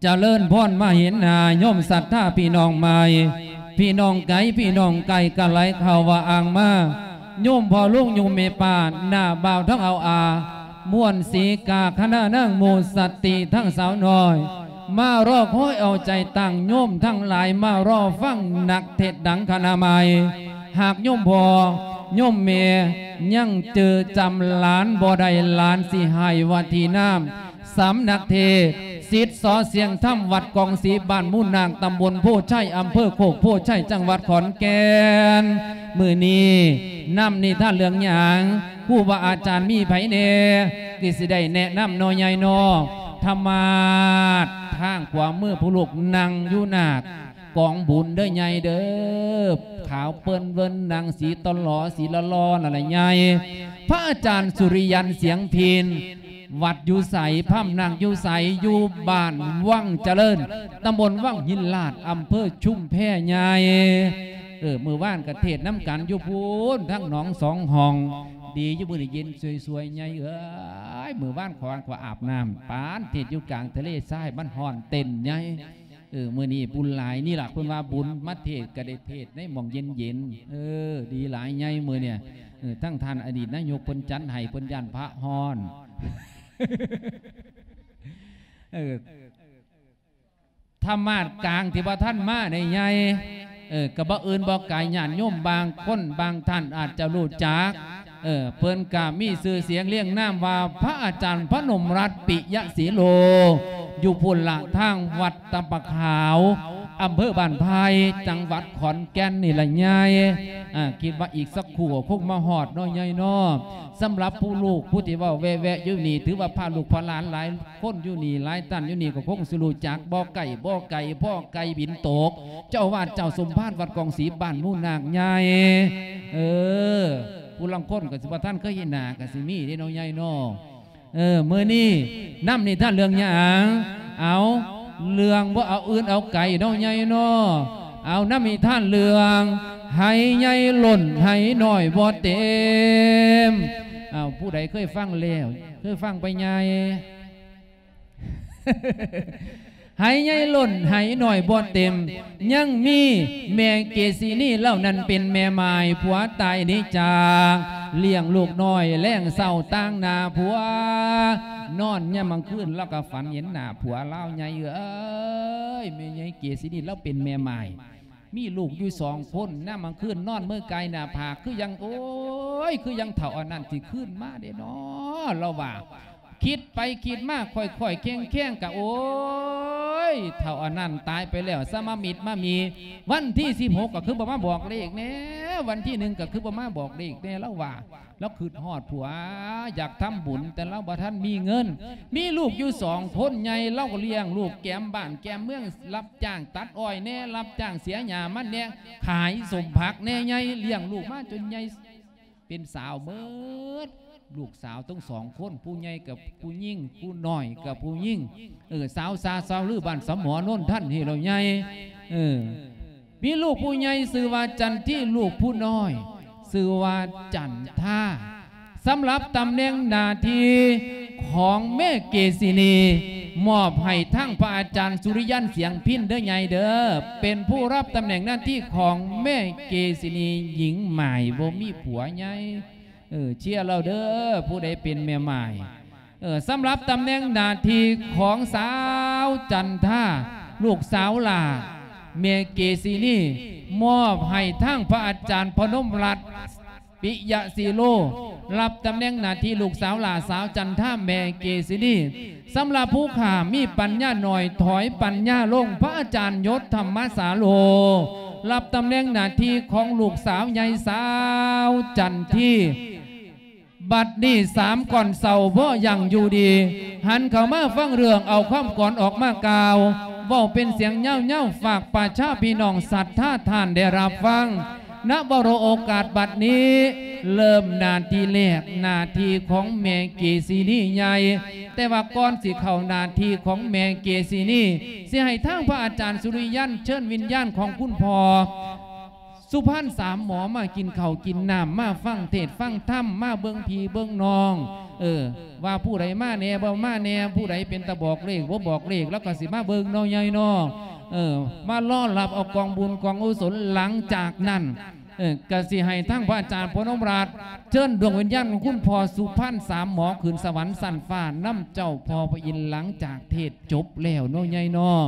ຈະເລີນພອນມາເຫັນໜ້າໂຍມສັດທາພີ່ນ້ອງໃໝ່ ພີ່ນ້ອງໄກ ພີ່ນ້ອງໃກ້ກະໄຫຼເຂົ້າວ່າອ່າງມາ ໂຍມພໍ່ລຸງໂຍມແມ່ປ້າ ນ້າບ່າວທັງເອົາອາ ມ່ວນສີກາຄະນະນາງໝູ່ສະຕິທັງສາວນ້ອຍ ມາລໍຄອຍເອົາໃຈຕັ້ງໂຍມທັງຫຼາຍ ມາລໍຟັງນັກເທດດັງຄະນະໃໝ່. ຫາກໂຍມພໍ່ໂຍມແມ່ຍັງຈື່ຈຳຫຼານບໍ່ໄດ້ ຫຼານຊິໃຫ້ວາທີນາມ ສຳນັກເທດ ສິດ ສອ ສຽງທຳ ວັດກອງສີ ບ້ານມູນນາກ ຕຳບົນໂພໄຊ ອຳເພີໂຄກໂພໄຊ ຈັງຫວັດຂອນແກ່ນ. ມື້ນີ້ນຳນິທານເລື່ອງຫຍັງ? ຄູບາອາຈານມີໃຜແດ່? ຄືຊິໄດ້ແນະນຳເນາະໃຫຍ່ເນາະ. ທຳມາດທາງຂວາມືຜູ້ລູກນັ່ງຢູ່ໜ້າກອງບຸນເດີໃຫຍ່ເດີ ຂາວເປິ້ນເວີນ ນັ່ງສີຕະຫຼໍ ສີຫຼໍ່ໆ ນັ້ນລະໃຫຍ່. ພະອາຈານສຸລິຍັນ ສຽງພິນ ວັດຢູ່ໃສ? ພຳນັກຢູ່ໃສ? ຢູ່ບ້ານວັງຈະເລີນ ຕຳບົນວັງຫີນລາດ ອຳເພີຊຸມແພໃຫຍ່. ເອີ ມື້ວານກະເທດນຳກັນຢູ່ພຸ້ນ ທາງໜອງສອງຫ້ອງ. ດີຢູ່ມື້ນີ້ເຢັນສວຍໆ ໃຫຍ່ເອີຍ. ມື້ວານຂອງຂ້ອຍອາບນ້ຳ ປານເທດຢູ່ກາງທະເລຊາຍ ມັນຮ້ອນເຕັ້ນໃຫຍ່. ເອີ ມື້ນີ້ບຸນຫຼາຍ. ນີ້ລະເພິ່ນວ່າບຸນ ມາເທດກະໄດ້ເທດໃນໝ່ອງເຢັນໆ. ເອີ ດີຫຼາຍໃຫຍ່ມື້ນີ້. ເອີ ທັງທ່ານອະດີດນາຍົກເພິ່ນຈັດໃຫ້ ເພິ່ນຢ້ານພະຮ້ອນ. ເອີ ທຳມາດກາງທີ່ບໍ່ທັນມາໃນໃຫຍ່ ເອີ ກະບໍ່ອື່ນບໍ່ໄກ ຍາດໂຍມບາງຄົນບາງທ່ານອາດຈະຮູ້ຈັກ. ເອີ ເພິ່ນກະມີຊື່ສຽງລຽງນາມວ່າ ພະອາຈານພະນົມລັດ ປິຍະສີໂລ ຢູ່ພຸ້ນລະ ທາງວັດຕະປະຂາວ ອຳເພີບ້ານໄຜ່ ຈັງຫວັດຂອນແກ່ນນີ້ລະໃຫຍ່. ອາ ຄິດວ່າອີກສັກຄູ່ກໍຄົງມາຮອດເນາະໃຫຍ່ເນາະ. ສຳລັບຜູ້ລູກຜູ້ທີ່ເວົ້າແວະໆຢູ່ນີ້ ຖືວ່າພາລູກພາຫຼານຫຼາຍຄົນຢູ່ນີ້ ຫຼາຍທ່ານຢູ່ນີ້ກໍຄົງຊິຮູ້ຈັກ ບໍ່ໄກບໍ່ໄກ ພໍ່ໄກ່ບິນຕົກ ເຈົ້າອາວາດເຈົ້າສົມພານວັດກອງສີ ບ້ານມູນນາກໃຫຍ່. ເອີ ຜູ້ລາງຄົນກໍຊິບໍ່ທັນເຄີຍເຫັນໜ້າກໍຊິມີເດ້ເນາະໃຫຍ່ເນາະ. ເອີ ມື້ນີ້ນຳນິທານເລື່ອງຫຍັງ? ເອົາ ເລື່ອງບໍ່ເອົາອື່ນເອົາໄກເນາະໃຫຍ່ເນາະ. ເອົາ ນຳນິທານເລື່ອງ ໄຫໃຫຍ່ລົ້ນໄຫນ້ອຍບໍ່ເຕັມ. ເອົາ ຜູ້ໃດເຄີຍຟັງແລ້ວ? ເຄີຍຟັງໄປໃຫຍ່? ໄຫໃຫຍ່ລົ້ນໄຫນ້ອຍບໍ່ເຕັມ ຍັງມີແມ່ເກສີນີເຫຼົ່ານັ້ນເປັນແມ່ໝ້າຍ ຜົວຕາຍໜີຈາກ ລ້ຽງລູກນ້ອຍແລງເຊົ້າຕາງໜ້າຜົວ. ນອນຍາມກາງຄືນລາວກໍຝັນເຫັນໜ້າຜົວລາວໃຫຍ່ເອີຍ. ແມ່ໃຫຍ່ເກສີນີລາວເປັນແມ່ໝ້າຍ ມີລູກຢູ່ສອງຄົນ. ຍາມກາງຄືນນອນເມີກາຍໜ້າຜາກ ຄືຍັງ ໂອ້ຍ ຄືຍັງເຖົ້າອັນນັ້ນຊິຄືນມາເດ້ນໍ ລາວວ່າ. ຄິດໄປຄິດມາ ຄ່ອຍໆແຄງໆ ກະ ໂອ້ຍ ເຖົ້າອັນນັ້ນຕາຍໄປແລ້ວ ສະມາມິດມາມີ ວັນທີສິບຫົກກະຄືບໍ່ມາບອກເລກແດ່ ວັນທີໜຶ່ງກະຄືບໍ່ມາບອກເລກແດ່ ລາວວ່າ. ລາວຄຶດຮອດຜົວ ຢາກທຳບຸນ ແຕ່ລາວບໍ່ທັນມີເງິນ. ມີລູກຢູ່ສອງຄົນໃຫຍ່ ລາວກໍລ້ຽງລູກແກມບ້ານແກມເມືອງ ຮັບຈ້າງຕັດອ້ອຍແດ່ ຮັບຈ້າງເສຍຫຍ້າມັນແດ່ ຂາຍສົ້ມຜັກແດ່ໃຫຍ່ ລ້ຽງລູກມາຈົນໃຫຍ່ ເປັນສາວເໝິດ ລູກສາວທັງສອງຄົນ ຜູ້ໃຫຍ່ກໍຜູ້ຍິງ ຜູ້ນ້ອຍກໍຜູ້ຍິງ. ເອີ ສາວຊາຊາວລືບ້ານສະໝໍ ໂນນທັນ ເຮັດແລ້ວໃຫຍ່. ເອີ ມີລູກຜູ້ໃຫຍ່ຊື່ວ່າຈັນທີ ລູກຜູ້ນ້ອຍຊື່ວ່າຈັນທາ. ສຳລັບຕຳແໜ່ງໜ້າທີ່ຂອງແມ່ເກສິນີ ມອບໃຫ້ທາງພະອາຈານສຸລິຍັນ ສຽງພິນ ເດີໃຫຍ່ເດີ ເປັນຜູ້ຮັບຕຳແໜ່ງໜ້າທີ່ຂອງແມ່ເກສິນີ ຍິງໝ້າຍ ບໍ່ມີຜົວໃຫຍ່. ເອີ ເຊຍລາວເດີ ຜູ້ໃດເປັນແມ່ໝ້າຍ. ເອີ ສຳລັບຕຳແໜ່ງໜ້າທີ່ຂອງສາວຈັນທາ ລູກສາວຫຼ້າແມ່ເກສິນີ ມອບໃຫ້ທາງພະອາຈານພະນົມລັດ ປິຍະສີໂລ ຮັບຕຳແໜ່ງໜ້າທີ່ລູກສາວຫຼ້າສາວຈັນທາແມ່ເກສິນີ. ສຳລັບຜູ້ຂ້າມີປັນຍາໜ້ອຍ ຖອຍປັນຍາລົງ ພະອາຈານຍົດທຳມະສາໂລ ຮັບຕຳແໜ່ງໜ້າທີ່ຂອງລູກສາວໃຫຍ່ສາວຈັນທີ. ບັດນີ້ສາມກ່ອນເຊົາບໍ່ຢັ້ງຢູ່ດີ ຫັນເຂົ້າມາຟັງເລື່ອງ ເອົາຄຳກອນອອກມາກ່າວ ເວົ້າເປັນສຽງຍາວໆ ຝາກປະຊາພີ່ນ້ອງສັດທາທ່ານໄດ້ຮັບຟັງ. ນະວະໂລໂອກາດບັດນີ້ ເລີ່ມໜ້າທີ່ແລກ ໜ້າທີ່ຂອງແມ່ເກສິນີໃຫຍ່. ແຕ່ວ່າກ່ອນຊິເຂົ້າໜ້າທີ່ຂອງແມ່ເກສິນີ ຊິໃຫ້ທາງພະອາຈານສຸລິຍັນເຊີນວິນຍານຂອງຄຸນພໍ່ ສຸພານສາມໝໍ ມາກິນເຂົ້າກິນນ້ຳ ມາຟັງເທດຟັງທຳ ມາເບິ່ງພີ່ເບິ່ງນ້ອງ ເອີ ວ່າຜູ້ໃດມາແດ່ບໍ່ມາແດ່ ຜູ້ໃດເປັນຕາບອກເລກບໍ່ບອກເລກ ລາວກໍຊິມາເບິ່ງເນາະ ໃຫຍ່ເນາະ ເອີ ມາລໍຮັບເອົາກອງບຸນກອງກຸສົນ. ຫຼັງຈາກນັ້ນ ເອີ ກໍຊິໃຫ້ທາງພະອາຈານພະນົມລາດ ເຊີນດວງວິນຍານຂອງຄຸນພໍ່ສຸພານສາມໝໍຂຶ້ນສະຫວັນຊັ້ນຟ້ານຳເຈົ້າພໍ່ພະອິນ ຫຼັງຈາກເທດຈົບແລ້ວເນາະ ໃຫຍ່ເນາະ.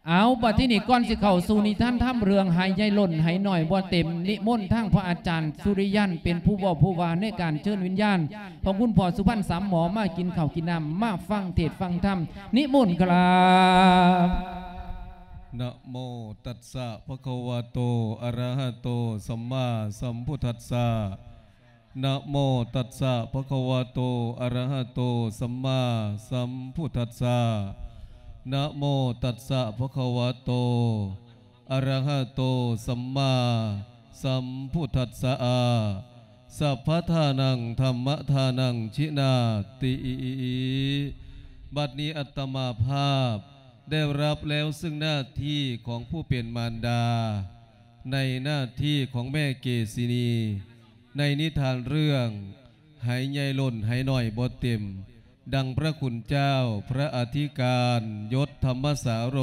ເອົາ ບັດທີນີ້ກ່ອນຊິເຂົ້າສູ່ນິທານທຳເລື່ອງໄຫໃຫຍ່ລົ້ນໄຫນ້ອຍບໍ່ເຕັມ ນິມົນທາງພະອາຈານສຸລິຍັນເປັນຜູ້ເວົ້າຜູ້ວ່າໃນການເຊີນວິນຍານຂອງຄຸນພໍ່ສຸພານສາມໝໍ ມາກິນເຂົ້າກິນນ້ຳ ມາຟັງເທດຟັງທຳ ນິມົນຄະລັບ. ນະໂມຕັດສະ ພະຄະວະໂຕ ອະຣະຫະໂຕ ສຳມາສຳພຸດທັດສະ. ນະໂມຕັດສະ ພະຄະວະໂຕ ອະຣະຫະໂຕ ສຳມາສຳພຸດທັດສະ. ນະໂມຕັດສະ ພະຄະວະໂຕ ອະຣະຫະໂຕ ສຳມາສຳພຸດທັດສະ. ສັບພະທານັງ ທຳມະທານັງ ທິນາຕິ. ບັດນີ້ອັດຕະມາພາບໄດ້ຮັບແລ້ວເຊິ່ງໜ້າທີ່ຂອງຜູ້ເປັນມານດາ ໃນໜ້າທີ່ຂອງແມ່ເກສິນີ ໃນນິທານເລື່ອງໄຫໃຫຍ່ລົ້ນໄຫນ້ອຍບໍ່ເຕັມ ດັ່ງພະຄຸນເຈົ້າ ພະອະທິການ ຍົດທຳມະສາໂຣ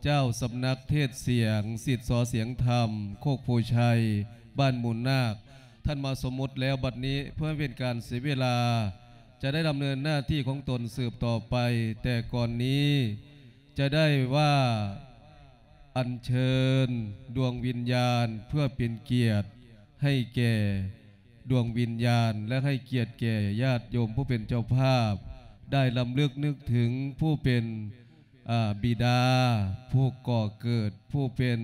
ເຈົ້າສຳນັກເທດສຽງ ສິດຊໍສຽງທຳ ໂຄກໂພໄຊ ບ້ານມູນນາກ ທ່ານມາສົມມຸດແລ້ວ. ບັດນີ້ເພື່ອເປັນການເສຍເວລາ ຈະໄດ້ດຳເນີນໜ້າທີ່ຂອງຕົນສືບຕໍ່ໄປ, ແຕ່ກ່ອນນີ້ຈະໄດ້ວ່າອັນເຊີນດວງວິນຍານ ເພື່ອເປັນກຽດໃຫ້ແກ່ດວງວິນຍານ ແລະ ໃຫ້ກຽດແກ່ຍາດໂຍມຜູ້ເປັນເຈົ້າພາບ ໄດ້ລຳລຶກນຶກເຖິງຜູ້ເປັນ ອາ ບິດາ ຜູ້ກໍ່ເກີດ ຜູ້ເປັນ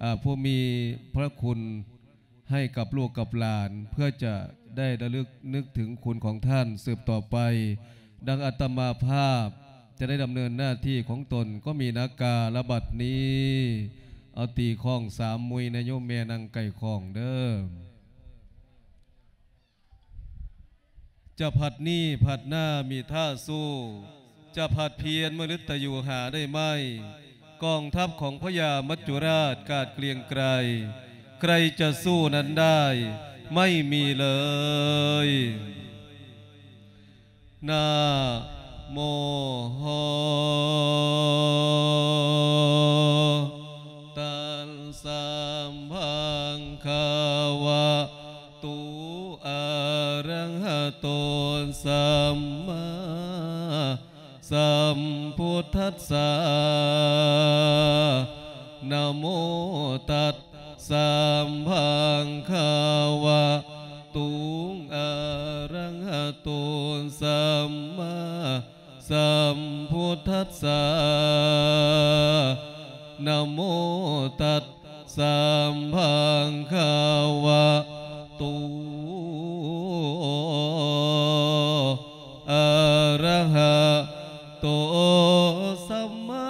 ອາ ຜູ້ມີພະຄຸນ ໃຫ້ກັບລູກກັບຫຼານ ເພື່ອຈະໄດ້ລະລຶກນຶກເຖິງຄຸນຂອງທ່ານສືບຕໍ່ໄປ. ດັ່ງອາດຕະມາພາບຈະໄດ້ດຳເນີນໜ້າທີ່ຂອງຕົນ ກໍມີນາກາລະບັດນີ້. ເອົາຕີຄ້ອງສາມມຸຍນະໂຍມແມ່ ນັ່ງໃກ້ຄ້ອງເດີ້. ຈະພັດນີ້ພັດໜ້າມີທ່າສູ້, ຈະພັດພຽນມະລຶດຕະຢູ່ຫາໄດ້ໄໝ? ກອງທັບຂອງພະຍາມັດຈຸລາດກາດເກລຽງໄກ, ໃຄຈະສູ້ນັ້ນໄດ້ ໄມ່ມີເລີຍ. ນະໂມ ຕັດສະ ພະຄະວະ ໂຕ ອະຣະຫະໂຕ ສຳມາສຳພຸດທັດສະ. ນະໂມ ຕັດສະ ພະຄະວະ ໂຕ ອະຣະຫະໂຕ ສຳມາ ສຳພຸດທັດສະ. ນະໂມ ຕັດສະ ພະຄະວະໂຕ ອະຣະຫະໂຕ ສຳມາ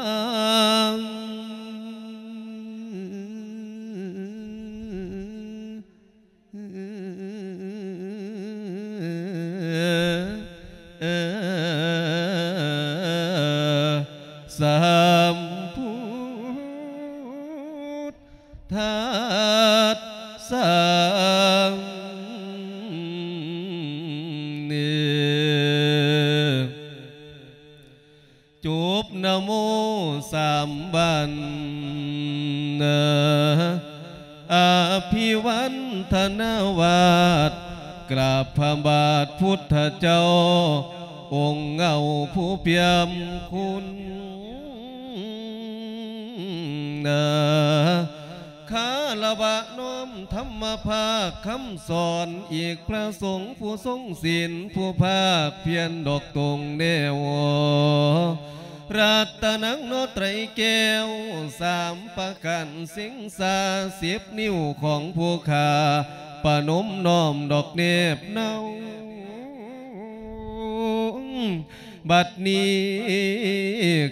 ສຳພຸດທັດສະ ຈົບນະໂມສາມບານ ອະພິວັນທະນາວາດ ກາບພະບາດພຸດທະເຈົ້າ ອົງເງົາຜູ້ປ່ຽມຄຸນ. ຄາລະວະນ້ອມທຳມະພາກຄຳສອນ ອີກພະສົງຜູ້ຊົງສິນ ຜູ້ພາກພຽນດອກຕົງແນວ ລັດຕະນັງເນາະໄຕແກ້ວສາມປະການ ສິງສາສິບນິ້ວຂອງຜູ້ຂ້າ ປະນົມນ້ອມດອກແນບເນົາ. ບັດນີ້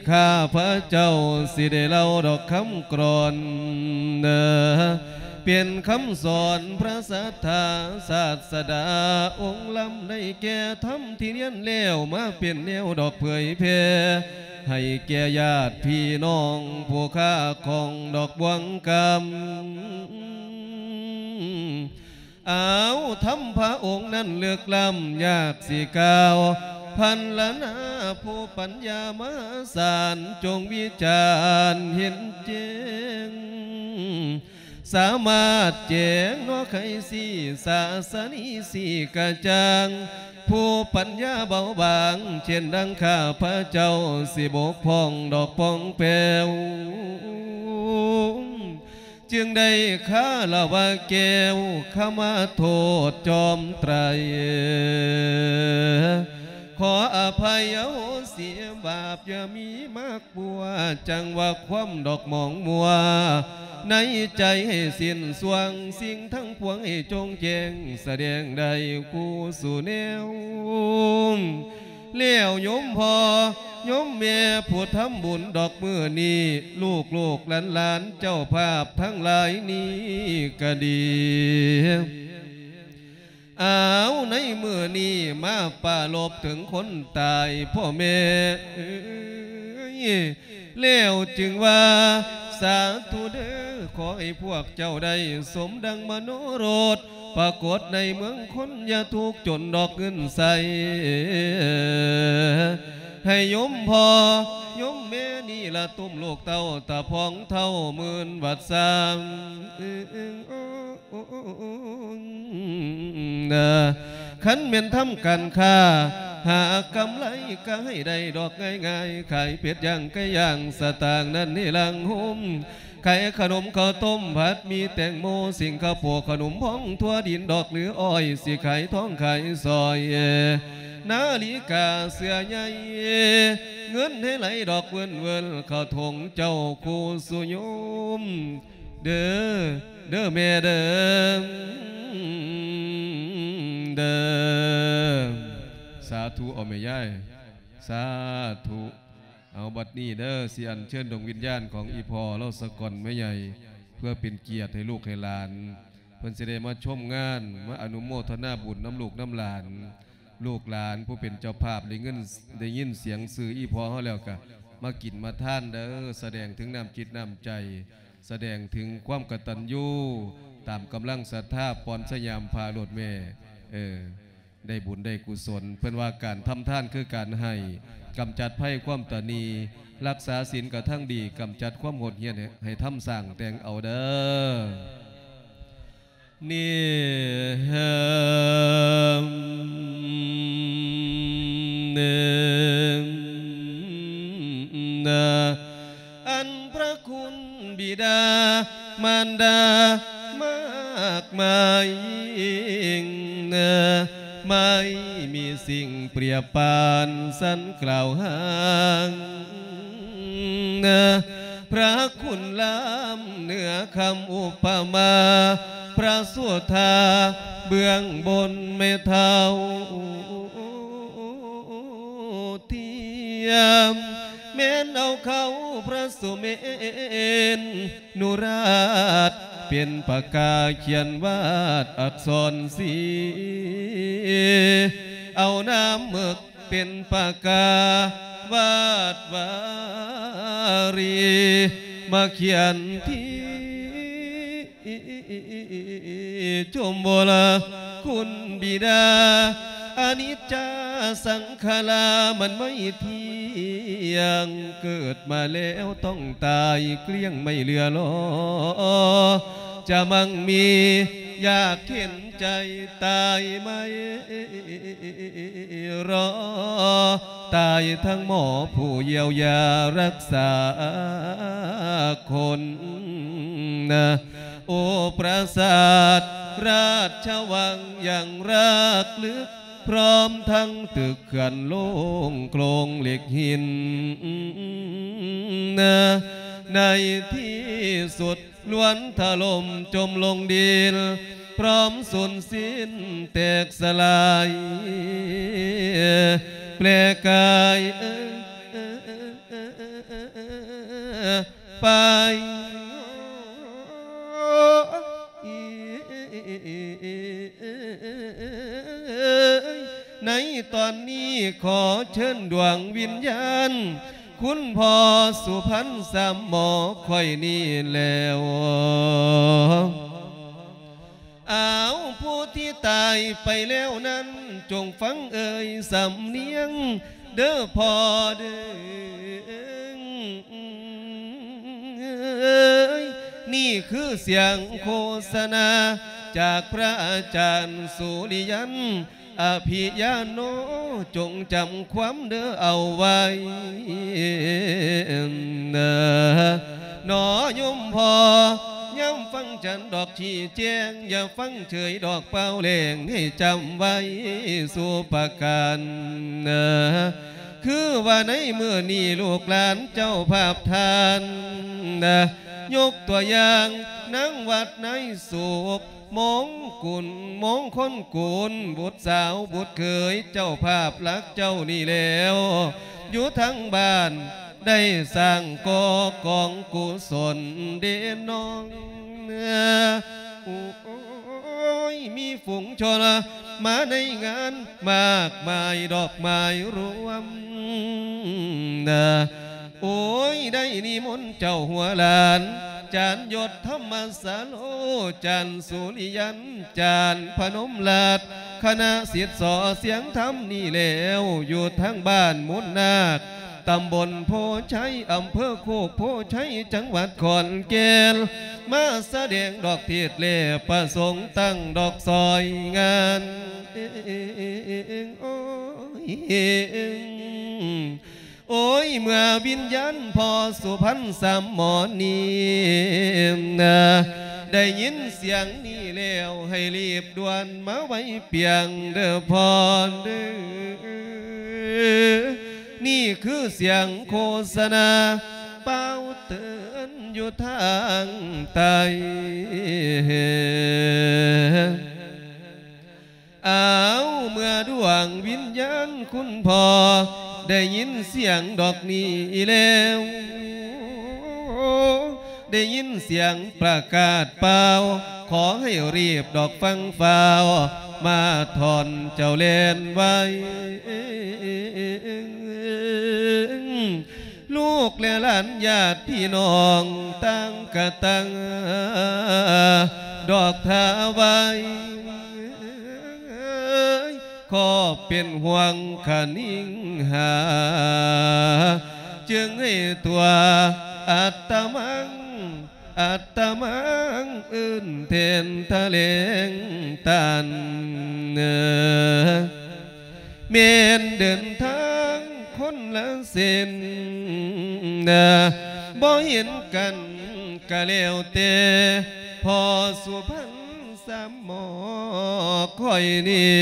ຂ້າພະເຈົ້າຊິໄດ້ເລົ່າດອກຄຳກລອນ ເປັນຄຳສອນພະສັດທາສາດສະດາອົງລຳ ໄດ້ແກ່ທຳທີ່ຮຽນແລ້ວມາເປັນແນວດອກເຜີຍແຜ່ ໃຫ້ແກ່ຍາດພີ່ນ້ອງຜູ້ຄ້າຂອງດອກບວງກຳ. ອ້າວ ທຳພະອົງນັ້ນເລິກລ້ຳ ຍາກຊິກ່າວພັນລະນາ ຜູ້ປັນຍາມະຫາສານ ຈົ່ງວິຈານເຫັນແຈ້ງ ສາມາດແຈ້ງເນາະໄຂຊີ້ ສາສະນີຊີ້ກະຈ່າງ ຜູ້ປັນຍາເບົາບາງ ເຊັ່ນດັ່ງຂ້າພະເຈົ້າ ຊິບົກຜ່ອງດອກປ່ອງແປວ ຈຶ່ງໄດ້ຄາລະວະແກ້ວ ຂະມາໂທດຈອມໄຕ ຂໍອະໄພອະໂຫສິບາບ ຢ່າມີມາກບົວ ຈັ່ງວ່າຄວາມດອກໝອງມົວ ໃນໃຈໃຫ້ສິ້ນຊ່ວງ ສິ່ງທັງປວງໃຫ້ໂຈ່ງແຈ້ງ ສະແດງໄດ້ຄູ່ສູ່ແນວ ແລ້ວໂຍມພໍ່ໂຍມແມ່ຜູ້ທຳບຸນດອກມື້ນີ້ ລູກໆຫຼານໆເຈົ້າພາບທັງຫຼາຍນີ້ກະດີ ອ້າວ ໃນມື້ນີ້ມາປາລົບເຖິງຄົນຕາຍ ພໍ່ແມ່ເອີຍ ແລ້ວຈຶ່ງວ່າ ສາທຸເດີ ຂໍໃຫ້ພວກເຈົ້າໄດ້ສົມດັ່ງມະໂນລົດ ປາກົດໃນເມືອງຄົນ ຢ່າທຸກຈົນດອກເງິນໃສ ໃຫ້ໂຍມພໍ່ໂຍມແມ່ນີ້ລະ ຕຸ້ມລູກເຕົ້າ ຕາພອງເທົ່າໝື່ນວັດຊາ ຄັນແມ່ນທຳການຄ້າ ຫາກຳໄລກະໃຫ້ໄດ້ດອກງ່າຍໆ ຂາຍເປັດຍ່າງໄກ່ຍ່າງ ສະຕາງນັ້ນໃຫ້ຫຼັງໂຮມ ຂາຍຂະໜົມເຂົ້າຕົ້ມ ຜັດໝີ່ແຕງໂມ ສິງຄະໂປ ຂະໜົມພອງທົ່ວດິນ ດອກຫຼືອ້ອຍ ຊິຂາຍທອງຂາຍສ້ອຍ ນາລິກາເສື້ອໃຍ ເງິນໃຫ້ໄຫຼດອກເວິນໆ ເຂົ້າຖົງເຈົ້າຄູ່ສູ່ໂຍມ ເດີ ເດີແມ່ເດີ ເດີ ສາທຸ ເອົາແມ່ຍາຍ ສາທຸ ເອົາບັດນີ້ເດີ ຊິອັນເຊີນດວງວິນຍານຂອງອີ່ພໍ່ລາວສະກ່ອນແມ່ໃຫຍ່ ເພື່ອເປັນກຽດໃຫ້ລູກໃຫ້ຫຼານ ເພິ່ນຊິໄດ້ມາຊົມງານ ມາອະນຸໂມທະນາບຸນນຳລູກນຳຫຼານ ລູກຫຼານຜູ້ເປັນເຈົ້າພາບໄດ້ເງິນ ໄດ້ຍິນສຽງຊື່ອີ່ພໍ່ເຮົາແລ້ວກະມາກິນມາທານເດີ ສະແດງເຖິງນ້ຳຈິດນ້ຳໃຈ ສະແດງເຖິງຄວາມກະຕັນຍູ ຕາມກຳລັງສັດທາ ປ່ອນສະຫຍາມພາໂລດແມ່ ເອີ ໄດ້ບຸນໄດ້ກຸສົນ ເພິ່ນວ່າການທຳທານຄືການໃຫ້ ກຳຈັດໄພຄວາມຕະໜີ່ ຮັກສາສິນກະທັງດີ ກຳຈັດຄວາມໂຫດຫ້ຽນໃຫ້ ໃຫ້ທຳສ້າງແຕ່ງເອົາເດີ ນີ້ ອັນພະຄຸນບິດາມານດາມາກມາຍ ໄມ່ມີສິ່ງປຽບປານສັນກ່າວຫາງ ພະຄຸນລ້ຳເໜືອຄຳອຸປະມາ ພະສຸທາເບື້ອງບົນແມ່ເຖົ້າທຽມ ແມ່ນເອົາເຂົ້າພະສຸເມນ ນຸຣາດເປັນປາກາຂຽນວາດອັກສອນສີ ເອົານ້ຳເໝິກເປັນປາກາວາດວາຣີ ມາຂຽນທີ່ຊົມໂບລາ ຄຸນບິດາ ອະນິດຈາສັງຂາລາ ມັນໄມ່ທຽງ ເກີດມາແລ້ວຕ້ອງຕາຍ ເກ້ຽງໄມ່ເຫຼືອລໍ ຈະມັ່ງມີຢາກເຫັນໃຈຕາຍໄໝ ລໍຕາຍທັງໝໍຜູ້ຢຽວຢາຮັກສາຄົນ ໂອ ປາສາດລາຊະວັງຢ່າງຮາກເລິກ ພ້ອມທັງຕຶກເຂື່ອນໂລ່ງໂຄງເຫຼັກຫີນ ໃນທີ່ສຸດລ້ວນຖະຫຼົ່ມຈົມລົງດິນ ພ້ອມສູນສິ້ນແຕກສະຫຼາຍ ແປກາຍ ໄປ ໃນຕອນນີ້ຂໍເຊີນດວງວິນຍານ ຄຸນພໍ່ສຸພັນສາມໝໍຂ້ອຍນີ້ແລ້ວ. ອ້າວ ຜູ້ທີ່ຕາຍໄປແລ້ວນັ້ນ ຈົ່ງຟັງເອີຍສຳນຽງເດີ້ພໍ່ເດີ້. ນີ້ຄືສຽງໂຄສະນາຈາກພະອາຈານສຸລິຍັນ ອະພິຍາໂນ ຈົ່ງຈຳຄວາມເດີ້ເອົາໄວ້ເນາະໂຍມພໍ່. ຍາມຟັງຈັນດອກຊີ້ແຈງ ຢ່າຟັງເສີຍດອກເປົ່າແຫຼງ ໃຫ້ຈຳໄວ້ສູ່ປະການ. ຄືວ່າໃນມື້ນີ້ລູກຫຼານເຈົ້າພາບທ່ານ ຍົກຕົວຢ່າງນາງວັດນາຍສຸກ ມົງກຸນ ມົງຄົນກຸນ ບຸດສາວບຸດເຂີຍ ເຈົ້າພາບຫຼັກເຈົ້ານີ້ແລ້ວ ຢູ່ທາງບ້ານໄດ້ສ້າງກໍ່ກອງກຸສົນເດນ້ອງ. ໂອ້ຍ ມີຝູງຊົນມາໃນງານມາກມາຍ ດອກໄມ້ລວມ ໂອ້ຍ ໄດ້ນິມົນເຈົ້າຫົວຫຼານ ຈານຍົດທຳມະສາໂລ ຈານສຸລິຍັນ ຈານພະນົມລາດ ຄະນະສິດສໍສຽງທຳນີ້ແລ້ວ ຢູ່ທາງບ້ານມູນນາກ ຕຳບົນໂພໄຊ ອຳເພີໂຄກໂພໄຊ ຈັງຫວັດຂອນແກ່ນ ມາສະແດງດອກເທດແລະປະສົງ ຕັ້ງດອກຊອຍງານ. ໂອ້ຍ ໂອ້ຍ ເມື່ອວິນຍານພໍ່ສຸພັນສາມໝໍນີ້ ໄດ້ຍິນສຽງນີ້ແລ້ວ ໃຫ້ລີບດ່ວນມາໄຫວ້ປຽງເດີ້ພໍ່ເດີ້. ນີ້ຄືສຽງໂຄສະນາ ປ່າວເຕືອນຢູ່ທາງໃຕ້. ອ້າວ ເມື່ອດວງວິນຍານຄຸນພໍ່ ໄດ້ຍິນສຽງດອກນີ້ແລ້ວ ໄດ້ຍິນສຽງປະກາດປ່າວ ຂໍໃຫ້ຮີບດອກຟັງຟ້າວ ມາທ່ອນເຈົ້າແລ່ນໄວ. ລູກແລະຫຼານຍາດພີ່ນ້ອງຕ່າງກະຕ່າງ ດອກທ່າໄວ້ ຂໍເປັນຫ່ວງຄະນິງຫາ ຈຶ່ງໃຫ້ຕົວະອັດຕະມັງ ອັດຕະມັງອື່ນແທນທະແຫຼງຕານ ແມ່ນເດີນທາງຄົນລະເສັ້ນ ບໍ່ເຫັນກັນກະແລ້ວແຕ່ ພໍ່ສຸພັນສາມໝໍຂ້ອຍນີ້.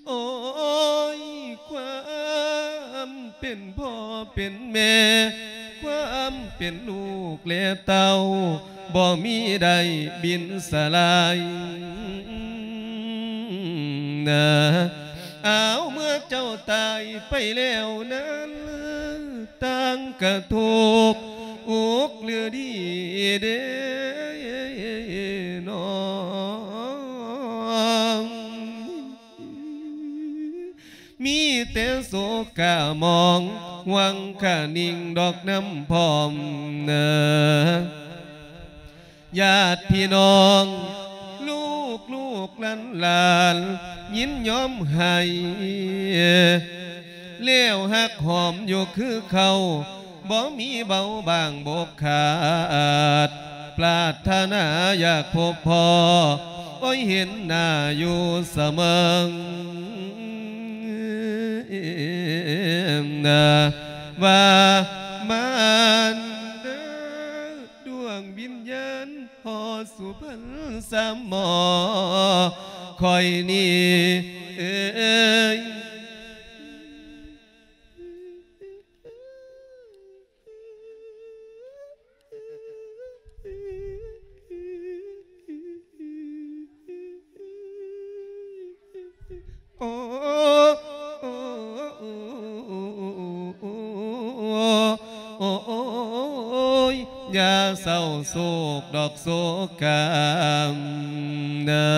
ໂອ້ຍ ຄວາມເປັນພໍ່ເປັນແມ່ ຄວາມເປັນລູກແລະເຕົ້າ ບໍ່ມີໄດ້ບິນສະຫຼາຍນາ. ອ້າວ ເມື່ອເຈົ້າຕາຍໄປແລ້ວນັ້ນ ຕ່າງກະທຸກອຸກຫຼືດີເດນ້ອງ. ມີແຕ່ໂສກະໝອງຫວັງຄະນິງດອກນຳພ້ອມນາ. ຍາດພີ່ນ້ອງ ລູກລູກຫຼານຫຼານ ຍິນຍອມໃຫ້ ແລ້ວຮັກຫອມຢູ່ຄືເກົ່າ ບໍ່ມີເບົາບາງບົກຂາດ ປາດຖະໜາຢາກພົບພໍ້ ໂອ້ຍ ເຫັນໜ້າຢູ່ສະເໝີ. ວ່າມານເດີ ດວງວິນຍານພໍ່ສຸພັນສາມໝໍຂ້ອຍນີ້ເອີຍ. ເສົ້າໂສກດອກໂສກາມນະ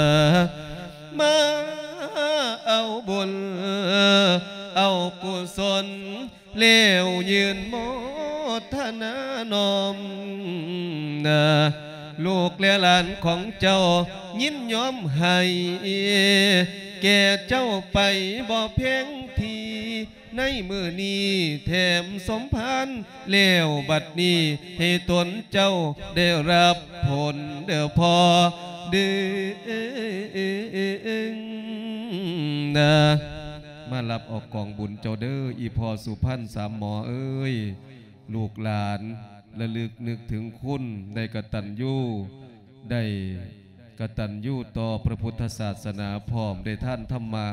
ມາເອົາບຸນເອົາກຸສົນ ແລ້ວຍື່ນໂມທະນານ້ອມນະ ລູກແລະຫຼານຂອງເຈົ້າຍິນຍອມໃຫ້ແກ່ເຈົ້າໄປບໍ່ແພງທີ່ ໃນມື້ນີ້ແຖມສົມພານແລ້ວ ບັດນີ້ໃຫ້ຕົນເຈົ້າໄດ້ຮັບຜົນເດີ້ພໍ່ເດີ້ນະ ມາຮັບເອົາກອງບຸນເຈົ້າເດີ້ ອີ່ພໍ່ສຸພັນສາມໝໍເອີຍ ລູກຫຼານລະລຶກນຶກເຖິງຄຸນ ໄດ້ກະຕັນຍູ ໄດ້ກະຕັນຍູຕໍ່ພະພຸດທະສາສະໜາ ພ້ອມໄດ້ທານທຳມະ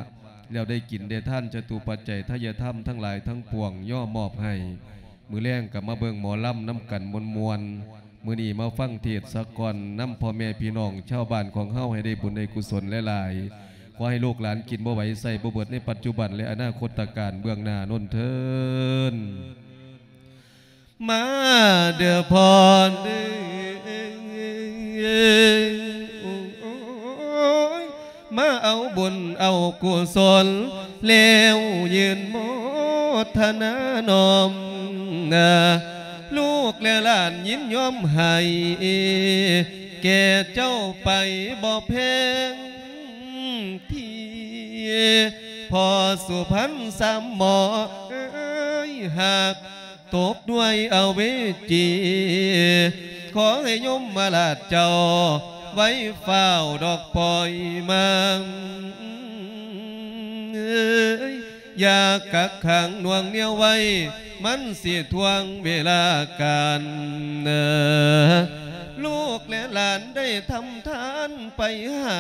ແລ້ວໄດ້ກິນໄດ້ທານຈະຕຸປັດໄຈທະຍະທຳທັງຫຼາຍທັງປວງ ຍໍມອບໃຫ້ ມື້ແລງກໍມາເບິ່ງໝໍລຳນຳກັນມ່ວນໆ ມື້ນີ້ມາຟັງເທດສະກ່ອນນຳພໍ່ແມ່ພີ່ນ້ອງຊາວບ້ານຂອງເຮົາ ໃຫ້ໄດ້ບຸນໄດ້ກຸສົນຫຼາຍໆ ຂໍໃຫ້ລູກຫຼານກິນບໍ່ໄຫວໃຊ້ບໍ່ເບິດໃນປັດຈຸບັນ ແລະ ອະນາຄົດຕະການເບື້ອງໜ້າໂນ້ນເທີ້ນ. ມາເດີ້ພໍ່ເດີ້ ໂອ້ຍ ມາເອົາບຸນເອົາກຸສົນ ແລ້ວຍື່ນໂມທະນານ້ອມນະ ລູກແລະຫຼານຍິນຍອມໃຫ້ແກ່ເຈົ້າໄປບໍ່ແພງທີ່ ພໍ່ສຸພັນສາມໝໍເອີຍ ຫາກ ຕົກດ້ວຍອະເວຈີ ຂໍໃຫ້ຍົມມະລາດເຈົ້າໄວຟ້າວດອກປ່ອຍມາ ເອີຍ ຢ່າກັກຂັງໜ່ວງໜຽວໄວ້ ມັນຊິຖ່ວງເວລາການ ລູກແລະຫຼານໄດ້ທຳທານໄປຫາ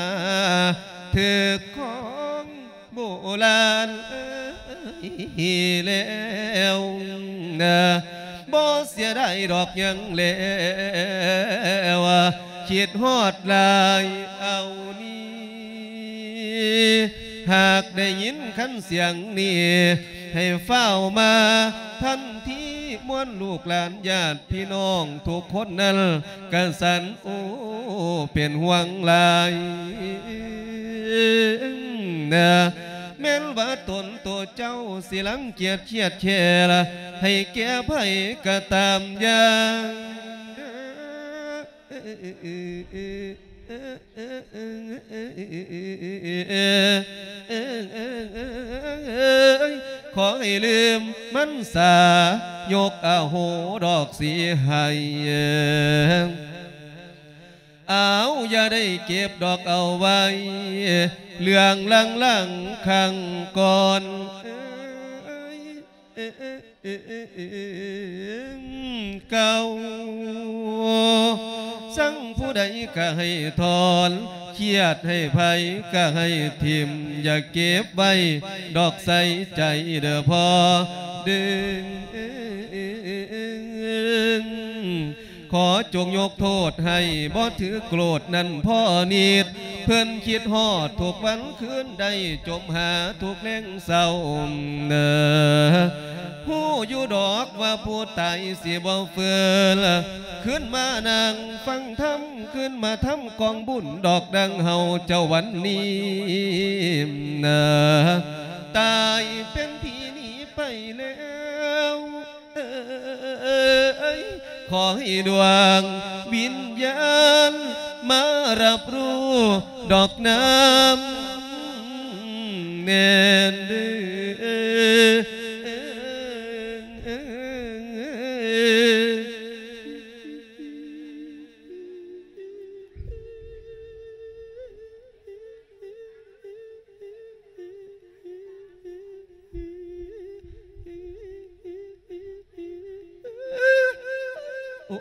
ຖືກຂອງ ໂບລານເອີຍແລ້ວນະ ບໍ່ເສຍດາຍດອກຫຍັງແລ້ວ ຄິດຮອດຫຼາຍເອົານີ້ ຫາກໄດ້ຍິນຄັນສຽງນີ້ ໃຫ້ຟ້າວມາທັນທີ ມວນລູກຫຼານຍາດພີ່ນ້ອງທຸກຄົນນັ້ນກະສັນ ໂອ້ ເປັນຫ່ວງຫຼາຍນະ ແມ່ນວ່າຕົນໂຕເຈົ້າຊິລັງກຽດຄຽດແຄ້ນ ໃຫ້ແກ່ໃຜກະຕາມຢ່າງ ຂໍໃຫ້ລືມມັນສາ ຍົກອະໂຫດອກຊິໃຫ້ ອ້າວ ຢ່າໄດ້ເກັບດອກເອົາໄວ້ ເລື່ອງຫຼັງໆຄັ້ງກ່ອນ ເກົ່າ ຊັງຜູ້ໃດກະໃຫ້ຖອນ ຄຽດໃຫ້ໃຜກະໃຫ້ຖິ້ມ ຢ່າເກັບໄວ້ດອກໃສ່ໃຈເດີ້ພໍ່ເດີ້ ຂໍຈົ່ງຍົກໂທດໃຫ້ ບໍ່ຖືກໂກດນັ້ນພໍນິດ ເພິ່ນຄິດຮອດທຸກວັນຄືນ ໄດ້ຈົມຫາທຸກແລງເຊົ້າເນີ ຮູ້ຢູ່ດອກວ່າຜູ້ຕາຍຊິບໍ່ຟື້ນ ຄືນມານັ່ງຟັງທຳ ຄືນມາທຳກອງບຸນດອກ ດັ່ງເຮົາເຈົ້າວັນນີ້ເນີ ຕາຍເປັນຜີໜີໄປແລ້ວ ເອີຍ ຂໍໃຫ້ດວງວິນຍານມາຮັບຮູ້ດອກນຳແນ່ນເດີ້.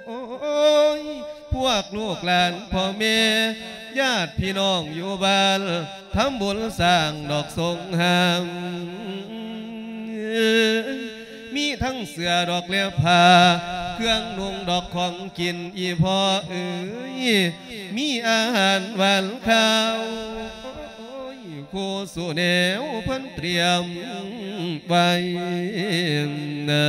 ໂອ້ຍ ພວກລູກຫຼານພໍ່ແມ່ ຍາດພີ່ນ້ອງຢູ່ບ້ານ ທຳບຸນສ້າງດອກສົງຫາມ ມີທັງເສື້ອດອກແລະຜ້າ ເຄື່ອງນຸ່ງດອກຂອງກິນ ອີ່ພໍ່ເອີຍ ມີອາຫານຫວານຄາວ ໂອ້ຍ ຄູ່ສູ່ແນວເພິ່ນຕຽມໄວ້ເນີ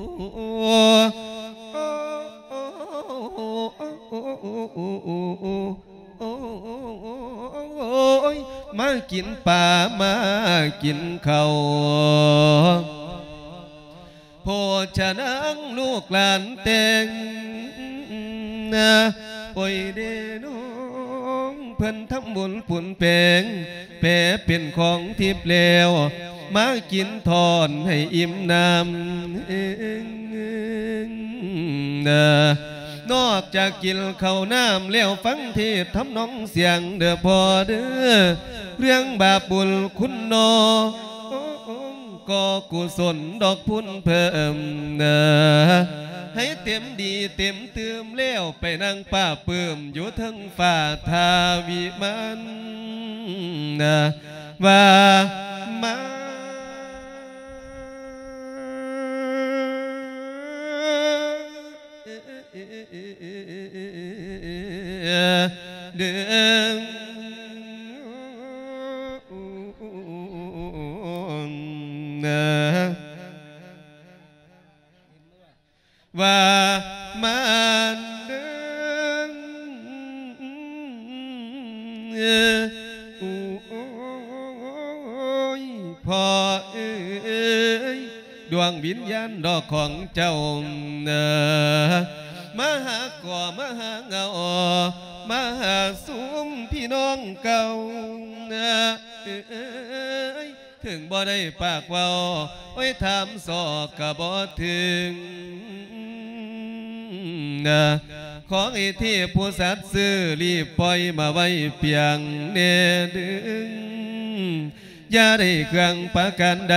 ໂອ້ຍ ມາກິນປາ ມາກິນເຂົ້າ ໂພຊະນາງລູກຫຼານແຕ່ງ ໂອ້ຍເດ້ນ້ອງ ເພິ່ນທຳບຸນປຸນແປງ ແປເປັນຂອງທິບແລ້ວ ມາກິນທ້ອນໃຫ້ອີ່ມນ້ຳ ນອກຈາກກິນເຂົ້ານ້ຳແລ້ວ ຟັງເທດທຳນອງສຽງເດີ້ພໍ່ເດີ້ ເລື່ອງບາບບຸນຄຸນນອ ກໍກຸສົນດອກພຸນເພີ່ມ ໃຫ້ເຕັມດີເຕັມຕື່ມແລ້ວ ໄປນັ່ງປາບປື້ມຢູ່ເທິງຟ້າທ່າວິມານ ວ່າມາ ເດີ ວ່າມາເດີ ໂອ້ຍ ພໍ່ເອີຍ ດວງວິນຍານດອກຂອງເຈົ້າ ມາຫາກໍມາຫາເງົາ ມາຫາຊຸມພີ່ນ້ອງເກົ່າ ເອີຍ ເຖິງບໍ່ໄດ້ປາກເວົ້າ ໂອ້ຍ ຖາມຊອກກະບໍ່ເຖິງ ຂໍໃຫ້ເທບຜູ້ສັດຊື່ ລີບປ່ອຍມາໄວ້ປຽງແດ່ເດີ ຢ່າໄດ້ເຄື່ອງປະການໃດ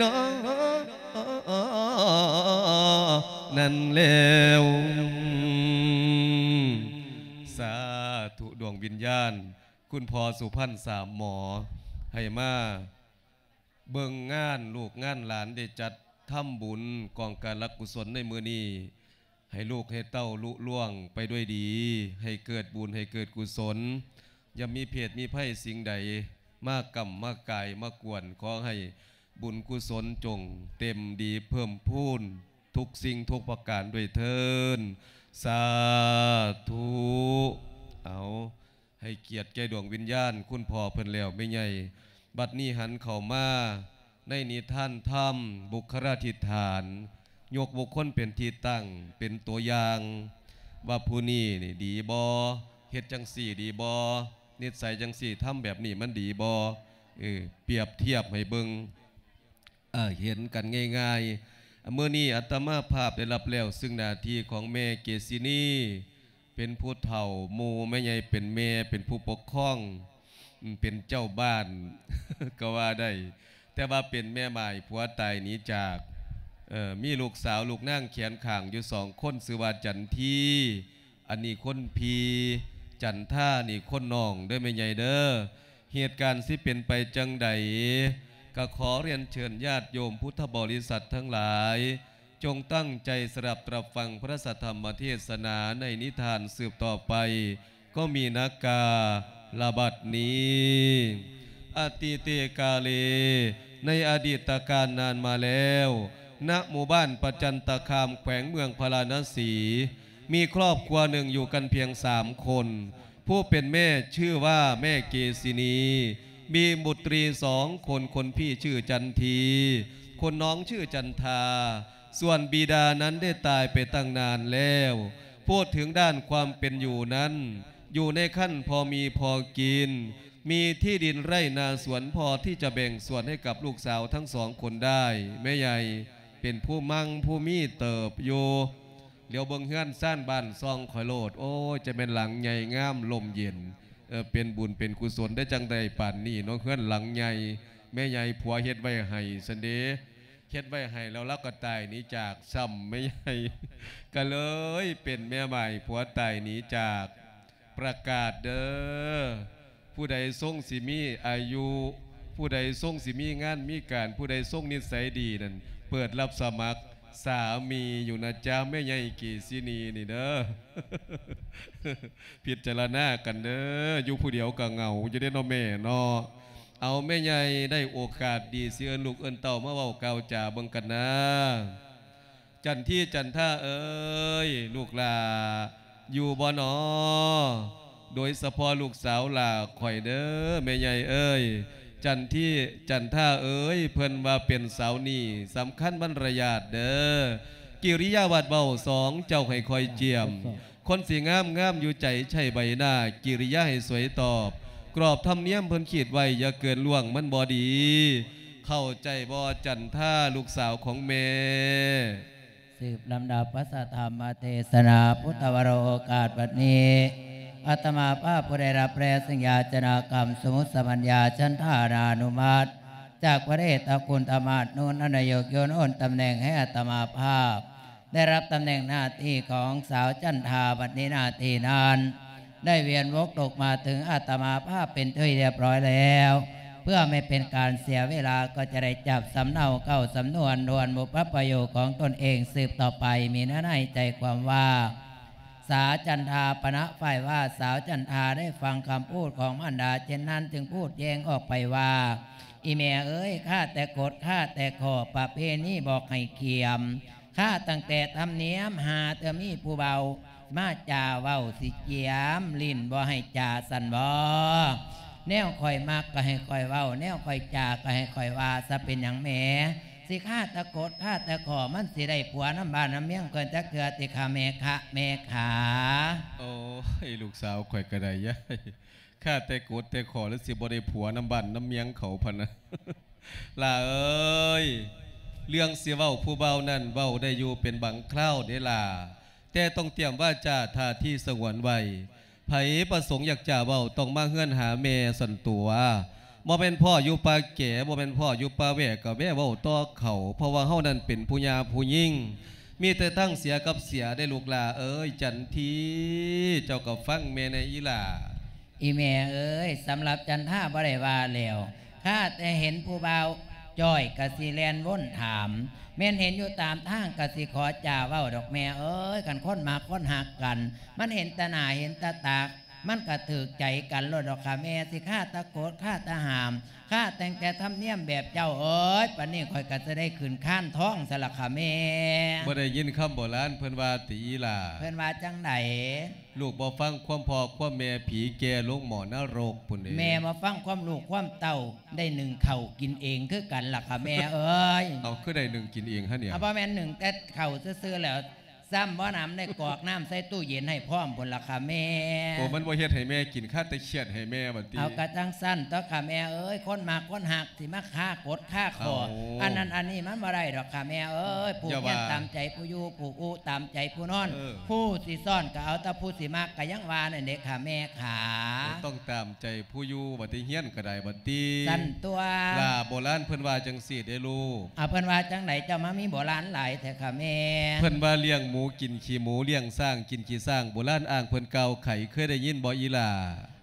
ນອ ນັ້ນແລ້ວ. ສາທຸ ດວງວິນຍານ ຄຸນພໍ່ສຸພັນສາມໝໍ ໃຫ້ມາເບິ່ງງານ ລູກງານຫຼານໄດ້ຈັດທຳບຸນກອງກາລະກຸສົນໃນມື້ນີ້ ໃຫ້ລູກໃຫ້ເຕົ້າລຸລ່ວງໄປດ້ວຍດີ ໃຫ້ເກີດບຸນ ໃຫ້ເກີດກຸສົນ ຢ່າມີເພດມີໄພສິ່ງໃດມາກຳມາກາຍມາກວນ. ຂໍໃຫ້ບຸນກຸສົນຈົ່ງເຕັມດີເພີ່ມພູນທຸກສິ່ງທຸກປະການດ້ວຍເທີ້ນ ສາທຸ. ເອົາ ໃຫ້ກຽດແກ່ດວງວິນຍານຄຸນພໍ່ເພິ່ນແລ້ວແມ່ໃຫຍ່. ບັດນີ້ຫັນເຂົ້າມາໃນນິທານທຳ ບຸກຄະລາທິຖານ ຍົກບຸກຄົນເປັນທີ່ຕັ້ງ ເປັນຕົວຢ່າງ ວ່າຜູ້ນີ້ນີ້ດີບໍ່ ເຮັດຈັ່ງຊີ້ດີບໍ່ ນິດໄສຈັ່ງຊີ້ ທຳແບບນີ້ມັນດີບໍ່ ເອີ ປຽບທຽບໃຫ້ເບິ່ງ ເອີ ເຫັນກັນງ່າຍໆ. ມື້ນີ້ອາດຕະມາພາບໄດ້ຮັບແລ້ວເຊິ່ງໜ້າທີ່ຂອງແມ່ເກສິນີ ເປັນຜູ້ເຖົ້າໝູ່ ແມ່ໃຫຍ່ເປັນແມ່ ເປັນຜູ້ປົກຄອງ ເປັນເຈົ້າບ້ານ ກໍວ່າໄດ້ ແຕ່ວ່າເປັນແມ່ໝ້າຍຜົວຕາຍໜີຈາກ ເອີ ມີລູກສາວລູກນາງແຂນຂ້າງຢູ່ສອງຄົນ ຊື່ວ່າຈັນທີ ອັນນີ້ຄົນພີ່ ຈັນທານີ້ຄົນນ້ອງເດີແມ່ໃຫຍ່ເດີ. ເຫດການຊິເປັນໄປຈັ່ງໃດ ກໍຂໍຮຽນເຊີນຍາດໂຍມພຸດທະບໍລິສັດທັງຫຼາຍ ຈົ່ງຕັ້ງໃຈສະດັບຮັບຟັງພະທຳມະເທດສະໜາໃນນິທານສືບຕໍ່ໄປ. ກໍມີນາກາລະບັດນີ້ ອະຕິເຕກາເລ ໃນອະດີດຕະການນານມາແລ້ວ ນະໝູ່ບ້ານປະຈັນຕະຄາມ ແຂວງເມືອງພາລານະສີ ມີຄອບຄົວໜຶ່ງຢູ່ກັນພຽງສາມຄົນ. ຜູ້ເປັນແມ່ຊື່ວ່າແມ່ເກສິນີ ມີບຸດຕຣີສອງຄົນ, ຄົນພີ່ຊື່ຈັນທີ, ຄົນນ້ອງຊື່ຈັນທາ. ສ່ວນບິດານັ້ນໄດ້ຕາຍໄປຕັ້ງນານແລ້ວ. ພູດເຖິງດ້ານຄວາມເປັນຢູ່ນັ້ນ, ຢູ່ໃນຂັ້ນພໍມີພໍກິນ, ມີທີ່ດິນໄຮ່ນາສວນພໍທີ່ຈະແບ່ງສ່ວນໃຫ້ກັບລູກສາວທັງສອງຄົນໄດ້. ແມ່ໃຫຍ່ເປັນຜູ້ມັ່ງຜູ້ມີເຕີບຢູ່. ຫຼຽວເບິ່ງເຮືອນຊານບ້ານຊ່ອງຂ້ອຍໂລດ, ໂອ້ຍ ຈະແມ່ນຫຼັງໃຫຍ່ງາມລົມເຢັນ. ເອີ ເປັນບຸນເປັນກຸສົນໄດ້ຈັ່ງໃດປານນີ້ເນາະ, ເຮືອນຫຼັງໃຫຍ່. ແມ່ໃຫຍ່ຜົວເຮັດໄວ້ໃຫ້ຊັ້ນເດ, ເຮັດໄວ້ໃຫ້ແລ້ວລາວກໍຕາຍໜີຈາກຊ້ຳ. ແມ່ໃຫຍ່ກໍເລີຍເປັນແມ່ໝ້າຍຜົວຕາຍໜີຈາກ. ປະກາດເດີ, ຜູ້ໃດຊົງຊິມີອາຍຸ, ຜູ້ໃດຊົງຊິມີງານມີການ, ຜູ້ໃດຊົງນິດໄສດີນັ້ນ ເປີດຮັບສະໝັກສາມີຢູ່ນະຈ໊ະ ແມ່ໃຫຍ່ເກສິນີນີ້ເດີ. ພິຈາລະນາກັນເດີ, ຢູ່ຜູ້ດຽວກໍເຫງົາຢູ່ເດ້ເນາະແມ່ເນາະ. ເອົາ ແມ່ໃຫຍ່ໄດ້ໂອກາດດີ ຊິເອີ້ນລູກເອີ້ນເຕົ້າມາເວົ້າກ່າວຈາເບິ່ງກັນນາ. ຈັນທີ ຈັນທາເອີຍ ລູກຫຼ້າຢູ່ບໍ່ນໍ? ໂດຍສະເພາະລູກສາວຫຼ້າຂ້ອຍເດີ ແມ່ໃຫຍ່ເອີຍ. ຈັນທີ ຈັນທາເອີຍ ເພິ່ນວ່າເປັນສາວໜີ້ສຳຄັນບັນລະຍາດເດີ. ເ ກິລິຍາວາດເວົ້າສອງ ເຈົ້າໃຫ້ຄອຍຈຽມ. ຄົນຊິງາມ ງາມຢູ່ໃຈໃຊ້ໃບໜ້າ ກິລິຍາໃຫ້ສວຍຕອບ ກອບທຳນຽມເພິ່ນຄິດໄວ້ ຢ່າເກີນລ່ວງມັນບໍ່ດີ. ເຂົ້າໃຈບໍ່ ຈັນທາ ລູກສາວຂອງແມ່? ສືບລຳດັບພະສະທຳມະເທສະນາ ພຸດທະວະໂລ ໂອກາດບັດນີ້ ອາດຕະມາພາບຜູ້ໄດ້ຮັບແລເຊິ່ງຢາຈະນາກຳ ສົມມຸດສະບັນຍາ ສັນທານານຸມັດ ຈາກພະເດຊຕະຄຸນທຳມະນຸນ ອັນນາຍົກໂຍນໂອນຕຳແໜ່ງໃຫ້ອາດຕະມາພາບ ໄດ້ຮັບຕຳແໜ່ງໜ້າທີ່ຂອງສາວຈັນທາ ບັດນີ້ໜ້າທີ່ນັ້ນ ໄດ້ວຽນວົກຕົກມາເຖິງອາດຕະມາພາບເປັນທີ່ຮຽບຮ້ອຍແລ້ວ. ເພື່ອໄມ່ເປັນການເສຍເວລາ ກໍຈະໄດ້ຈັບສຳເນົາເກົ້າສຳນວນທວນບຸບພະປະໂຫຍກຂອງຕົນເອງສືບຕໍ່ໄປ. ມີເນື້ອໃນໃຈຄວາມວ່າ ສາວຈັນທາປະນະຝ່າຍວ່າ ສາວຈັນທາໄດ້ຟັງຄຳພູດຂອງມານດາເຊັ່ນນັ້ນ ຈຶ່ງພູດແຍ້ງອອກໄປວ່າ ອີ່ແມ່ເອີຍ ຂ້າແຕ່ກົດ ຂ້າແຕ່ຂໍ້ ປະເພນີບອກໃຫ້ຂຽມ ຂ້າຕັ້ງແຕ່ທຳນຽມ ຫາເທື່ອມີຜູ້ເວົ້າ ມາຈາເວົ້າຊິຈຽມ ຫຼິ້ນບໍ່ໃຫ້ຈາຊັ້ນບໍ? ແນວຂ້ອຍມັກກໍໃຫ້ຂ້ອຍເວົ້າ ແນວຂ້ອຍຈາກໍໃຫ້ຂ້ອຍວ່າ ຊະເປັນຫຍັງແມ່ ຊິຄາແຕ່ກົດຄາແຕ່ຂໍ້ ມັນຊິໄດ້ຜົວນຳບ້ານນຳເມືອງເພິ່ນຈັກເທື່ອຕິຄະແມ່ຄະ ແມ່ຂາ? ໂອ້ຍ ລູກສາວຂ້ອຍກໍໄດ້ຍາຍ ຄາແຕ່ກົດແຕ່ຂໍ້ ຫຼືຊິບໍ່ໄດ້ຜົວນຳບ້ານນຳເມືອງເຂົາພະນະ. ຫຼ້າເອີຍ ເລື່ອງຊິເວົ້າຜູ້ບ່າວນັ້ນ ເວົ້າໄດ້ຢູ່ເປັນບາງຄລາວເດ້ຫຼ້າ ແຕ່ຕ້ອງຕຽມວາຈາທ່າທີສະຫງວນໄວ້. ໃຜປະສົງຢາກຈະເວົ້າ ຕ້ອງມາເຮືອນຫາແມ່ຊັ້ນຕົວະ. ບໍ່ແມ່ນພໍ້ຢູ່ປ່າແກ ບໍ່ແມ່ນພໍ້ຢູ່ປ່າແຫວະ ກໍແວະເວົ້າຕໍ່ເຂົາ ເພາະວ່າເຮົານັ້ນເປັນຜູ້ຍ່າຜູ້ຍິງ ມີແຕ່ທາງເສຍກັບເສຍເດ້ລູກຫຼ້າເອີຍ. ຈັນທີ ເຈົ້າກໍຟັງແມ່ແດ່ອີຫຼ້າ. ອີແມ່ເອີຍ ສຳລັບຈັນທາບໍ່ໄດ້ວ່າແລ້ວ ຂ້າແຕ່ເຫັນຜູ້ບ່າວຈ້ອຍກະຊິແລ່ນວົນຖາມ ແມ່ນເຫັນຢູ່ຕາມທາງກະຊິຂໍຈາເວົ້າດອກແມ່ເອີຍ. ຄັນຄົນມັກຄົນຮັກກັນ ມັນເຫັນແຕ່ໜ້າເຫັນແຕ່ຕາ ມັນກະຖືກໃຈກັນໂລດດອກຄ່າແມ່ ຊິຄາແຕ່ກົດຄາແຕ່ຫ້າມ ຄາຕັ້ງແຕ່ທຳນຽມແບບເຈົ້າເອີຍ ປານນີ້ຂ້ອຍກະຊິໄດ້ຂຶ້ນຄານທອງຊະລະຄ່າແມ່. ບໍ່ໄດ້ຍິນຄຳໂບລານເພິ່ນວ່າຕິອີຫຼ້າ? ເພິ່ນວ່າຈັ່ງໃດ? ລູກບໍ່ຟັງຄວາມພໍ່ຄວາມແມ່ ຜີແກ່ລົງໝໍ້ນະລົກພຸ້ນເດ້. ແມ່ບໍ່ຟັງຄວາມລູກຄວາມເຕົ້າ ໄດ້ໜຶ້ງເຂົ້າກິນເອງຄືກັນລະຄ່າແມ່ເອີຍ. ເອົາ ຄືໄດ້ໜຶ້ງກິນເອງຫັ້ນເດ? ເອົາ ບໍ່ແມ່ນໜຶ້ງແຕ່ເຂົ້າຊື່ໆແລ້ວ ຊ້ຳບໍ່ໜຳໄດ້ກອກນ້ຳໃສ່ຕູ້ເຢັນໃຫ້ພ້ອມພຸ້ນລະຄ່າແມ່. ໂອ້ ມັນບໍ່ເຮັດໃຫ້ແມ່ກິນ ຄາແຕ່ຄຽດໃຫ້ແມ່ບັດນີ້. ເອົາ ກະຈັ່ງຊັ້ນຕົວະຄ່າແມ່ເອີຍ ຄົນມັກຄົນຮັກ ຊິມາຄາກົດຄາຂໍ້ ເອົາ ອັນນັ້ນອັນນີ້ມັນບໍ່ໄດ້ດອກຄ່າແມ່ເອີຍ. ຜູ້ຮຽນຕາມໃຈຜູ້ຢູ່ ຜູ້ອຸຕາມໃຈຜູ້ນອນ ເອີ ຜູ້ຊິຊ້ອນກໍເອົາແຕ່ຜູ້ຊິມັກ ກໍຍັງວ່ານັ້ນເດ້ຄ່າແມ່ຂາ. ໂອ້ ຕ້ອງຕາມໃຈຜູ້ຢູ່ບັດນີ້ ຮຽນກໍໄດ້ບັດນີ້. ຊັ້ນຕົວະ ຫຼ້າ ໂບລານເພິ່ນວ່າຈັ່ງຊີ້ເດ້ລູກ. ເອົາ ເພິ່ນວ່າຈັ່ງໃດ ເຈົ້າມາມີໂບລານຫຼາຍແທ້ຄ່າແມ່? ເພິ່ນວ່າລ້ຽງໝູກິນຂີ້ໝູ ລ້ຽງຊ້າງກິນຂີ້ຊ້າງ ໂບລານອ້າງເພິ່ນກ່າວໄຂ ເຄີຍໄດ້ຍິນບໍ່ອີຫຼ້າ?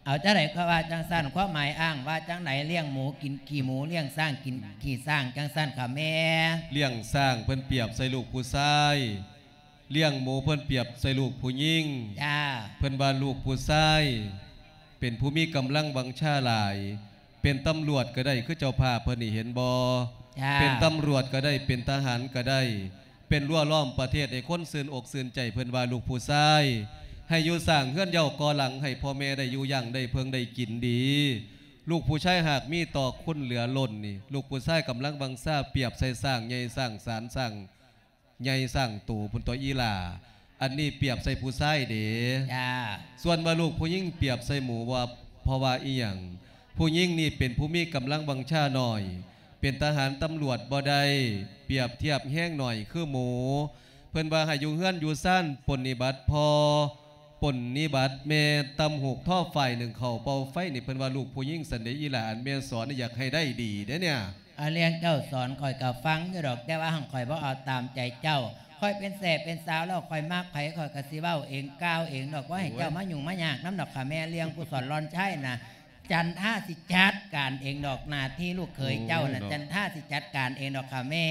ເອົາ ຈັ່ງໃດກໍວ່າຈັ່ງຊັ້ນ ຄວາມໝາຍອ້າງວ່າຈັ່ງໃດ? ລ້ຽງໝູກິນຂີ້ໝູ ລ້ຽງຊ້າງກິນຂີ້ຊ້າງ ຈັ່ງຊັ້ນຄ່າແມ່. ລ້ຽງຊ້າງເພິ່ນປຽບໃສ່ລູກຜູ້ຊາຍ ລ້ຽງໝູເພິ່ນປຽບໃສ່ລູກຜູ້ຍິງ. ຈ້າ. ເພິ່ນວ່າລູກຜູ້ຊາຍເປັນຜູ້ມີກຳລັງວັງຊາຫຼາຍ ເປັນຕຳຫຼວດກໍໄດ້ ຄືເຈົ້າພາບເພິ່ນນີ້ເຫັນບໍ່? ຈ້າ. ເປັນຕຳຫຼວດກໍໄດ້ ເປັນທະຫານກໍໄດ້ ເປັນຮົ້ວລ້ອມປະເທດໃຫ້ຄົນຊື່ນອົກຊື່ນໃຈ. ເພິ່ນວ່າລູກຜູ້ຊາຍໃຫ້ຢູ່ສ້າງເຮືອນເຍົາກໍ່ຫຼັງ ໃຫ້ພໍ່ແມ່ໄດ້ຢູ່ຢ່າງໄດ້ເພິ່ງໄດ້ກິນດີ. ລູກຜູ້ຊາຍຫາກມີຕໍ່ຄຸນເຫຼືອລົ້ນນີ້ ລູກຜູ້ຊາຍກຳລັງວັງຊາ ປຽບໃສ່ຊ້າງໃຫຍ່ຊ້າງສານ ຊ້າງໃຫຍ່ຊ້າງໂຕພຸ້ນຕົວະອີຫຼ້າ. ອັນນີ້ປຽບໃສ່ຜູ້ຊາຍເດ້. ຈ້າ. ສ່ວນວ່າລູກຜູ້ຍິງປຽບໃສ່ໝູວ່າ ເພາະວ່າອີ່ຫຍັງ? ຜູ້ຍິງນີ້ເປັນຜູ້ມີກຳລັງວັງຊາໜ້ອຍ ເປັນທະຫານຕຳຫຼວດບໍ່ໄດ້ ປຽບທຽບແຮງໜ້ອຍຄືໝູ. ເພິ່ນວ່າໃຫ້ຢູ່ເຮືອນຢູ່ຊານ ປົນນິບັດພໍ່ ປົນນິບັດແມ່ ຕຳຫູກທໍຝ້າຍ ໜຶ້ງເຂົ້າເປົ່າໄຟນີ້ ເພິ່ນວ່າລູກຜູ້ຍິງຊັ້ນເດ້ອີຫຼ້າ. ອັນແມ່ສອນນີ້ຢາກໃຫ້ໄດ້ດີເດ້ເນຍ. ອາ ເລື່ອງເຈົ້າສອນຂ້ອຍກໍຟັງຢູ່ດອກ ແຕ່ວ່າຫັ້ນຂ້ອຍບໍ່ເອົາຕາມໃຈເຈົ້າ. ຂ້ອຍເປັນແສ້ເປັນສາວແລ້ວ ຂ້ອຍມັກໃຜຂ້ອຍກໍຊິເວົ້າເອງກ່າວເອງດອກ ບໍ່ໃຫ້ເຈົ້າມາຫຍຸ້ງມາຍາກນຳດອກຄ່າແມ່. ເລື່ອງຜູ້ສອນຫຼອນຊາຍນະ ຈັນທາຊິຈັດການເອງດອກ ໜ້າທີ່ລູກເຂີຍເຈົ້ານະ ໂອ້ຍເນາະ ຈັນທາຊິຈັດການເອງດອກຄ່າແມ່.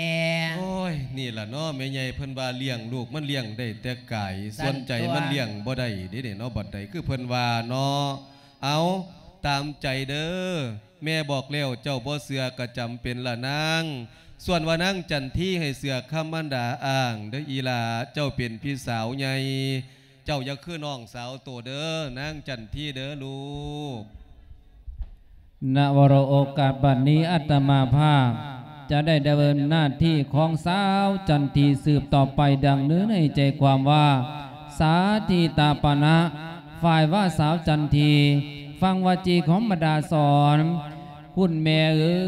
ໂອ້ຍ ນີ້ລະເນາະ ແມ່ໃຫຍ່ເພິ່ນວ່າລ້ຽງລູກມັນລ້ຽງໄດ້ແຕ່ກາຍ ສ່ວນໃຈມັນລ້ຽງບໍ່ໄດ້ເດ້ເນາະ ບັດໃດຄືເພິ່ນວ່າເນາະ. ເອົາ ຕາມໃຈເດີ ແມ່ບອກແລ້ວເຈົ້າບໍ່ເຊື່ອກໍຈຳເປັນລະນາງ. ສ່ວນວ່ານາງຈັນທີໃຫ້ເຊື່ອຄຳມານດາອ້າງເດີອີຫຼ້າ ເຈົ້າເປັນພີ່ສາວໃຫຍ່ ເຈົ້າຢ່າຄືນ້ອງສາວໂຕເດີ ນາງຈັນທີເດີລູກ. ນະວະໂລ ໂອກາດບັດນີ້ອາດຕະມາພາບ ຈະໄດ້ດຳເນີນໜ້າທີ່ຂອງສາວຈັນທີສືບຕໍ່ໄປ ດັ່ງເນື້ອໃນໃຈຄວາມວ່າ ສາທິຕາປະນະ ຝ່າຍວ່າສາວຈັນທີ ຟັງວາຈີຂອງບັນດາສອນ ຄຸນແມ່ເອີ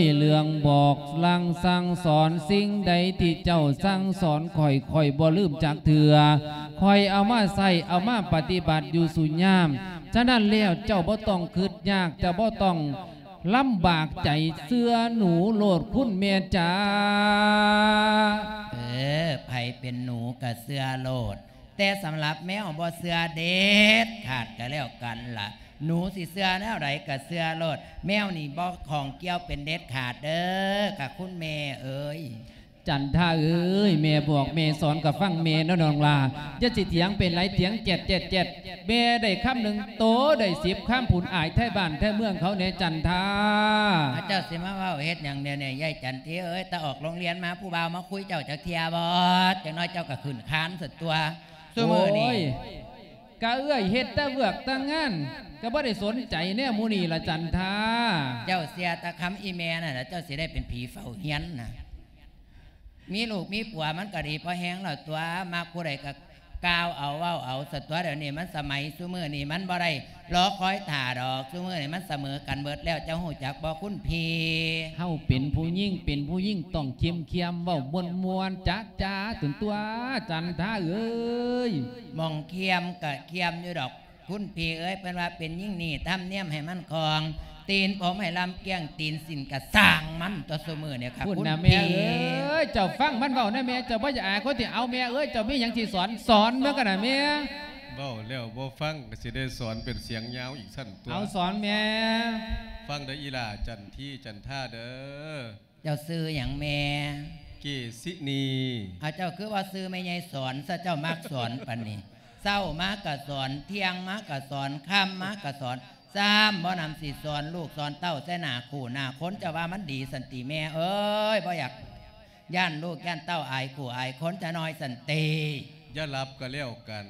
ຍ ເລື່ອງບອກລາງສັ່ງສອນ ສິ່ງໃດທີ່ເຈົ້າສັ່ງສອນຂ້ອຍ ຂ້ອຍບໍ່ລືມຈັກເທື່ອ ຂ້ອຍເອົາມາໃຊ້ ເອົາມາປະຕິບັດຢູ່ສູ່ຍາມ. ສະນັ້ນແລ້ວເຈົ້າບໍ່ຕ້ອງຄຶດຍາກ ເຈົ້າບໍ່ຕ້ອງລຳບາກໃຈ ເຊື່ອໜູໂລດຄຸນແມ່ຈ໋າ. ເອີ ໃຜເປັນໜູກໍເຊື່ອໂລດ ແຕ່ສຳລັບແມວບໍ່ເຊື່ອເດັດຂາດກໍແລ້ວກັນລະ. ໜູຊິເຊື່ອແນວໃດກໍເຊື່ອໂລດ ແມວນີ້ບໍ່ຂ້ອງກ່ຽວເປັນເດັດຂາດເດີ້ ກະຄຸນແມ່ເອີຍ. ຈັນທາເອີຍ ແມ່ບອກແມ່ສອນກໍຟັງແມ່ເນາະນ້ອງຫຼ້າ ຢ່າຊິຖຽງເປັນໄຫຼ ຖຽງແຈດໆໆ ແມ່ໄດ້ຄຳໜຶ່ງ ໂຕໄດ້ສິບຄຳ ພຸ້ນອາຍໄທບ້ານໄທເມືອງເຂົາແດ່ ຈັນທາ. ເຈົ້າຊິມາເວົ້າເຮັດຫຍັງແນວນີ້ ຍາຍຈັນທີເອີຍ? ແຕ່ອອກໂຮງຮຽນມາ ຜູ້ບ່າວມາຄຸຍເຈົ້າຈັກເທື່ອບໍ່? ຈັກໜ້ອຍເຈົ້າກໍຂຶ້ນຄານຊັ້ນຕົວະ ຊຸມື້ນີ້. ໂອ້ຍ ກະເອື້ອຍເຮັດແຕ່ວຽກແຕ່ງານ ກະບໍ່ໄດ້ສົນໃຈແນວໝູ່ນີ້ລະ ຈັນທາ. ເຈົ້າເຊື່ອແຕ່ຄຳອີ່ແມ່ນັ້ນລະ ເຈົ້າຊິໄດ້ເປັນຜີເຝົ້າຮຽນນະ. ມີລູກມີຜົວມັນກໍດີພໍແຮງແລ້ວຕົວະ ມັກຜູ້ໃດກໍກ່າວເອົາເວົ້າເອົາຊັ້ນຕົວະ. ດຽວນີ້ມັນສະໄໝ ຊຸມື້ນີ້ມັນບໍ່ໄດ້ລໍຄອຍຖ້າດອກ ຊຸມື້ນີ້ມັນສະເໝີກັນເບິດແລ້ວ ເຈົ້າຮູ້ຈັກບໍ່ຄຸນພີ່? ເຮົາເປັນຜູ້ຍິງ ເປັນຜູ້ຍິງຕ້ອງເຂັ້ມຂຽມ ເວົ້າມ່ວນໆ ຈາໆ ຕົນຕົວະ ຈັນທາເອີຍ. ໝ່ອງເຂັ້ມກໍເຂັ້ມຢູ່ດອກ ຄຸນພີ່ເອີຍ ເພິ່ນວ່າເປັນຍິງນີ້ທຳນຽມໃຫ້ມັນຄ່ອງ ຕີນຜົມໃຫ້ລຳກ້ຽງ ຕີນສິ້ນກະຊ່າງມັນຕົວະ ຊຸມື້ນີ້ຄັບ ຄຸນນະແມ່ເອີຍ. ເຈົ້າຟັງມັນເວົ້ານະແມ່ ເຈົ້າບໍ່ຢາກອາຍຄົນທີ່ ເອົາແມ່ເອີຍ ເຈົ້າມີຫຍັງຊິສອນ ສອນເບິ່ງກັນນະແມ່. ເວົ້າແລ້ວບໍ່ຟັງ ກໍຊິໄດ້ສອນເປັນສຽງຍາວອີກຊັ້ນຕົວະ. ເອົາສອນແມ່. ຟັງເດີ້ອີ່ຫຼ້າ ຈັນທີ ຈັນທາເດີ້. ເຈົ້າຊື່ຫຍັງແມ່? ເກສິນີ. ເອົາ ເຈົ້າຄືວ່າຊື່ແມ່ໃຫຍ່ສອນຊະ ເຈົ້າມັກສອນປານນີ້. ເຊົ້າມາກະສອນ ທ່ຽງມາກະສອນ ຄ່ຳມາກະສອນ ຊ້ຳບໍ່ນຳຊິສອນລູກສອນເຕົ້າໃສ່ໜ້າຄູ່ໜ້າຄົນ ເຈົ້າວ່າມັນດີຊັ້ນຕິແມ່ເອີຍ? ບໍ່ຢາກຢ້ານລູກຢ້ານເຕົ້າອາຍຄູ່ອາຍຄົນຈະໜ້ອຍຊັ້ນຕິ? ຢ່າຫຼັບກໍແລ້ວກັນ.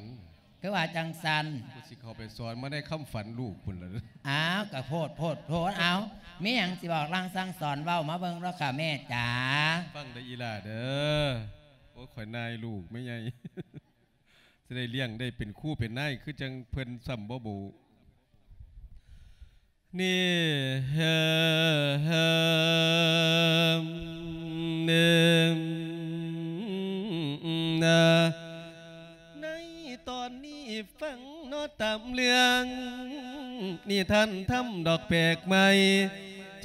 ຄືວ່າຈັ່ງຊັ້ນ? ກູຊິເຂົ້າໄປສອນມາໃນຄຳຝັນລູກພຸ້ນລະ. ອ້າວ ກະໂພດ ໂພດ ໂພດ. ເອົາ ມີຫຍັງຊິບອກລາງສັ່ງສອນ ເວົ້າມາເບິ່ງເດີ້ຄ່ະແມ່ຈ໋າ. ຟັງເດີ້ອີ່ຫຼ້າເດີ້. ໂອ້ຍ ຂ້ອຍນາຍລູກແມ່ໃຫຍ່ ຊິໄດ້ລ້ຽງໄດ້ເປັນຄູເປັນນາຍ ຄືຈັ່ງເພິ່ນຊ້ຳບໍ່ບູ. ນີ້ ເຮີ ເຮີ ເອີ ນາ ໃນຕອນນີ້ຟັງເນາະຕາມເລື່ອງ ນິທານທຳດອກແປກໃໝ່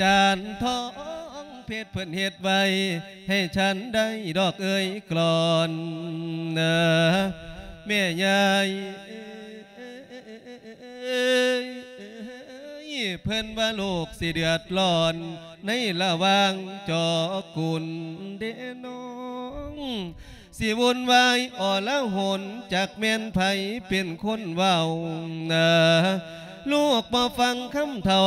ຈານທອງເພັດເພິ່ນເຮັດໄວ້ ໃຫ້ສັນໄດ້ດອກເອີຍກລອນ ເອີ ແມ່ຍາຍ ເອີ ເອີຍ ເພິ່ນວ່າໂລກຊິເດືອດຮ້ອນ ໃນລະຫວ່າງເຈົ້າກຸນເດນ້ອງ ຊິວຸ່ນວາຍອໍລະຫົນ ຈັກແມ່ນໃຜເປັນຄົນເວົ້າ ນາ ລູກບໍ່ຟັງຄຳເຖົ້າ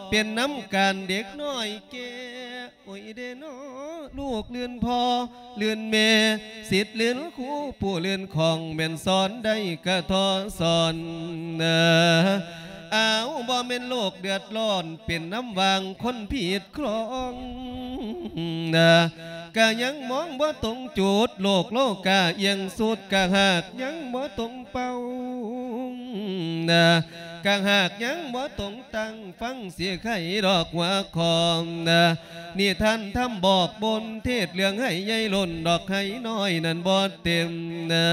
ເປັນນຳການເດັກນ້ອຍແກ່ ໂອ້ຍເດເນາະ ລູກລື່ນພໍ່ ລື່ນແມ່ ສິດລື່ນຄູ ຜູ້ລື່ນຂອງ ແມ່ນສອນໄດ້ກະທໍ່ສອນ ເອີ ອ້າວ ບໍ່ແມ່ນໂລກເດືອດຮ້ອນ ເປັນນຳຫວ່າງຄົນຜິດຄອງ ນາ ກະຍັງມອງບໍ່ຕົງຈຸດ ໂລກໂລກາອຽງສຸດ ກະຫາກຍັງບໍ່ຕົງເປົ້າ ນາ ກະຫາກຍັງບໍ່ຕົງຕັ້ງ ຟັງຊິໄຄດອກຫົວຂໍ້ ນາ ນິທານທຳບອກບົນ ເທດເລື່ອງໄຫໃຫຍ່ລົ້ນ ດອກໄຫນ້ອຍນັ້ນບໍ່ເຕັມ ນາ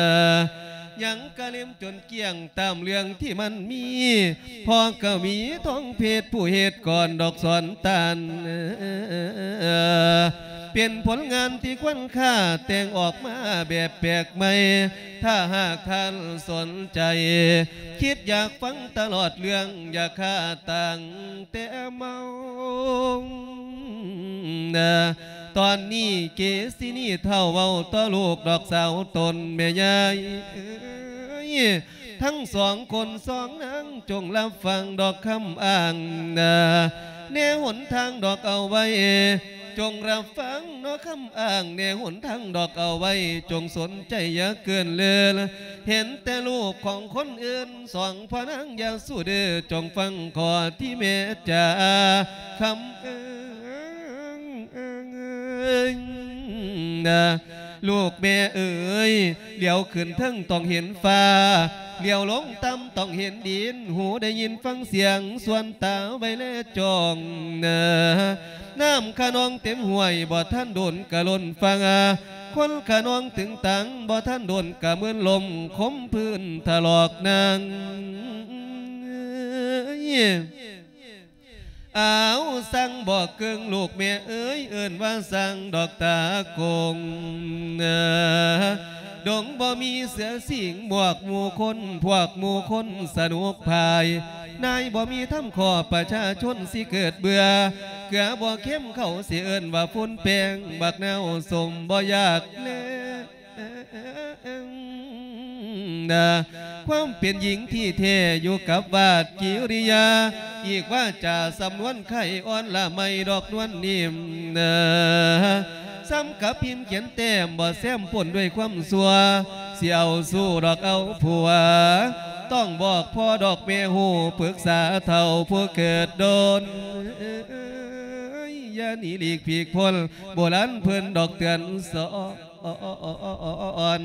ຍັງກະເລັມຈົນກ້ຽງ ຕາມເລື່ອງທີ່ມັນມີ ພໍ່ກະວີທອງເພັດ ຜູ້ເຮັດກອນດອກສອນຕານ ເປັນຜົນງານທີ່ຄວນຄ່າ ແຕ່ງອອກມາແບບແປກໃໝ່ ຖ້າຫາກທ່ານສົນໃຈ ຄິດຢາກຟັງຕະຫຼອດເລື່ອງ ຢ່າຄາຕັ້ງແຕ່ເມົາ ນາ ຕອນນີ້ເກສິນີເຖົ້າເວົ້າຕໍ່ລູກດອກສາວຕົນແມ່ຍາຍເອີຍ ທັງສອງຄົນສອງນາງ ຈົ່ງຮັບຟັງດອກຄຳອ້າງນາ ແນຫົນທາງດອກເອົາໄວ້ ຈົ່ງຮັບຟັງເນາະຄຳອ້າງ ແນຫົນທາງດອກເອົາໄວ້ ຈົ່ງສົນໃຈຢ່າເກີນເລີນ ເຫັນແຕ່ລູກຂອງຄົນອື່ນ ສອງພໍ່ນາງຢ່າສູ້ເດີ ຈົ່ງຟັງຂໍ້ທີ່ແມ່ຈ໋າຄຳເອີ ເອີຍ ລູກແມ່ເອີຍ ຫຼຽວຂຶ້ນເທິງຕ້ອງເຫັນຟ້າ ຫຼຽວລົງຕ່ຳຕ້ອງເຫັນດິນ ຫູໄດ້ຍິນຟັງສຽງ ສ່ວນຕາໄວ້ແລຈ້ອງ ນ້ຳຂະນອງເຕັມຫ້ວຍ ບໍ່ທັນດົນກະລົ້ນຝັ່ງ ຄົນຂະນອງຕຶງຕັງ ບໍ່ທັນດົນກະເມີນລົມ ຄົມພື້ນຖະຫຼອກນາງ ອ້າວ ສັງບໍ່ເກິ່ງ ລູກແມ່ເອີຍ ເອີ້ນວ່າສັງດອກຕາກົງ ດົງບໍ່ມີເສືອສິງ ພວກໝູ່ຄົນ ພວກໝູ່ຄົນສະໜຸກພາຍ ນາຍບໍ່ມີທຳຂໍ້ ປະຊາຊົນຊິເກີດເບື່ອ ເກືອບໍ່ເຄັມ ເຂົາຊິເອີ້ນວ່າຝຸ່ນແປ້ງ ບັກນາວສົ້ມບໍ່ຢາກແລ ນາ ຄວາມເປັນຍິງທີ່ແທ້ຢູ່ກັບວາດກິລິຍາ ອີກວາຈາສຳນວນໄຂ່ອ່ອນລະໄມດອກນວນນິ້ມນາ ສ່ຳກັບພິມຂຽນແຕ້ມ ບໍ່ແຊມປົນດ້ວຍຄວາມຊົ່ວ ຊິເອົາຊູ້ດອກເອົາຜົວ ຕ້ອງບອກພໍ່ດອກແມ່ຮູ້ ປຶກສາເຖົ້າຜູ້ເກີດດົນ ຢ່າໜີຫຼີກຜີກພົ້ນ ໂບລານເພິ່ນດອກເຕືອນສອນ ອອນ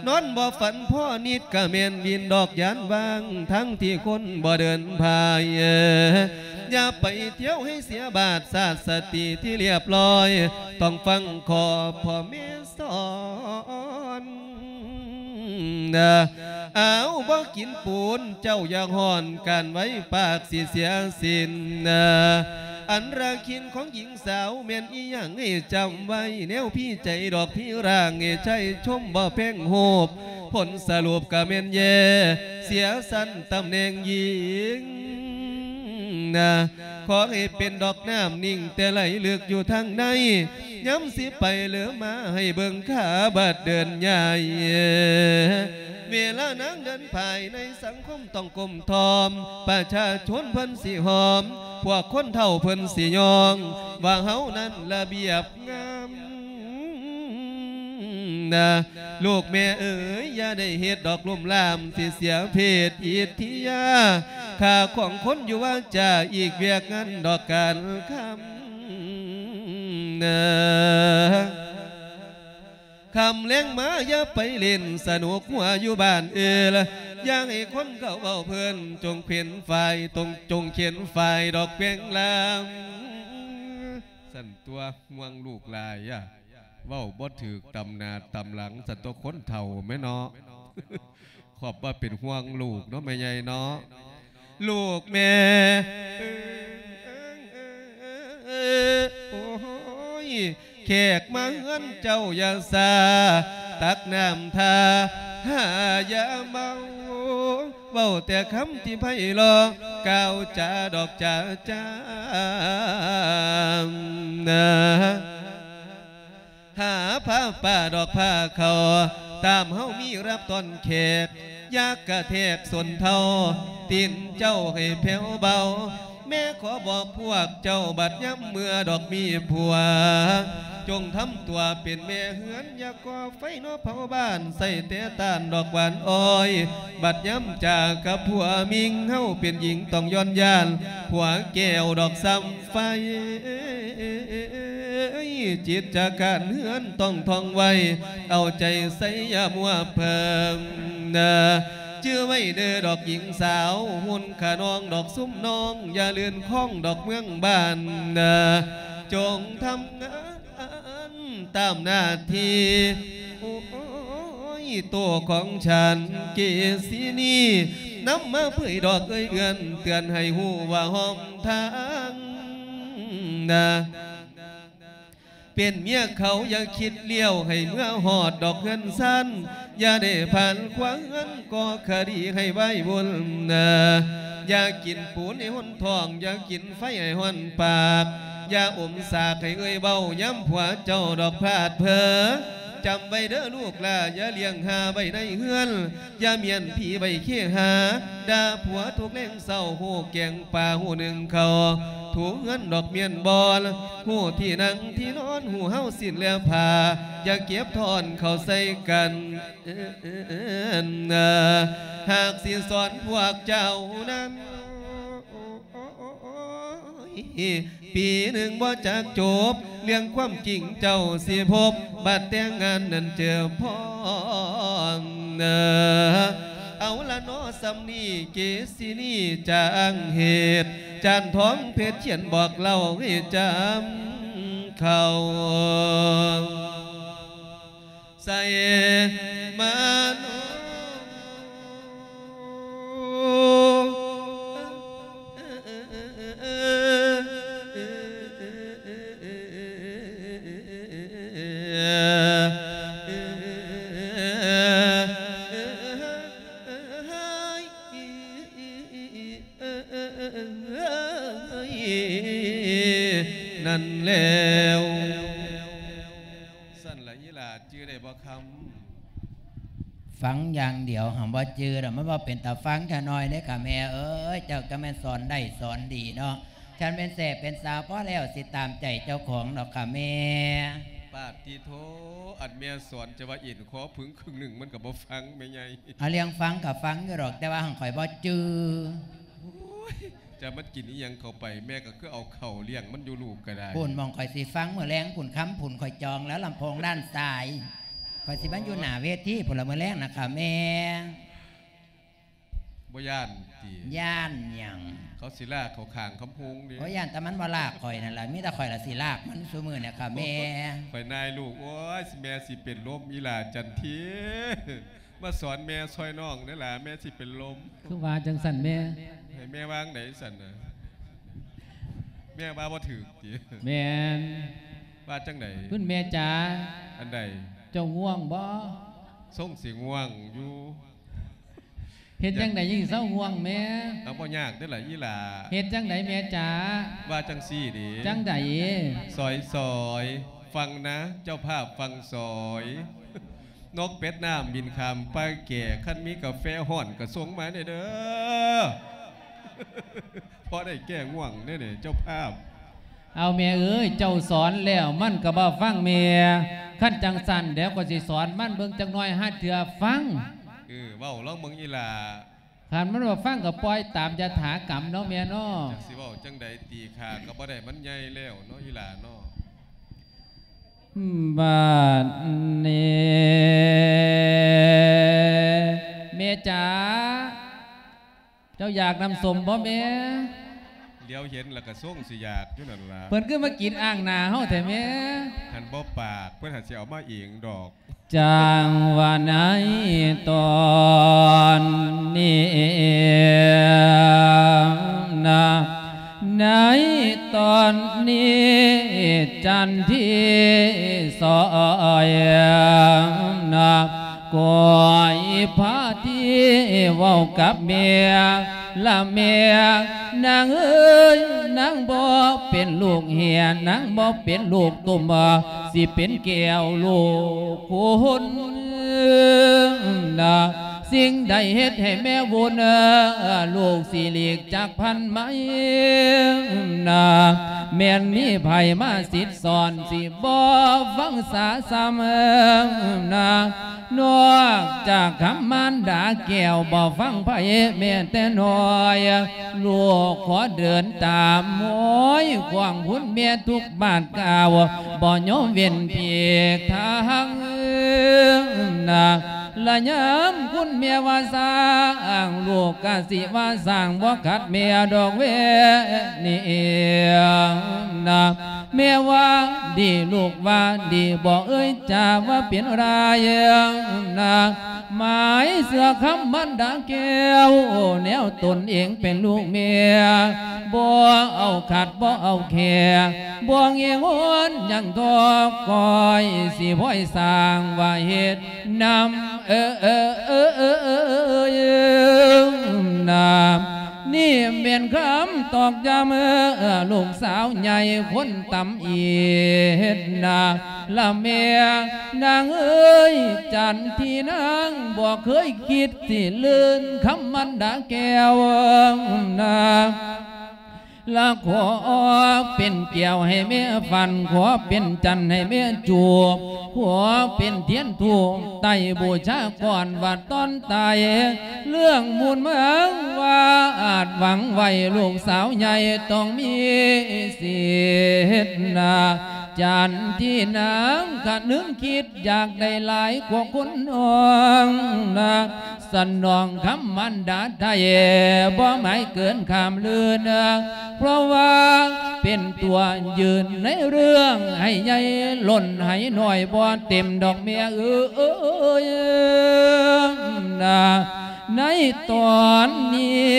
ນອນບໍ່ຝັນພໍນິດກະແມ່ນວິນດອກ ຢ້ານວ່າງທັງທີ່ຄົນບໍ່ເດີນພາຍ ຢ່າໄປທ່ຽວໃຫ້ເສຍບາດ ຊາດສະຕິທີ່ລຽບລ້ອຍ ຕ້ອງຟັງຂໍ້ພໍ່ແມ່ສອນ ອ້າວ ບໍ່ກິນປູນ ເຈົ້າຢ່າຮ້ອນ ການໄວ້ປາກຊິເສຍສິນ ອັນລະຄິນຂອງຍິງ ສາວແມ່ນອີ່ຫຍັງໃຫ້ຈຳໄວ້ ແນວພີໃຈດອກພີຮ່າງ ໃຫ້ໃຊ້ຊົມບໍ່ແພງຮູບ ຜົນສະຫຼຸບກະແມ່ນແຍ່ ເສຍຊັ້ນຕຳແໜ່ງຍິງນາ ຂໍໃຫ້ເປັນດອກນ້ຳນິ່ງແຕ່ໄຫຼເລິກຢູ່ທາງໃນ ຍາມຊິໄປເຫຼືອມາໃຫ້ເບິ່ງຂາບາດເດີນຍ່າຍ ເວລານາງເດີນພາຍໃນສັງຄົມ ຕ້ອງກົ້ມທ້ອມ ປະຊາຊົນເພິ່ນຊິຫອມ ພວກຄົນເຖົ້າເພິ່ນຊິຍ້ອງ ວ່າເຮົານັ້ນລະບຽບງາມນາ ລູກແມ່ເອີຍ ຢ່າໄດ້ເຮັດດອກລຸ່ມລາມ ຊິເສຍເພດອິດທິຍາ ຄ່າຂອງຄົນຢູ່ວາຈາ ອີກວຽກງານດອກການຄຳນາ ຄ່ຳແລງມາຢ່າໄປຫຼິ້ນສະໜຸກຫົວຢູ່ບ້ານອື່ນ ຢ່າໃຫ້ຄົນເຂົາເວົ້າເພິ່ນ ຈົ່ງເຂວັນຝາຍ ຈົ່ງ ຈົ່ງເຂວັນຝາຍດອກແປງລາມ ຊັ້ນຕົວະ ຫ່ວງລູກຫຼາຍອະ ເວົ້າບໍ່ຖືກຕຳໜ້າຕຳຫຼັງ ຊັ້ນຕົວະ ຄົນເຖົ້າແມ່ເນາະ. ຂອບວ່າເປັນຫ່ວງລູກເນາະ ແມ່ໃຫຍ່ເນາະ ລູກແມ່ ໂອ້ຍ ແຂກມາເຮືອນເຈົ້າຢ່າຊ້າ ຕັກນ້ຳທ່າ ຫາຢ່າເມົາ ເວົ້າແຕ່ຄຳທີ່ໄພເລາະ ກ່າວຈາດອກຈາຈາ ຫາຜ້າປ່າດອກຜ້າເຂົາ ຕາມເຮົາມີຮັບຕ້ອນແຂກ ຢ່າກະແທກສົ້ນເທົ້າ ຕີນເຈົ້າໃຫ້ແຜ່ວເບົາ ແມ່ຂໍບອກພວກເຈົ້າ ບັດຍາມເມື່ອດອກມີຜົວ ຈົ່ງທຳຕົວເປັນແມ່ເຮືອນ ຢ່າກໍ່ໄຟເນາະເຜົາບ້ານ ໃຊ້ແຕ່ຖ່ານດອກຫວານອ້ອຍ ບັດຍາມຈາກັບຜົວມິ່ງ ເຮົາເປັນຍິງຕ້ອງຢ້ອນຢ້ານ ຜົວແກ້ວດອກສ່ຳ ໄຟ ຈິດຈະການເຮືອນຕ້ອງທ່ອງໄວ ເອົາໃຈໃສ່ຢ່າມົວເພີງນາ ຈື່ໄວ້ເດີດອກຍິງສາວ ຮຸ່ນຂະນ້ອງດອກຊຸມນ້ອງ ຢ່າລື່ນຄ້ອງດອກເມືອງບ້ານນາ ຈົ່ງທຳງານຕາມໜ້າທີ່ ໂອ້ຍ ໂຕຂອງສັນເກສີນີ ນຳມາເຜີຍດອກເອີ່ຍເອື້ອນ ເຕືອນໃຫ້ຮູ້ວ່າຮ່ອມ ທາງນາ ເປັນເມຍເຂົາຢ່າຄິດລ້ຽວ ໃຫ້ເມືອຮອດດອກເຮືອນຊານ ຢ່າໄດ້ຜ່ານຂວາເຮືອນ ກໍ່ຄະດີໃຫ້ວາຍວຸ່ນນາ ຢ່າກິນປູນໃຫ້ຫົນທ້ອງ ຢ່າກິນໄຟໃຫ້ຮ້ອນປາກ ຢ່າອົມສາກໃຫ້ເອີ່ຍເວົ້າ ຍາມຜົວເຈົ້າດອກພາດເຜີ ຈຳໄວ້ເດີລູກຫຼ້າ ຢ່າລ້ຽງຫ່າໄວ້ໃນເຮືອນ ຢ່າມ້ຽນຜີໄວ້ເຄຫາ ດ່າຜົວທຸກແລງເຊົ້າ ຮູ້ແກງປາ ຮູ້ໜຶ້ງເຂົ້າ ຖູເຮືອນດອກມ້ຽນບ່ອນ ຮູ້ທີ່ນັ່ງທີ່ນອນ ຮູ້ຮາວສິ້ນແລະຜ້າ ຢ່າເກັບທ້ອນເຂົ້າໃສ່ກັນ ຫາກຊິສອນພວກເຈົ້ານັ້ນ ປີໜຶ່ງບໍ່ຈັກຈົບ ເລື່ອງຄວາມຈິງເຈົ້າຊິພົບ ບັດແຕ່ງງານນັ້ນເຈີພ້ອມເນີ. ເອົາລະເນາະ ສ່ຳນີ້ເກ ສິນີຈາງເຫດ ຈານທອງເພັດຂຽນບອກເລົ່າໃຫ້ຈຳເຂົ້າ ໃສ່ມາໂນ. ນັ້ນແລ້ວ ຊັ້ນລະອີ່ຫຼ້າ ຈື່ໄດ້ບໍ່ຄຳ? ຟັງຢ່າງດຽວ ຫາບໍ່ຈື່ດອກ ມັນບໍ່ເປັນຕາຟັງຈັກໜ້ອຍເດ້ຂ້າແມ່ເອີຍ. ເຈົ້າກໍແມ່ນສອນໄດ້ສອນດີເນາະ ຄັນແມ່ນແຊບເປັນສາວພໍແລ້ວ ຊິຕາມໃຈເຈົ້າຂອງດອກຂ້າແມ່. ປາດຕິໂທ ອັນແມ່ສອນຈະວ່າເອັນຄໍຜຶງຄຶ່ງໜຶ່ງ ມັນກໍບໍ່ຟັງແມ່ໃຫຍ່. ເອົາ ເລື່ອງຟັງກໍຟັງຢູ່ດອກ ແຕ່ວ່າຫັ້ນຂ້ອຍບໍ່ຈື່. ໂອ້ຍ ຈະມັນກິນອີ່ຫຍັງເຂົ້າໄປ ແມ່ກໍຄືເອົາເຂົ້າລ້ຽງມັນຢູ່ ລູກກໍໄດ້. ພຸ້ນ ໝ່ອງຂ້ອຍຊິຟັງມື້ແລງພຸ້ນ ຄຳພຸ້ນ ຂ້ອຍຈອງແລ້ວ ລຳໂພງດ້ານຊ້າຍ ຂ້ອຍຊິມາຢູ່ໜ້າເວທີພຸ້ນລະ ມື້ແລງນະຂ້າແມ່. ບໍ່ຢ້ານຕິ? ຢ້ານຫຍັງ? ເຂົາຊິລາກເຂົ້າຂ້າງຄຳໂພງເດ້. ໂອ້ຍ ຢ້ານແຕ່ມັນບໍ່ລາກຂ້ອຍນັ້ນລະ ມີແຕ່ຂ້ອຍລະຊິລາກມັນຊຸມື້ນີ້ຂ້າແມ່. ໂອ້ຍ ຂ້ອຍນາຍລູກ ໂອ້ຍ ແມ່ຊິເປັນລົມ ອີ່ຫຼ້າຈັນທີ ມາສອນແມ່ຊ່ອຍນ້ອງແດ່ຫຼ້າ ແມ່ຊິເປັນລົມ. ຄືວ່າຈັ່ງຊັ້ນແມ່? ໃຫ້ແມ່ວ່າຈັ່ງໃດຊັ້ນນະ? ແມ່ວ່າບໍ່ຖືກຕິ? ແມ່ນ. ວ່າຈັ່ງໃດ? ຄຸນແມ່ຈ໋າ. ອັນໃດ? ເຈົ້າງ່ວງບໍ່? ຊົງຊິງ່ວງຢູ່. ເຮັດຈັ່ງໃດຈຶ່ງເຊົາງ່ວງແມ່? ເອົາ ບໍ່ຍາກເດີ້ລະອີ່ຫຼ້າ. ເຮັດຈັ່ງໃດແມ່ຈ໋າ? ວ່າຈັ່ງຊີ້ເດ້. ຈັ່ງໃດ? ສອຍໆ ຟັງນະ ເຈົ້າພາບຟັງສອຍ. ນົກເປັດນ້ຳບິນຂ້າມປ່າແກ່ ຄັນມີກາແຟຮ້ອນກໍສົ່ງມາແດ່ເດີ້ ພໍໄດ້ແກ້ງ່ວງແດ່ເດີ້ເຈົ້າພາບ. ເອົາແມ່ເອີຍ ເຈົ້າສອນແລ້ວມັນກໍບໍ່ຟັງແມ່. ຄັນຈັ່ງຊັ້ນ ດຽວຂ້ອຍຊິສອນມັນເບິ່ງຈັກໜ້ອຍ ຫາເທື່ອຟັງ. ເອີ ເວົ້າລອງເບິ່ງອີ່ຫຼ້າ. ຄັນມັນບໍ່ຟັງກໍປ່ອຍຕາມຢະຖາກຳເນາະແມ່ເນາະ. ຈັກຊິເວົ້າຈັ່ງໃດຕິ ຂ້າກໍບໍ່ໄດ້ ມັນໃຫຍ່ແລ້ວເນາະອີ່ຫຼ້າເນາະ. ບາດນີ້ ແມ່ຈ໋າ ເຈົ້າຢາກນ້ຳສົ້ມບໍ່ແມ່? ຫຼຽວເຫັນແລ້ວກໍຊົງຊິຢາກຢູ່ນັ້ນລະ. ເພິ່ນຄືມາກິນອ່າງໜ້າເຮົາແທ້ແມ່? ຄັນບໍ່ປາກ ເພິ່ນຫາຊິເອົາມາເອງດອກ. ຈັ່ງວ່າໃນຕອນນີ້ນະ ໃນຕອນນີ້ຈັນທີຊ່ອຍນະ ກອຍພາທີ່ເວົ້າກັບແມ່ ລະແມ່ນາງເອີຍ ນາງບໍ່ເປັນລູກເຫຍ ນາງບໍ່ເປັນລູກຕຸ່ມ ຊິເປັນແກ້ວລູກຄຸນນະ. ສິ່ງໃດເຮັດໃຫ້ແມ່ວຸ່ນ ລູກຊິຫຼີກຈາກພັນໄມນະ ແມ່ນມີໃຜມາສິດສອນ ຊິບໍ່ຟັງສາຊ້ຳນະ. ນອກຈາກຄຳມານດາແກ້ວ ບໍ່ຟັງໃຜແມ້ແຕ່ນ້ອຍ ລູກຂໍເດີນຕາມຮອຍຂວາງຄຸນແມ່ທຸກບາດກ້າວ ບໍ່ຍອມເວັ້ນຜີກທາງນະ. ລະຍາມຄຸນແມ່ວ່າສ້າງ ລູກກະຊິວ່າສ້າງ ບໍ່ຂັດແມ່ດອກແວະນີ້ນະ. ແມ່ວ່າດີ ລູກວ່າດີ ບໍ່ເອີ່ຍຈາວ່າເປັນລາຍນະ. ໝາຍເຊື່ອຄຳມານດາແກ້ວ ແນວຕົນເອງເປັນລູກແມ່ ບໍ່ເອົາຂັດບໍ່ເອົາແຂ້ ບໍ່ງຽງຫວນຍັງທໍ ຂ້ອຍຊິພອຍສ້າງວ່າເຮັດນຳ ເອີ ເອີ ເອີ ເອີ ນະ. ນີ້ແມ່ນຄຳຕອກຢ້ຳ ລູກສາວໃຫຍ່ຄົນຕຳອິດນະ ລະແມ່ນາງເອີຍ ຈັນທີນາງບໍ່ເຄີຍຄິດຊິລື່ນຄຳມານດາແກ້ວນະ. ລະຂໍເປັນແກ້ວໃຫ້ແມ່ຝັນ ຂໍເປັນຈັນໃຫ້ແມ່ຈູບ ຂໍເປັນທຽນທູບໄຕ້ບູຊາກ່ອນວ່າຕອນຕາຍ ເລື່ອງມູນເມືອງວ່າອາດຫວັງໄວ້ ລູກສາວໃຫຍ່ຕ້ອງມີສິດນາ ຈັນທີ່ນາງຄະນຶງຄິດ ຢາກໄດ້ຫຼາຍກວ່າຄົນນ້ອງນາ ສະໜອງຄຳມານດາໄທ ບໍ່ໝາຍເກີນຂ້າມລືນ ເພາະວ່າເປັນຕົວຢືນໃນເລື່ອງ ໃຫ້ໃຫຍ່ລົ້ນໃຫ້ນ້ອຍບໍ່ເຕັມດອກແມ່ເອີຍນາ ໃນຕອນນີ້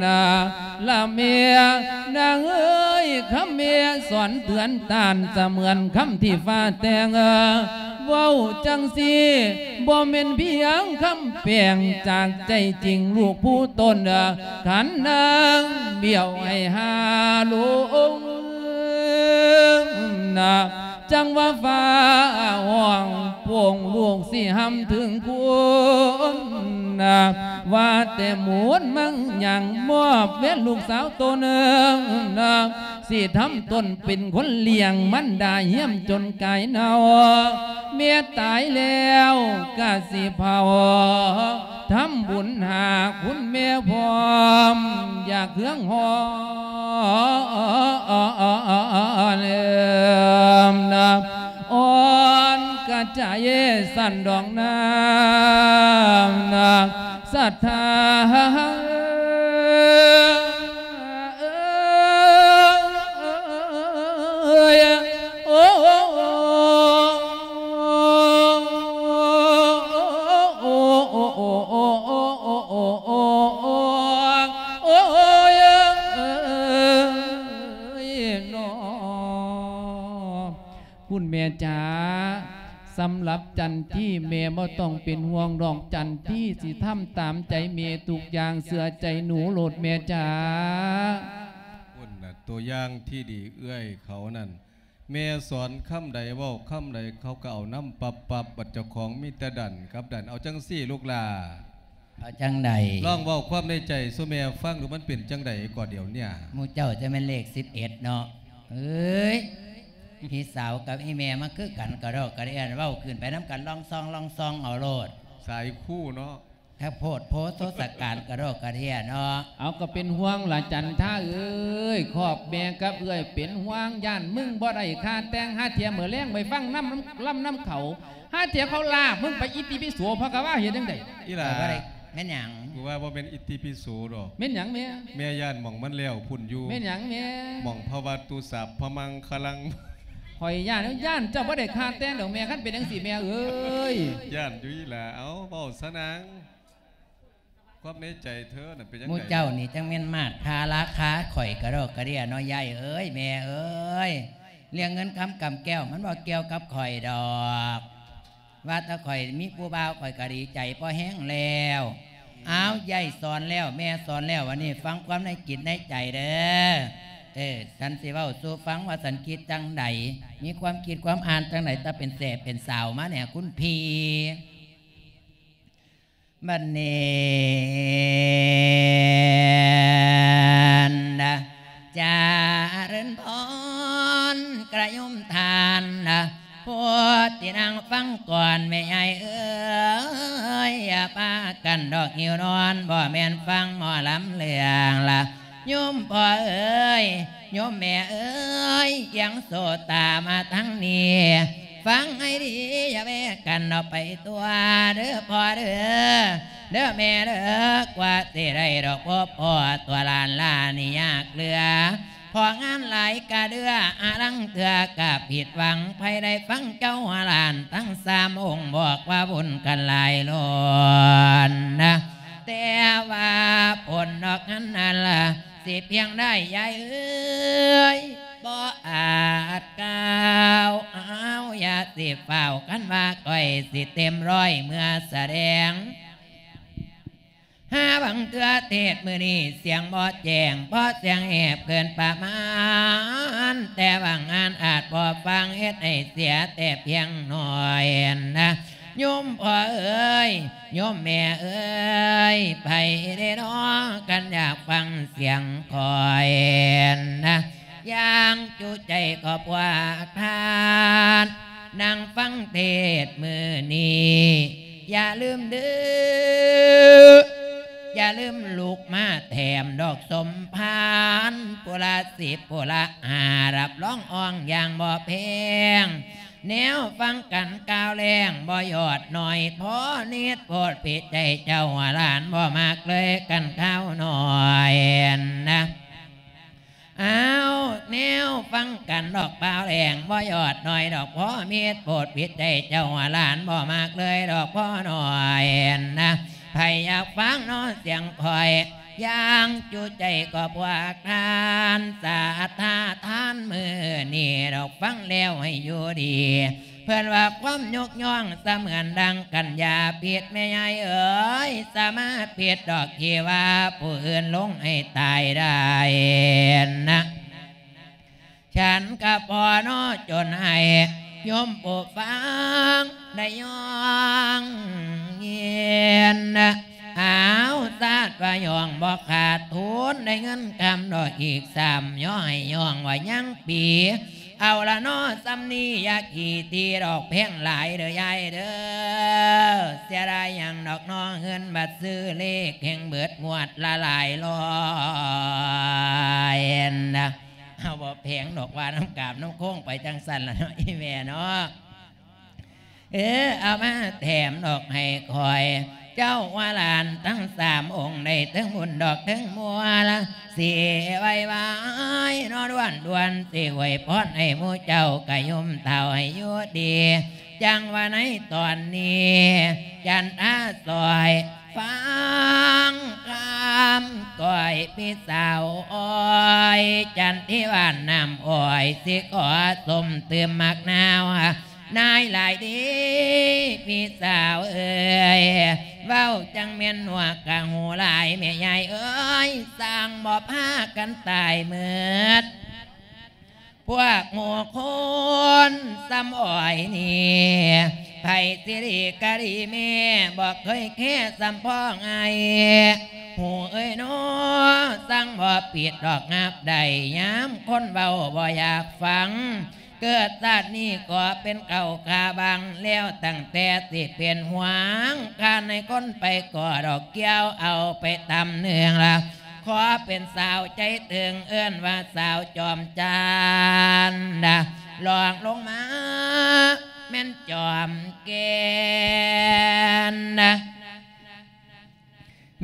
ນາ ລະແມ່ນາງເອີຍ ຄຳແມ່ສອນເຕືອນຕ້ານ ສະເໝືອນຄຳທີ່ຟ້າແຕ່ງ ເວົ້າຈັ່ງຊີ້ ບໍ່ແມ່ນພຽງຄຳແປງ ຈາກໃຈຈິງລູກຜູ້ຕົນ ຄັນນາງບ້ຽວໃຫ້ຫາລົງນາ ຈັ່ງວ່າຟ້າຮ້ອງໂປ່ງ ລູກຊິຮຳເຖິງຄຸນນາ ວ່າແຕ່ໝູນມັງຍັງ ມອບແວ່ນລູກສາວໂຕໜຶ່ງນາ ຊິທຳຕົນເປັນຄົນລ້ຽງ ມັນດາຮຽມຈົນກາຍເນົ່າ ແມ່ຕາຍແລ້ວກະຊິເຜົາ ທຳບຸນຫາຄຸນແມ່ພ້ອມ ຢ່າເຄືອງຮ້ອນນາ ອ່ອນກະໃຈສັ່ນດອກນາ ສັດທາເອີຍ ໂອ້ ໂອ້ຍ ເນາະ ຄຸນແມ່ຈ໋າ ສຳລັບຈັນທີ ແມ່ບໍ່ຕ້ອງເປັນຫ່ວງດອກ ຈັນທີຊິທຳຕາມໃຈແມ່ທຸກຢ່າງ ເຊື່ອໃຈໜູໂລດແມ່ຈ໋າ. ພຸ້ນນະ ຕົວຢ່າງທີ່ດີເອື້ອຍເຂົານັ້ນ ແມ່ສອນຄຳໃດເວົ້າຄຳໃດ ເຂົາກໍເອົານຳປັບໆ ບັດເຈົ້າຂອງມີແຕ່ດັນກັບດັນ. ເອົາຈັ່ງຊີ້ລູກຫຼ້າ ເອົາຈັ່ງໃດ? ລອງເວົ້າຄວາມໃນໃຈສູ່ແມ່ຟັງດູ ມັນເປັນຈັ່ງໃດກໍດຽວເນີ້ຍ? ໝູ່ເຈົ້າຈະແມ່ນເລກສິບເອັດເນາະ. ເອີຍ ພີ່ສາວກັບອີ່ແມ່ມາຄືກັນ ກະດອກກະເດຍ ເວົ້າຂຶ້ນໄປນຳກັນ ລອງຊອງລອງຊອງເອົາໂລດ. ສາຍຄູ່ເນາະ. ຖ້າໂພດໂພໂທສະການກະດອກກະເດຍເນາະ. ເອົາ ກໍເປັນຫ່ວງລະຈັນທາເອີຍ ຄອບແມ່ກັບເອື້ອຍເປັນຫ່ວງ ຢ້ານມຶງບໍ່ໄດ້ຄ່າແຕ່ງ ຫາເທື່ອມື້ແລງໄປຟັງນຳ ລຳນຳເຂົາ ຫາເທື່ອເຂົາລາບມຶງໄປ ອິຕິປິໂສພະຄະວາ ເຮັດຈັ່ງໃດ? ອີຫຼ້າ ແມ່ນຫຍັງ? ກູວ່າບໍ່ແມ່ນອິຕິປິໂສດອກ. ແມ່ນຫຍັງແມ່? ແມ່ຢ້ານໝ່ອງມັນແລ້ວພຸ້ນຢູ່. ແມ່ນຫຍັງແມ່? ໝ່ອງພະວັດຕຸສາບພະມັງຄະລັງ. ຂ້ອຍຢ້ານ ຢ້ານເຈົ້າບໍ່ໄດ້ຄ່າແຕ່ງດອກແມ່ ຄັນເປັນຈັ່ງຊີ້ແມ່ເອີຍ. ຢ້ານຢູ່ອີຫຼ້າ. ເອົາ ເວົ້າຊະນາງ ຄວາມໃນໃຈເທີນັ້ນເປັນຈັ່ງໃດ? ໝູ່ເຈົ້ານີ້ຈັ່ງແມ່ນມາດຄາລາຄາຂ້ອຍກະດອກກະເດຍເນາະ ຍາຍເອີຍ ແມ່ເອີຍ. ເລື່ອງເງິນຄຳກຳແກ້ວມັນບໍ່ກ່ຽວກັບຂ້ອຍດອກ. ວ່າແຕ່ຂ້ອຍມີຜູ້ບ່າວ ຂ້ອຍກໍດີໃຈພໍແຮງແລ້ວ. ອ້າວ ຍາຍສອນແລ້ວ ແມ່ສອນແລ້ວ ວັນນີ້ຟັງຄວາມໃນຈິດໃນໃຈເດີ້. ເອີ ສັນຊິເວົ້າສູ່ຟັງວ່າສັນຄິດຈັ່ງໃດ ມີຄວາມຄິດຄວາມອ່ານຈັ່ງໃດ ຕາເປັນແສເປັນສາວມາແດ່ຄຸນພີ່. ບັດນີ້ນະ ຈະເລີນພອນກະໂຍມທ່ານນະ ຜູ້ທີ່ນັ່ງຟັງກ່ອນແມ່ຍາຍເອີຍ ຢ່າພາກັນດອກຫິວນອນ ບໍ່ແມ່ນຟັງໝໍລຳເລື່ອງລະ ໂຍມພໍ່ເອີຍ ໂຍມແມ່ເອີຍ ອຽງໂສດຕາມາທາງນີ້ ຟັງໃຫ້ດີ ຢ່າແວະກັນອອກໄປຕົວະເດີ້ພໍ່ເດີ້ ເດີ້ແມ່ເດີ້ ກວ່າຊິໄດ້ດອກພົບພໍ້ຕົວະຫຼານຫຼ້ານີ້ຍາກເຫຼືອ ເພາະງານຫຼາຍກະເດືອ ອາລາງເທື່ອກະຜິດຫວັງ ໃຜໄດ້ຟັງເຈົ້າຫຼານທັງສາມອົງບອກວ່າບຸນກັນຫຼາຍລ້ນນະ ແຕ່ວ່າຜົນດອກງານນັ້ນລະ ຊິພຽງໃດຍາຍເອີຍ ບໍ່ອາດກ່າວ ອ້າວ ຢ່າຊິຟ້າວ ຄັນວ່າຂ້ອຍຊິເຕັມຮ້ອຍເມື່ອສະແດງ ຫາບາງເທື່ອເທດມື້ນີ້ສຽງບໍ່ແຈ້ງ ເພາະສຽງແຫບເກີນປະມານ ແຕ່ບາງອັນອາດບໍ່ຟັງ ເຮັດໃຫ້ເສຍແຕ່ພຽງໜ້ອຍນະ. ໂຍມພໍ່ເອີຍ ໂຍມແມ່ເອີຍ ໃຜເດນໍ ຄັນຢາກຟັງສຽງຂ້ອຍນະ ຢ່າງຈຸໃຈຂອບພວກທ່ານ ນັ່ງຟັງເທດມື້ນີ້ ຢ່າລືມເດີ ຢ່າລືມລຸກມາແຖມດອກສົມພານ ຜູ້ລະສິບ ຜູ້ລະຫ້າ ຮັບຮອງອອງຢ່າງບໍ່ແພງ ແນວຟັງກັນກ່າວແລງ ບໍ່ຍອດໜ້ອຍ ພໍນິດໂພດພິດໃຈເຈົ້າ ຫຼານບໍ່ມັກເລີຍກັນຂ່າວໜ້ອຍນະ. ອ້າວ ແນວຟັງກັນດອກບ່າວແລງ ບໍ່ຍອດໜ້ອຍດອກ ພໍມິດໂພດພິດໃຈເຈົ້າ ຫຼານບໍ່ມັກເລີຍດອກ ພໍໜ້ອຍນະ. ໃຜຢາກຟັງເນາະສຽງຂ້ອຍ ຢ່າງຈຸໃຈຂອບພວກທ່ານ ສາທາທານມື້ນີ້ດອກ ຟັງແລ້ວໃຫ້ຢູ່ດີ ເພິ່ນວ່າຄວາມຍົກຍ້ອງສະເໝືອນດັ່ງກັນ ຢ່າຜິດແມ່ຍາຍເອີຍ ສາມາຜິດດອກທີ່ວ່າຜູ້ອື່ນລົງໃຫ້ຕາຍໄດ້ນະ. ສັນກະພໍເນາະ ຈົນໃຫ້ໂຍມຜູ້ຟັງໄດ້ຍ້ອງຍິນ. ອ້າວ ຊາດວ່າຍ້ອງບໍ່ຂາດທຶນ ໄດ້ເງິນຄຳດອກອີກຊ້ຳ ຍໍໃຫ້ຍ້ອງວ່າຍັງປີ. ເອົາລະເນາະ ສ່ຳນີ້ຢ່າຂີ້ຖີ່ດອກ ແພງຫຼາຍເດີຍາຍເດີ. ເສຍດາຍຫຍັງດອກເນາະ ເງິນບັດຊື້ເລກແຮ່ງເບິດງວດລະຫຼາຍຮ້ອຍນະ. ເຮົາບໍ່ແພງດອກ ວ່ານຳກາບນຳໂຄງໄປຈັ່ງຊັ້ນລະເນາະ ອີ່ແມ່ເນາະ. ເອີ ເອົາມາແຖມດອກໃຫ້ຂ້ອຍ ເຈົ້າວ່າຫຼານທັງສາມອົງ ໄດ້ເຖິງບຸນດອກເຖິງມົວລະ ຊິໄວວາຍເນາະ ດ່ວນໆ ຊິອວຍພອນໃຫ້ໝູ່ເຈົ້າ ກະຍົມເຖົ້າໃຫ້ຢູ່ດີ. ຈັ່ງວ່າໃນຕອນນີ້ ຈັນທາຊ່ອຍ ຟັງຄຳກ້ອຍພີ່ສາວອ້ອຍ ຈັນທິວານນ້ຳອ້ອຍ ຊິຂໍຊົມຕື່ມໝາກນາວ ນາຍຫຼາຍເດ້ພີ່ສາວເອີຍ ເວົ້າຈັ່ງແມ່ນຫົວກະຫູຫຼາຍ ແມ່ຍາຍເອີຍ ສ້າງບໍ່ພາກັນຕາຍໝົດ. ພວກໝູ່ຄົນສ່ຳອ້ອຍນີ້ ໃຜຊິດີກະດີແມ່ ບໍ່ເຄີຍແຄສ່ຳພໍ່ໃຫຍ່ ຫູເອີຍເນາະ ສັ່ງບໍ່ປິດດອກ ຮັບໄດ້ຍາມຄົນເວົ້າບໍ່ຢາກຟັງ ເກີດຊາດນີ້ກໍເປັນເຂົ້າຂາບັງ ແລ້ວຕັ້ງແຕ່ຊິເປັນຫວງ ຂ້າໃນຄົນໄປກໍດອກ ກ່ຽວເອົາໄປຕຳເນືອງລະ ຂໍເປັນສາວໃຈເຖິງ ເອີ້ນວ່າສາວຈອມຈັນນະ ລອງລົງມາແມ່ນຈອມແກ່ນນະ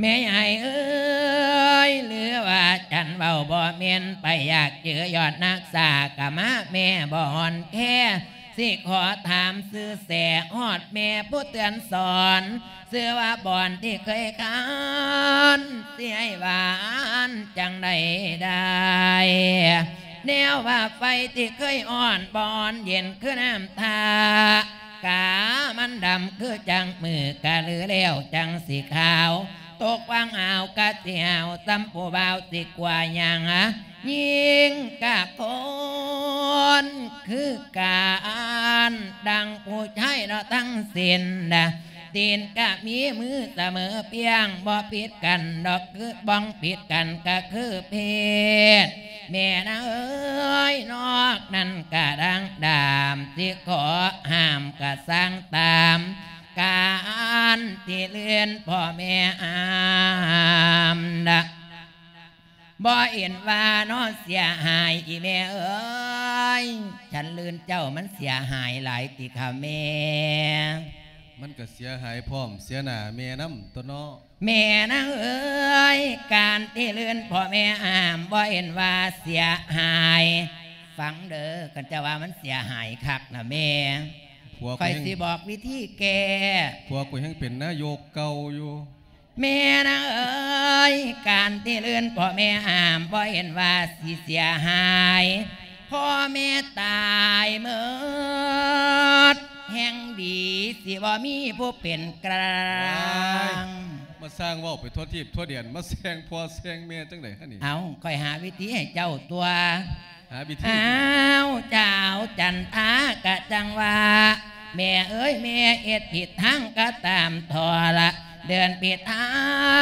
ແມ່ໃຫຍ່ເອີຍ ຫຼືວ່າຈັນເວົ້າບໍ່ແມ່ນ ໃຜຢາກຈື່ຍອດນັກສາກະມາ ແມ່ບໍ່ອ່ອນແຄ ຊິຂໍຖາມຊື່ແສ ຮອດແມ່ຜູ້ເຕືອນສອນ ຊື່ວ່າບ່ອນທີ່ເຄີຍຄານ ຊິໃຫ້ຫວານຈັ່ງໃດໄດ້ ແນວວ່າໄຟທີ່ເຄີຍຮ້ອນ ບໍ່ອ່ອນເຢັນຄືນ້ຳທ່າ ກາມັນດຳຄືຈັ່ງມື້ ກະລືແລ້ວຈັ່ງຊິຂາວ ຕົກວັງອາວກະຊິຫາວ ສ່ຳຜູ້ບ່າວຊິກວ່າຫຍັງ ຍິງກະຄົນຄືກັນ ດັ່ງຜູ້ຊາຍເນາະທັງສິ້ນນະ ຕີນກະມີມືສະເໝີພຽງ ບໍ່ຜິດກັນດອກຄື ບໍ່ຜິດກັນກະຄືເພດ ແມ່ນາເອີຍ ນອກນັ້ນກະດັ່ງດາມ ຊິຂໍຫ້າມກະສ້າງຕາມ ການທີ່ເລື່ອນພໍ່ແມ່ຫ້າມນະ ບໍ່ເຫັນວ່າເນາະເສຍຫາຍ ອີ່ແມ່ເອີຍ ສັນລື່ນເຈົ້າມັນເສຍຫາຍຫຼາຍຕິຄະແມ່? ມັນກະເສຍຫາຍພ້ອມ ເສຍໜ້າແມ່ນຳຕົວະເນາະ. ແມ່ນາງເອີຍ ການທີ່ລື່ນພໍ່ແມ່ຫ້າມ ບໍ່ເຫັນວ່າເສຍຫາຍ. ຟັງເດີ ຄັນເຈົ້າວ່າມັນເສຍຫາຍຄັກນະແມ່ ຂ້ອຍຊິບອກວິທີແກ້ ຜົວຂ້ອຍຍັງເປັນນາຍົກເກົ່າຢູ່. ແມ່ນາງເອີຍ ການທີ່ລື່ນພໍ່ແມ່ຫ້າມ ບໍ່ເຫັນວ່າຊິເສຍຫາຍ ພໍ່ແມ່ຕາຍໝົດ ແຮ່ງດີ ຊິບໍ່ມີຜູ້ເປັນກາງ. ມາສ້າງເວົ້າໄປທົ່ວທີບທົ່ວແດນ ມາແຊ່ງພໍ່ແຊ່ງແມ່ຈັ່ງໃດຫັ້ນນີ້? ເອົ້າ ຂ້ອຍຫາວິທີໃຫ້ເຈົ້າຕົວະ. ຫາວິທີ ອ້າວ ເຈົ້າຈັນທາກະຈັ່ງວ່າ ແມ່ເອີຍ ແມ່ເຮັດຜິດທາງກໍຕາມທໍລະ ເດີນຜິດທາ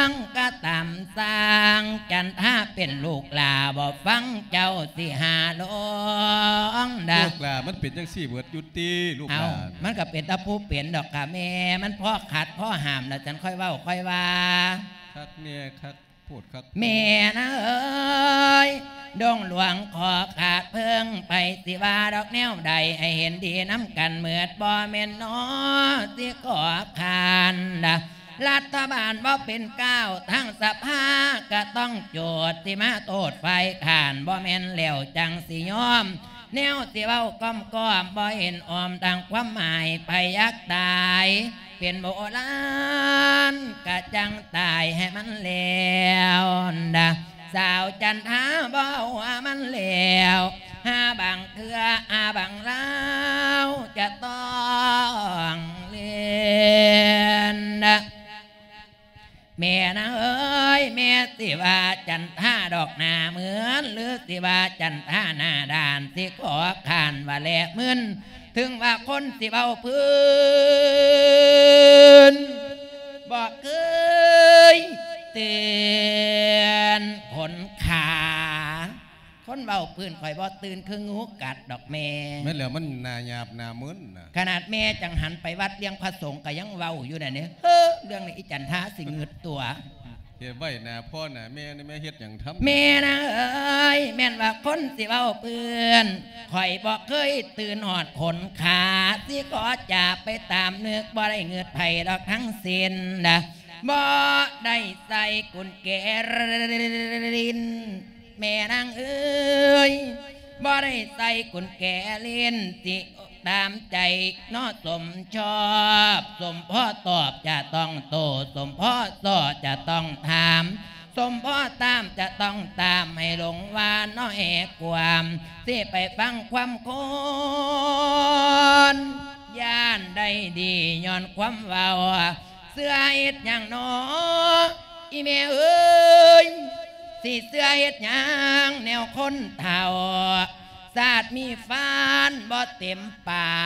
ງກໍຕາມສ້າງ ຈັນທາເປັນລູກຫຼ້າບໍ່ຟັງເຈົ້າຊິຫາລົງດາ. ລູກຫຼ້າມັນເປັນຈັ່ງຊີ້ເບິດຢູ່ຕິ ລູກຫຼ້າ. ເອົ້າ ມັນກໍເປັນແຕ່ຜູ້ເປັນດອກກະແມ່ ມັນພໍຂັດພໍຫ້າມລະ ຈັ່ງຄ່ອຍເວົ້າຄ່ອຍວ່າ. ຄັກແນ່ຄັກ ໂພດຄັກ ແມ່ນາເອີຍ ດົງຫຼວງຂໍຂາດເພິ່ງ ໃຜຊິວ່າດອກແນວໃດ ໃຫ້ເຫັນດີນຳກັນເໝິດ ບໍ່ແມ່ນໜໍ ຊິຂໍຄ້ານດາ. ລັດຖະບານບໍ່ເປັນກ້າວ ທາງສະພາກໍຕ້ອງໂຈດ ຊິມາໂທດຝ່າຍຄ້ານ ບໍ່ແມ່ນແລ້ວຈັ່ງຊິຍອມ ແນວຊິເວົ້າກ້ອມໆ ບໍ່ເຫັນອ້ອມ ທາງຄວາມໝາຍ ໃຜຢາກຕາຍ ເປັນໂບລານກະຈັ່ງຕາຍໃຫ້ມັນແລ້ວນະ. ສາວຈັນທາບໍ່ເອົາຫາມັນແລ້ວ ຫາບາງເທື່ອຫາບາງລາວຈະຕ້ອງຫຼິ້ນນະ. ແມ່ນາເອີຍ ແມ່ຊິວ່າຈັນທາດອກໜ້າເໝືອນ ຫຼືຊິວ່າຈັນທາໜ້າດ້ານ ຊິຂໍຄ້ານວ່າແລະມຶນ ເຖິງວ່າຄົນຊິເວົ້າພື້ນ ບໍ່ເຄີຍເຕືອນຂົນຂາ. ຄົນເວົ້າພື້ນຂ້ອຍບໍ່ຕື່ນຄືງູກັດດອກແມ່. ແມ່ນແລ້ວ ມັນໜ້າຫຍາບໜ້າມຶນນະ. ຂະໜາດແມ່ຈັ່ງຫັນໄປວັດລ້ຽງພະສົງກໍຍັງເວົ້າຢູ່ນັ້ນເດ້. ເຮີ ເລື່ອງນີ້ອີຈັນທາຊິງຶດຕົວະ. ເຮັດໄວ້ໜ້າພໍ່ໜ້າແມ່ນີ້ ແມ່ເຮັດຫຍັງທຳ? ແມ່ນາເອີຍ ແມ່ນວ່າຄົນຊິເວົ້າພື້ນ ຂ້ອຍບໍ່ເຄີຍຕື່ນຮອດຂົນຂາ ຊິຂໍຈາກໄປຕາມນຶກ ບໍ່ໄດ້ງຶດໃຜດອກທັງສິ້ນນະ ບໍ່ໄດ້ໃສ່ກຸນແຈຫຼິ້ນ ແມ່ນາງເອີຍ ບໍ່ໄດ້ໃສ່ກຸນແຈຫຼິ້ນ ຊິຕາມໃຈເນາະ ສົມຊອບ ສົມພໍຕອບຈະຕ້ອງໂຕ້ ສົມພໍຊໍຈະຕ້ອງຖາມ ສົມພໍຕາມຈະຕ້ອງຕາມ ໃຫ້ຫຼົງວ່າເນາະແອກວາມ ຊິໄປຟັງຄວາມຄົນ ຢ້ານໄດ້ດີຍ້ອນຄວາມເວົ້າ ເຊື່ອເຮັດຫຍັງໜໍ ອີແມ່ເອີຍ ຊິເຊື່ອເຮັດຫຍັງແນວຄົນເຖົ້າ ຊາດມີຟັນບໍ່ເຕັມປາ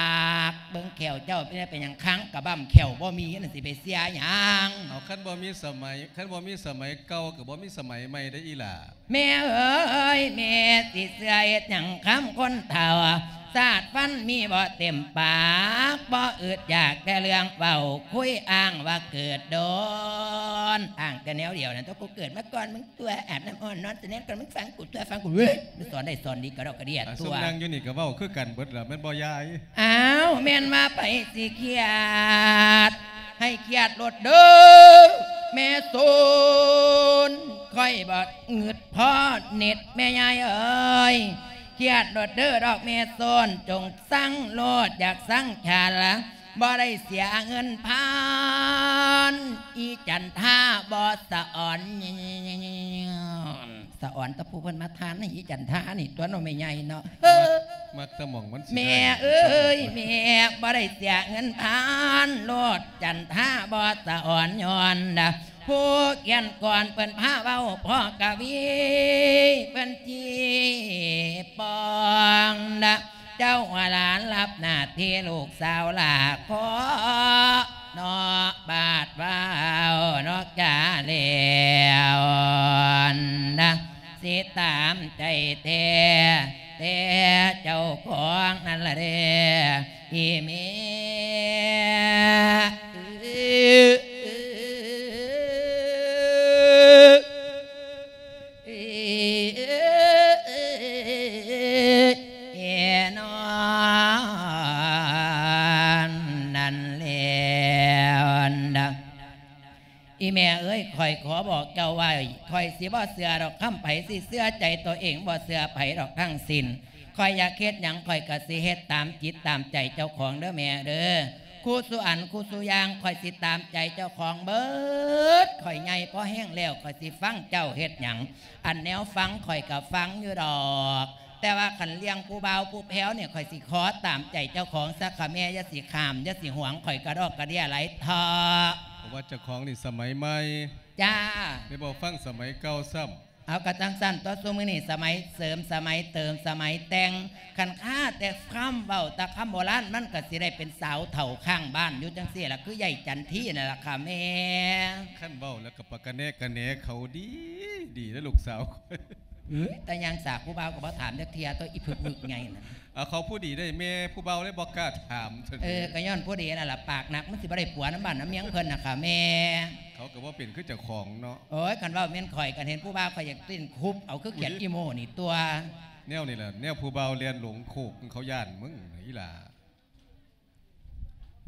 ກ ເບິ່ງແຂ້ວເຈົ້າເປັນ ເປັນຫຍັງຄາງກະບັ້ມແຂ້ວບໍ່ມີ ນັ້ນຊິໄປເຊື່ອຫຍັງ. ເອົາ ຄັນບໍ່ມີສະໄໝ ຄັນບໍ່ມີສະໄໝເກົ່າກໍບໍ່ມີສະໄໝໃໝ່ເດ້ອີຫຼ້າ. ແມ່ເອີຍ ແມ່ຊິເຊື່ອເຮັດຫຍັງຄຳຄົນເຖົ້າ ຊາດຟັນມີບໍ່ເຕັມປາກ ບໍ່ອຶດຢາກແຕ່ເລື່ອງເວົ້າ ຄຸຍອ້າງວ່າເກີດດົນ ອ້າງແຕ່ແນວດຽວນັ້ນ ຕົວະ ກູເກີດມາກ່ອນມຶງຕົວະ ອາບນ້ຳຮ້ອນນອນສະແໜ້ນກ່ອນມຶງ ຟັງກູຕົວະ ຟັງກູເວີຍ ມັນສອນໄດ້ສອນດີກະດອກກະເດຍ ອາ ຕົວະ ຊຸມນັ່ງຢູ່ນີ້ກະເວົ້າຄືກັນເບິດລະແມ່ນບໍ່ຍາຍ? ອ້າວ ແມ່ນວ່າໃຜຊິຄຽດ ໃຫ້ຄຽດໂລດເດີ ແມ່ໂສນ ຂ້ອຍບໍ່ງຶດພໍເນັດແມ່ຍາຍເອີຍ ຄຽດໂລດເດີດອກແມ່ໂສນ ຈົ່ງຊັງໂລດ ຢາກຊັງຊາລະ ບໍ່ໄດ້ເສຍເງິນພັນ ອີຈັນທາບໍ່ສະອອນ ສະອອນແຕ່ຜູ້ເພິ່ນມາທານໃຫ້ອີຈັນທານີ້ຕົວະເນາະແມ່ໃຫຍ່ເນາະ ເຮີ ມັກ ມັກແຕ່ໝ່ອງມັນຊິໄດ້ ແມ່ເອີຍ ແມ່ ບໍ່ໄດ້ເສຍເງິນພັນໂລດ ຈັນທາບໍ່ສະອອນຍ້ອນນະ ຜູ້ຂຽນກອນເພິ່ນພາເວົ້າ ພໍ່ກະວີເພິ່ນຈີປອງນະ ເຈົ້າວ່າຫຼານຮັບໜ້າທີ່ລູກສາວຫຼ້າຂໍ ເນາະ ບາດເວົ້າເນາະກະແລ້ວນະ ຊິຕາມໃຈແທ້ ແຕ່ເຈົ້າຂອງນັ້ນລະເດ້ ອີແມ່ ນອນນັ້ນແລ້ວນະ ອີແມ່ເອີຍ ຂ້ອຍຂໍບອກເຈົ້າໄວ້ ຂ້ອຍຊິບໍ່ເຊື່ອດອກຄຳໃຜ ຊິເຊື່ອໃຈຕົວເອງ ບໍ່ເຊື່ອໃຜດອກທັງສິ້ນ ຂ້ອຍຢາກເຮັດຫຍັງ ຂ້ອຍກະຊິເຮັດຕາມຈິດຕາມໃຈເຈົ້າຂອງເດີແມ່ເດີ ຄູ່ສູ່ອັນຄູ່ສູ່ຢ່າງ ຂ້ອຍຊິຕາມໃຈເຈົ້າຂອງເບິດ ຂ້ອຍໃຫຍ່ພໍແຮງແລ້ວ ຂ້ອຍຊິຟັງເຈົ້າເຮັດຫຍັງ ອັນແນວຟັງຂ້ອຍກະຟັງຢູ່ດອກ ແຕ່ວ່າຄັນເລື່ອງຜູ້ບ່າວຜູ້ແພ້ວນີ້ ຂ້ອຍຊິຂໍຕາມໃຈເຈົ້າຂອງຊະ ຂ້າແມ່ຢ່າຊິຂ້າມ ຢ່າຊິຫວງຂ້ອຍກະດອກກະເດຍຫຼາຍເຖາະ ເພາະວ່າເຈົ້າຂອງນີ້ສະໄໝໃໝ່ ຈ້າ ໄດ້ບໍ່ຟັງສະໄໝເກົ່າຊ້ຳ. ເອົາ ກະຈັ່ງຊັ້ນຕົວະ ຊຸມື້ນີ້ສະໄໝເສີມ ສະໄໝເຕີມ ສະໄໝແຕ່ງ ຄັນຄາແຕ່ຄຳເວົ້າ ແຕ່ຄຳໂບລານ ມັນກະຊິໄດ້ເປັນສາວເຖົ້າຄ້າງບ້ານຢູ່ຈັ່ງຊີ້ລະ ຄືໃຫຍ່ຈັນທີນັ້ນລະຄ່ະແມ່. ຄັນເວົ້າແລ້ວກະປະກະແນກະແນເຂົາດີ ດີເດີລູກສາວຂ້ອຍ. ເອີຍ ແຕ່ຍ່າງສາກຜູ້ບ່າວກະບໍ່ຖາມຈັກເທື່ອ ໂຕະ ອີຜຶກວຶກໃຫຍ່ນັ້ນ. ເອົາ ເຂົາຜູ້ດີເດ້ແມ່ ຜູ້ບ່າວເລີຍບໍ່ກ້າຖາມ. ເອີ ກະຍ້ອນຜູ້ດີນັ້ນລະ ປາກໜັກ ມັນຊິບໍ່ໄດ້ຜົວນຳບ້ານນຳເມືອງເພິ່ນນະຄ່ະແມ່. ເຂົາກະບໍ່ເປັນຄືເຈົ້າຂອງເນາະ. ໂອ້ຍ ຄັນເວົ້າແມ່ນຂ້ອຍ ຄັນເຫັນຜູ້ບ່າວຂ້ອຍຢາກເຕັ້ນຄຸບເອົາ ຄືຂຽດອີໂມ້ນີ້ຕົວະ. ແນວນີ້ລະ ແນວຜູ້ບ່າວແລ່ນຫຼົງໂຄກ ເຂົາຢ້ານມຶງອີ່ຫຼ້າ.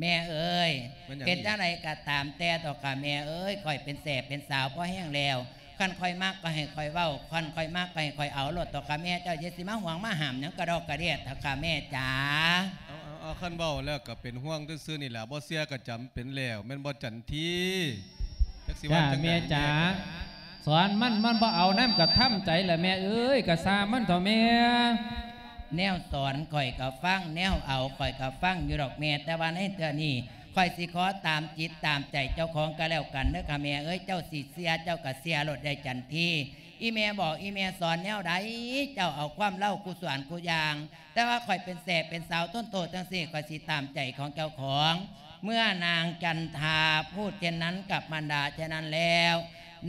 ແມ່ເອີຍ ແມ່ນຫຍັງອີກ? ເຮັດຈັ່ງໃດກະຕາມແຕ່ເຖາະຄ່ະແມ່ເອີຍ ຂ້ອຍເປັນແສ້ເປັນສາວພໍແຮງແລ້ວ ຄັນຂ້ອຍມັກກະໃຫ້ຂ້ອຍເວົ້າ ຄັນຂ້ອຍມັກກະໃຫ້ຂ້ອຍເອົາໂລດເຖາະຄ່ະແມ່ ເຈົ້າຢ່າຊິມາຫ່ວງມາຫ້າມຫຍັງກະດອກກະເດດເຖາະຄ່ະແມ່ຈ໋າ. ເອົາ ເອົາ ເອົາ ຄັນເວົ້າແລ້ວກະເປັນຫ່ວງຊື່ໆນີ້ລະ ບໍ່ເຊື່ອກະຈຳເປັນແລ້ວ ແມ່ນບໍ່ຈັນທີ? ຈັກຊິວ່າຈັ່ງໃດແມ່ຈ໋າ. ສອນມັນ ມັນບໍ່ເອົານຳກະທຳໃຈລະແມ່ເອີຍ ກະຊ່າງມັນເຖາະແມ່. ແນວສອນຂ້ອຍກະຟັງ ແນວເອົາຂ້ອຍກະຟັງຢູ່ດອກແມ່ ແຕ່ວ່າໃນເທື່ອນີ້ ຂ້ອຍຊິຂໍຕາມຈິດຕາມໃຈເຈົ້າຂອງກະແລ້ວກັນເດີຄ່ະແມ່ເອີຍ ເຈົ້າຊິເຊື່ອເຈົ້າກະເຊື່ອໂລດໃດ໋ຈັນທີ. ອີ່ແມ່ບອກ ອີ່ແມ່ສອນແນວໃດ ເຈົ້າເອົາຄວາມເລົ່າຄູ່ສ່ວນຄູ່ຢ່າງ ແຕ່ວ່າຂ້ອຍເປັນແສ້ເປັນສາວຕົ້ນໂຕຈັ່ງຊີ້ ຂ້ອຍຊິຕາມໃຈຂອງເຈົ້າຂອງ. ເມື່ອນາງຈັນທາພູດເຊັ່ນນັ້ນກັບມານດາເຊັ່ນນັ້ນແລ້ວ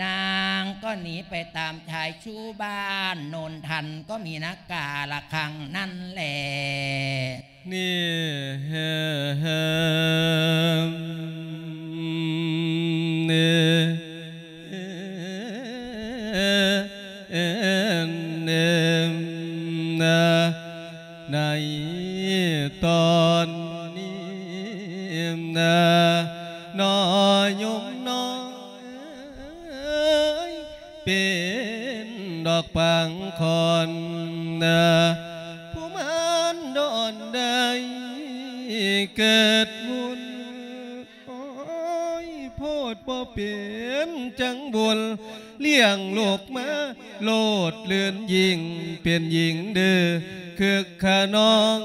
ນາງກໍໜີໄປຕາມຊາຍຊູ້ບ້ານໂນນທັນ ກໍມີນາກາລະຄັງນັ້ນແຫຼະ. ນີ້ ນີ້ ເອີ ເອີ ເອີ ນະ ໃນຕອນນີ້ນະ ນ້ອຍໂຍມນ້ອຍ ເປັນດອກປາງຄອນນະ ຜູ້ມານດອນໄດ້ເກີດບຸນ ໂອ້ຍ ໂພດບໍ່ເປັນຈັ່ງບຸນ ລ້ຽງລູກມາໂລດເລື່ອນຍິ່ງ ເປັນຍິງດື້ຄຶກຂະນອງ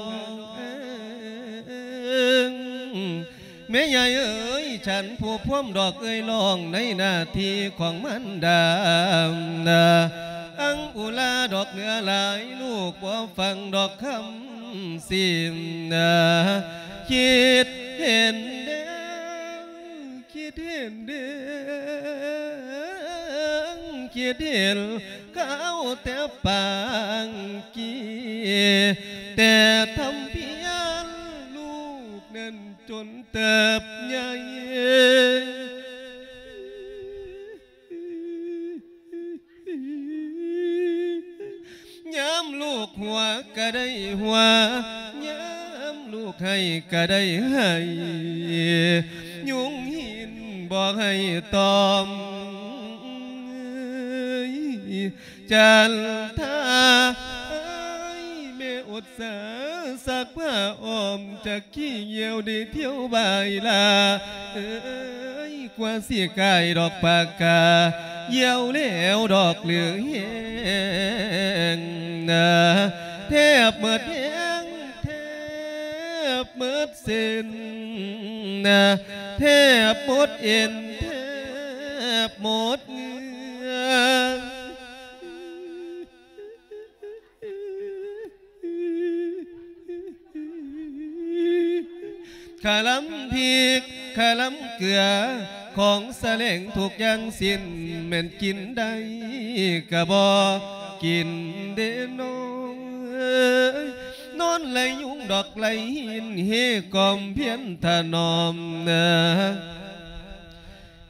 ແມ່ໃຫຍ່ເອີຍ ສັນຜູ້ພວມດອກເອີຍ ຮ້ອງໃນໜ້າທີ່ຂອງມານດານະ ອັງອຸລາດອກເໜືອຫຼາຍ ລູກບໍ່ຟັງດອກຄຳ ຊິນນະ ຄິດເຫັນແລ້ວ ຄິດເຫັນແລ້ວ ຄິດເຫັນ ເຂົາແຕ່ປາງກີ້ ແຕ່ທຳພຽນລູກນັ້ນຈົນເຕີບໃຫຍ່ ຍາມລູກຫົວກະໄດ້ຫົວ ຍາມລູກໄຫ້ກະໄດ້ໄຫ້ ຍຸງຫິນບໍ່ໃຫ້ຕອມ ຈັນທາ ແມ່ອົດສາຊັກຜ້າອ້ອມ ຈັກຂີ້ຍ່ຽວໄດ້ທ່ຽວບາຍລາເອີຍ ກວ່າຊິກາຍດອກປາກາ ຍ່ຽວແລ້ວດອກເຫຼືອແຮງນະ ແທບໝົດແຮງ ແທບໝົດເສັ້ນນະ ແທບໝົດເອັນ ແທບໝົດເຫື່ອ ຄະລຳພິກ ຄະລຳເກືອ ຂອງສະແຫຼງທຸກຢ່າງສິ້ນ ແມ່ນກິນໄດ້ກະບໍ່ກິນເດ້ນ້ອງເອີຍ ນອນໄລ່ຍຸງດອກໄລ່ຫີນ ເຮກອມພຽນຖະໜອມນາ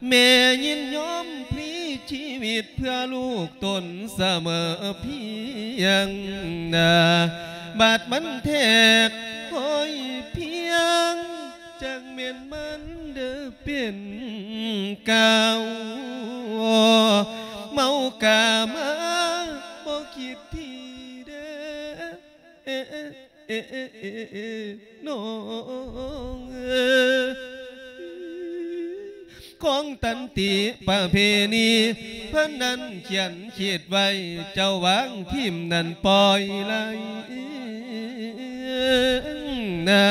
ແມ່ຍິນຍອມພລີຊີວິດເພື່ອລູກຕົນສະເໝີພຽງນາ ບາດມັນແທກຫ້ອຍພຽງ ຈັ່ງແມ່ນມັນເດີເປັນກາວ ເມົາກາມາບໍ່ຄິດທີເດີ ເອ ເອ ເອ ເອ ເອ ນ້ອງເອີຍ ຂອງຕັນຕິປະເພນີ ເພິ່ນນັ້ນຂຽນຄິດໄວ້ ເຈົ້າວາງຖິ້ມນັ້ນປ່ອຍໄຫຼນະ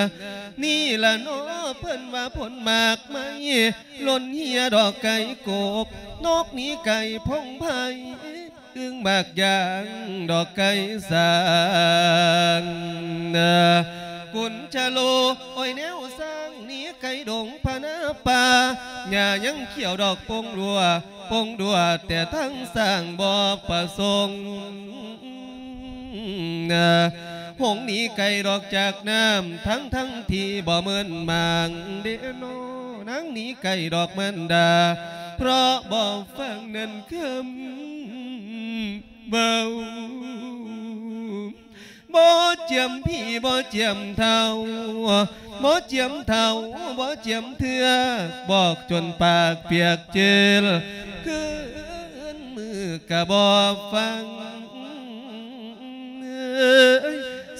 ນີ້ລະເນາະ ເພິ່ນວ່າຜົນໝາກໄມ້ ຫຼົ່ນເຮຍດອກໄກ່ກົກ ນົກໜີໄກ່ພົງໄພ ຕຶງໝາກຢາງດອກໄກ່ສາງນາ ກຸນຈະໂລ ໂອ້ຍ ແນວສ້າງໜີໄກ່ດົງພະນາປ່າ ຫຍ້າຍັງຂຽວດອກປົງຮົ່ວ ປົງຮົ່ວແຕ່ທັງສ້າງບໍ່ປະສົງນາ ຫົງໜີໄກ່ດອກຈາກນ້ຳ ທັງໆທີ່ບໍ່ເມີນມາງເດເນາະ ນາງໜີໄກ່ດອກມັນດາ ເພາະບໍ່ຟັງນັ້ນຄຳ ເວົ້າ ບໍ່ຈຽມພີ່ບໍ່ຈຽມເຖົ້າ ບໍ່ຈຽມເຖົ້າບໍ່ຈຽມເທື່ອ ບອກຈົນປາກປຽກເຈີລ ຄືນມື້ກະບໍ່ຟັງ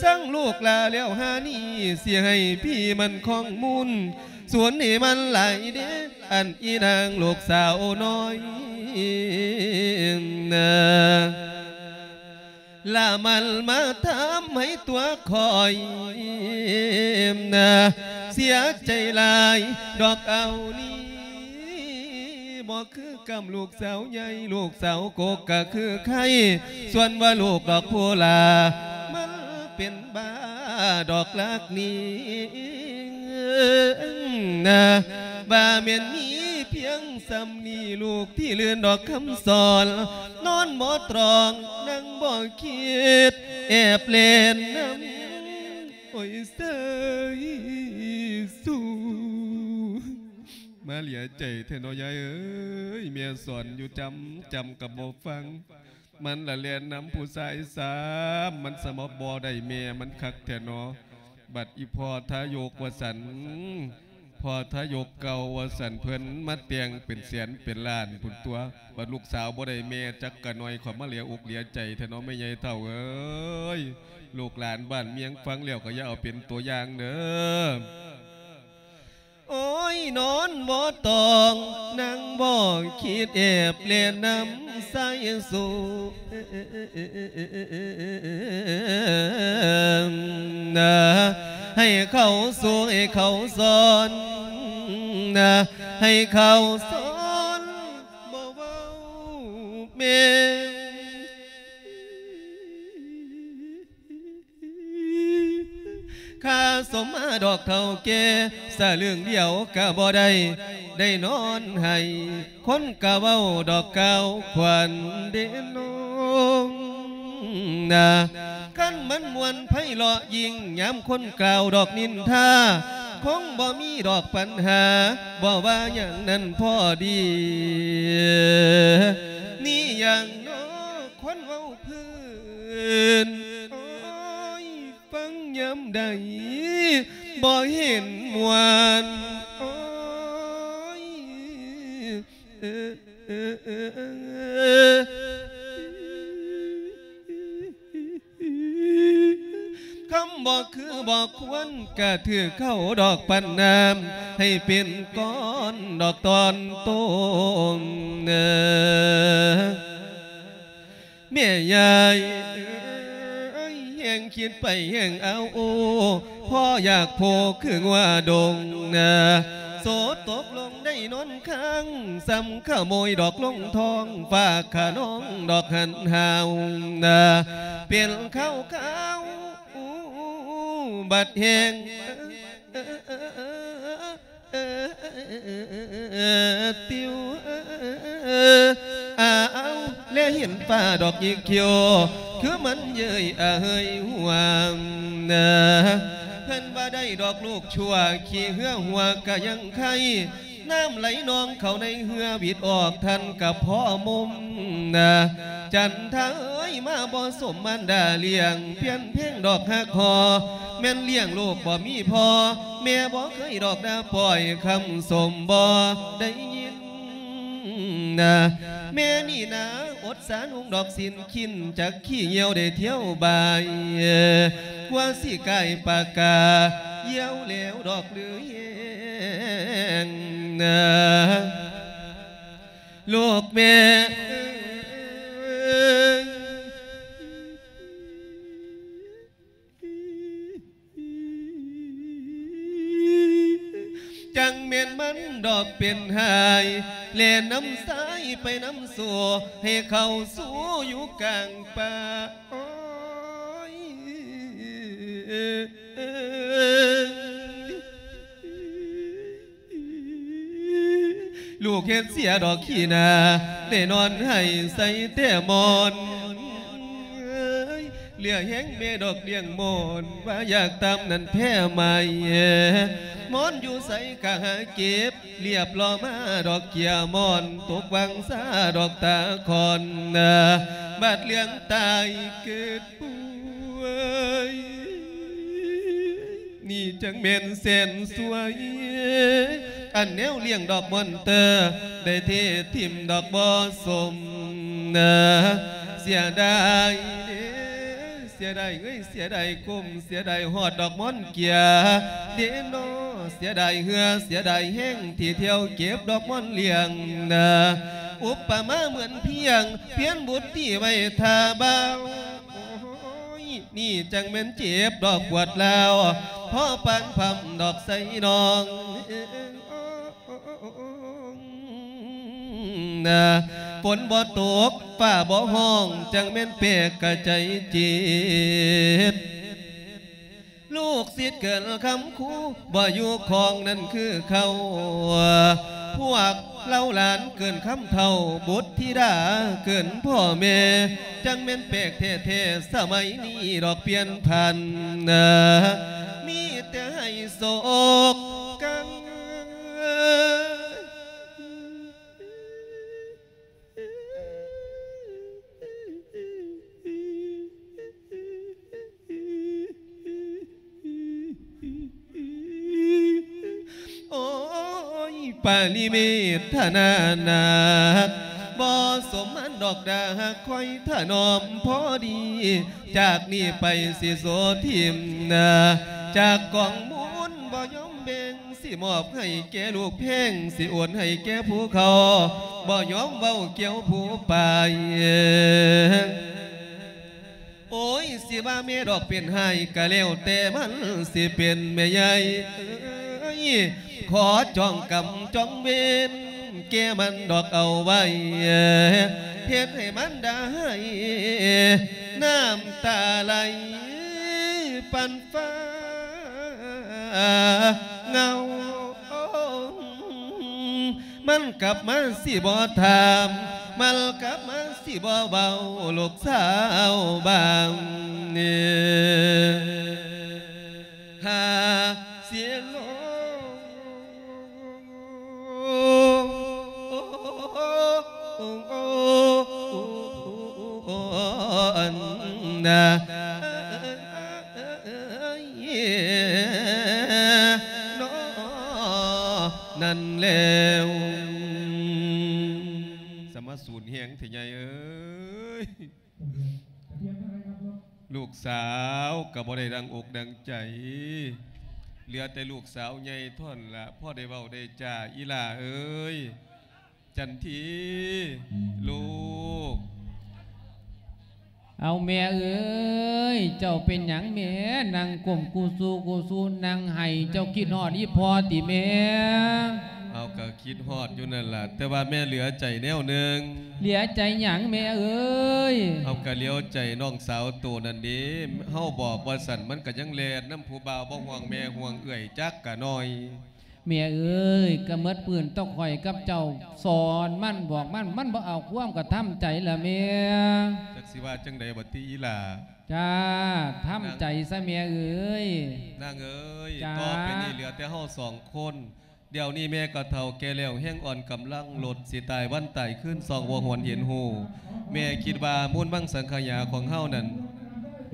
ສັ່ງລູກລາແລ້ວຫານີ້ ຊິໃຫ້ພີ່ມັນຄອງມູນ ສວນໃຫ້ມັນຫຼາຍເດ້ ອັນອີນາງລູກສາວນ້ອຍນາ ລະມັນມາທຳໃຫ້ຕົວຂ້ອຍນາ ເສຍໃຈຫຼາຍດອກເອົານີ້ ບໍ່ຄືກຳລູກສາວໃຫຍ່ ລູກສາວກົກກະຄືໄຄ ສ່ວນວ່າລູກດອກຜູ້ຫຼ້າ ມັນເປັນບ້າດອກລັກນີ້ນາ ວ່າແມ່ນມີພຽງສ່ຳນີ້ ລູກທີ່ລື່ນດອກຄຳສອນ ນອນບໍ່ຕຣອງ ນັ່ງບໍ່ຄິດ ແອບແລ່ນນຳ ໂອ້ຍ ເຊີຍຊູ ມາເຫຼຍໃຈແທ້ເນາະ ຍາຍເອີຍ ແມ່ສອນຢູ່ຈຳ ຈຳກະບໍ່ຟັງ ມັນລະແລ່ນນຳຜູ້ຊາຍຊ້ຳ ມັນສະມາບໍ່ໄດ້ແມ່ມັນຄັກແທ້ເນາະ ບັດອີ່ພໍ່ທາຍົກວ່າຊັ້ນ ພໍ່ທາຍົກເກົ່າວ່າຊັ້ນ ເພິ່ນມາແຕ່ງເປັນແສນເປັນລ້ານພຸ້ນຕົວະ ບັດລູກສາວບໍ່ໄດ້ແມ່ຈັກກະໜ້ອຍ ຂ້ອຍມາເຫຼຍອົກເຫຼຍໃຈແທ້ເນາະ ແມ່ໃຫຍ່ເຖົ້າເອີຍ ລູກຫຼານບ້ານເມືອງຟັງແລ້ວກະຢ່າເອົາເປັນຕົວຢ່າງເດີ. ໂອ້ຍ ນອນບໍ່ຕອງ ນັ່ງບໍ່ຄິດ ແອບແລ່ນນຳໃສ່ສູນາ ໃຫ້ເຂົາສູ ໃຫ້ເຂົາສອນນາ ໃຫ້ເຂົາສອນ ບໍ່ເວົ້າແມ່ ຂ້າສົມມາດອກເຖົ້າແກ່ ສະລຶ້ງດຽວກະບໍ່ໄດ້ ໄດ້ນອນໄຫ້ ຄົນກະເວົ້າດອກກ່າວຂວັນເດນ້ອງນາ ຄັນມັນມ່ວນໄພເລາະຍິ່ງ ຍາມຄົນກ່າວດອກນິນທາ ຄົງບໍ່ມີດອກປັນຫາ ບໍ່ວ່າຫຍັງນັ້ນພໍດີ ນີ້ຫຍັງນໍ ຄົນເວົ້າພື້ນ ໂອ້ຍ ຟັງຍາມໃດ ບໍ່ເຫັນມ່ວນ ໂອ້ຍ ຄຳບໍ່ຄືບໍ່ຄວນ ກະຖືກເຂົາດອກປັນນ້ຳ ໃຫ້ເປັນກ້ອນດອກຕອນໂຕນ ແມ່ຍາຍເອີຍ ແຮ່ງຄິດໄປແຮ່ງອ້າວໂອ້ ພໍຢາກໂພຄືງົວດົງນາ ໂສຕົກລົງໄດ້ນອນຄ້າງ ສ່ຳຂະໂມຍດອກລົງທ້ອງ ຝາກຂະນອງດອກຫັນຫາວນາ ເປັນຂາວຂາວ ບັດແຫ້ງ ເອີ ຕິວ ອາວ ແລເຫັນຟ້າດອກຍິກຂຽວ ຄືມັນເຍີ້ຍອະເຮີຍຫວານນາ ເພິ່ນວ່າໄດ້ດອກລູກຊົ່ວ ຂີ້ເຫື່ອຫົວກະຍັງໄຄ ນ້ຳໄຫຼນອງເຂົ້າໃນເຮືອ ຫວິດອອກທັນກະພໍມຸມນາ ຈັນທາເອີຍ ມາບໍ່ສົມມານດາລ້ຽງ ພຽນແພງດອກຮັກຫໍ່ ແມ່ນລ້ຽງລູກບໍ່ມີພໍ່ ແມ່ບໍ່ເຄີຍດອກດາປ່ອຍ ຄຳຊົມບໍ່ໄດ້ຍິນນາ ແມ່ນີ້ນາ ອົດສານຸ່ງດອກສິ້ນ ຂີ້ນຈັກຂີ້ຍ່ຽວໄດ້ທ່ຽວບາຍ ກວ່າຊິກາຍປາກາ ຢ້ຽວແລ້ວດອກຫຼືແຮງນາ ລູກແມ່ເອີຍ ຈັ່ງ ແມ່ນມັນດອກເປັນຫາຍ ແລ່ນນຳຊາຍໄປນຳໂຊ ໃຫ້ເຂົ້າສູ່ຢູ່ກາງປ່າ. ໂອ້ຍ ລູກເຮັດເສຍດອກຂີ້ໜ້າ ໄດ້ນອນໄຫ້ໃສ່ແຕ່ໝອນ. ເຫຼືອແຮງແມ່ດອກລ້ຽງມອນ ວ່າຢາກຕາມນັ້ນແທ້ໄໝ ມອນຢູ່ໃສກະຫາເກັບ ລຽບລໍມາດອກເກຍມອນ ຕົກວັງຊາດອກຕາຄອນ ບາດເລື່ອງຕາຍເກີດປ່ວຍ ນີ້ຈັ່ງແມ່ນແສນສວຍ ອັນແນວລ້ຽງດອກມອນເຕີ ໄດ້ເທຖິ້ມດອກບໍ່ສົມ. ເສຍດາຍເດ້ ເສຍດາຍເອີຍ ເສຍດາຍກົມ ເສຍດາຍຮອດດອກມອນເກຍເດ້ນໍ ເສຍດາຍເຮືອ ເສຍດາຍແຮງ ທີ່ທ່ຽວເກັບດອກມອນລ້ຽງ. ອຸປະມາເໝືອນພຽງ ພຽນບຸດຕີໄວ້ຖ້າບ່າວ. ໂອ້ຍ ນີ້ຈັ່ງແມ່ນເຈັບດອກປວດລາວ ພໍປານພຳດອກໃສ່ນ້ອງ. ຝົນບໍ່ຕົກ ຟ້າບໍ່ຮ້ອງ ຈັ່ງແມ່ນແປກກະໃຈເຈັບ. ລູກສິດເກີນຄຳຄູ ບໍ່ຢູ່ຄອງນັ້ນຄືເກົ່າ. ພວກເຫຼົ່າຫຼານເກີນຄຳເຖົ້າ ບຸດທິດາເກີນພໍ່ແມ່ ຈັ່ງແມ່ນແປກແທ້ໆ ສະໄໝນີ້ດອກປ່ຽນຜັນ ມີແຕ່ໃຫ້ໂສກກັນ. ໂອ້ຍ ປາລິເມດທະນາໜັກ ບໍ່ສົມມັນດອກດາ ຄອຍຖະໜອມພໍດີ ຈາກນີ້ໄປຊິໂສຖິ້ມ ຈາກກອງມູນບໍ່ຍອມແບ່ງ ຊິມອບໃຫ້ແກ່ລູກແພງ ຊິໂອນໃຫ້ແກ່ຜູ້ເຂົາ ບໍ່ຍອມເວົ້າກ່ຽວຜູ້ປາຍ. ໂອ້ຍ ຊິວ່າແມ່ດອກເປັນຫາຍ ກະແລ້ວແຕ່ມັນຊິເປັນແມ່ໃຫຍ່ເອີຍ ຂໍຈອງກຳຈອງເວນ ແກ່ມັນດອກເອົາໄວ້ ເຮັດໃຫ້ມັນດາໄຫ້ ນ້ຳຕາໄຫຼປັນ ຟ້າເງົາ ມັນກັບມາຊິບໍ່ຖາມ ມັນກັບມາຊິບໍ່ເວົ້າ ລູກສາວບາງນີ້ ຫາເສຍໂລ ອັນນາ ເນາະ ນັ້ນແລ້ວ ສະມາສູນແຮງເຖາະໃຫຍ່ເອີຍ. ລູກສາວກໍບໍ່ໄດ້ດັ່ງອົກດັ່ງໃຈ ເຫຼືອແຕ່ລູກສາວໃຫຍ່ເທົ່ານັ້ນລະ ພໍໄດ້ເວົ້າໄດ້ຈາ. ອີ່ຫຼ້າເອີຍ ຈັນທີ ລູກ. ເອົາແມ່ເອີຍ ເຈົ້າເປັນຫຍັງແມ່ ນັ່ງກົ້ມກູຊູກູຊູ ນັ່ງໄຫ້ ເຈົ້າຄິດຮອດອີ່ພໍ່ຕິແມ່? ເອົາ ກະຄິດຮອດຢູ່ນັ້ນລະ ແຕ່ວ່າແມ່ເຫຼືອໃຈແນວໜຶ່ງ. ເຫຼືອໃຈຫຍັງແມ່ເອີຍ? ເຮົາກະເຫຼືອໃຈນ້ອງສາວໂຕນັ້ນເດ້ ເຮົາບອກວ່າຊັ້ນ ມັນກະຍັງແລ່ນນຳຜູ້ບ່າວ ບໍ່ຫ່ວງແມ່ຫ່ວງເອື້ອຍຈັກກະໜ້ອຍ. ແມ່ເອີຍ ກະໝົດພື້ນຕົກຂ້ອຍກັບເຈົ້າ ສອນມັນບອກມັນ ມັນບໍ່ເອົາຄວາມ ກະທຳໃຈລະແມ່. ຈັກຊິວ່າຈັ່ງໃດບັດນີ້ອີ່ຫຼ້າ? ຈ້າ ທຳໃຈຊະແມ່ເອີຍ. ນາງເອີຍ ຈ້າ ຕໍ່ໄປນີ້ເຫຼືອແຕ່ເຮົາສອງຄົນ ດຽວນີ້ແມ່ກໍເຖົ້າແກ່ແລ້ວ ແຮງອ່ອນກຳລັງລົດ ຊິຕາຍວັນຕາຍຄືນ ສ່ອງບໍ່ຫວນເຫັນຮູ້. ແມ່ຄິດວ່າມູນມັງສັງຂະຫຍາຂອງເຮົານັ້ນ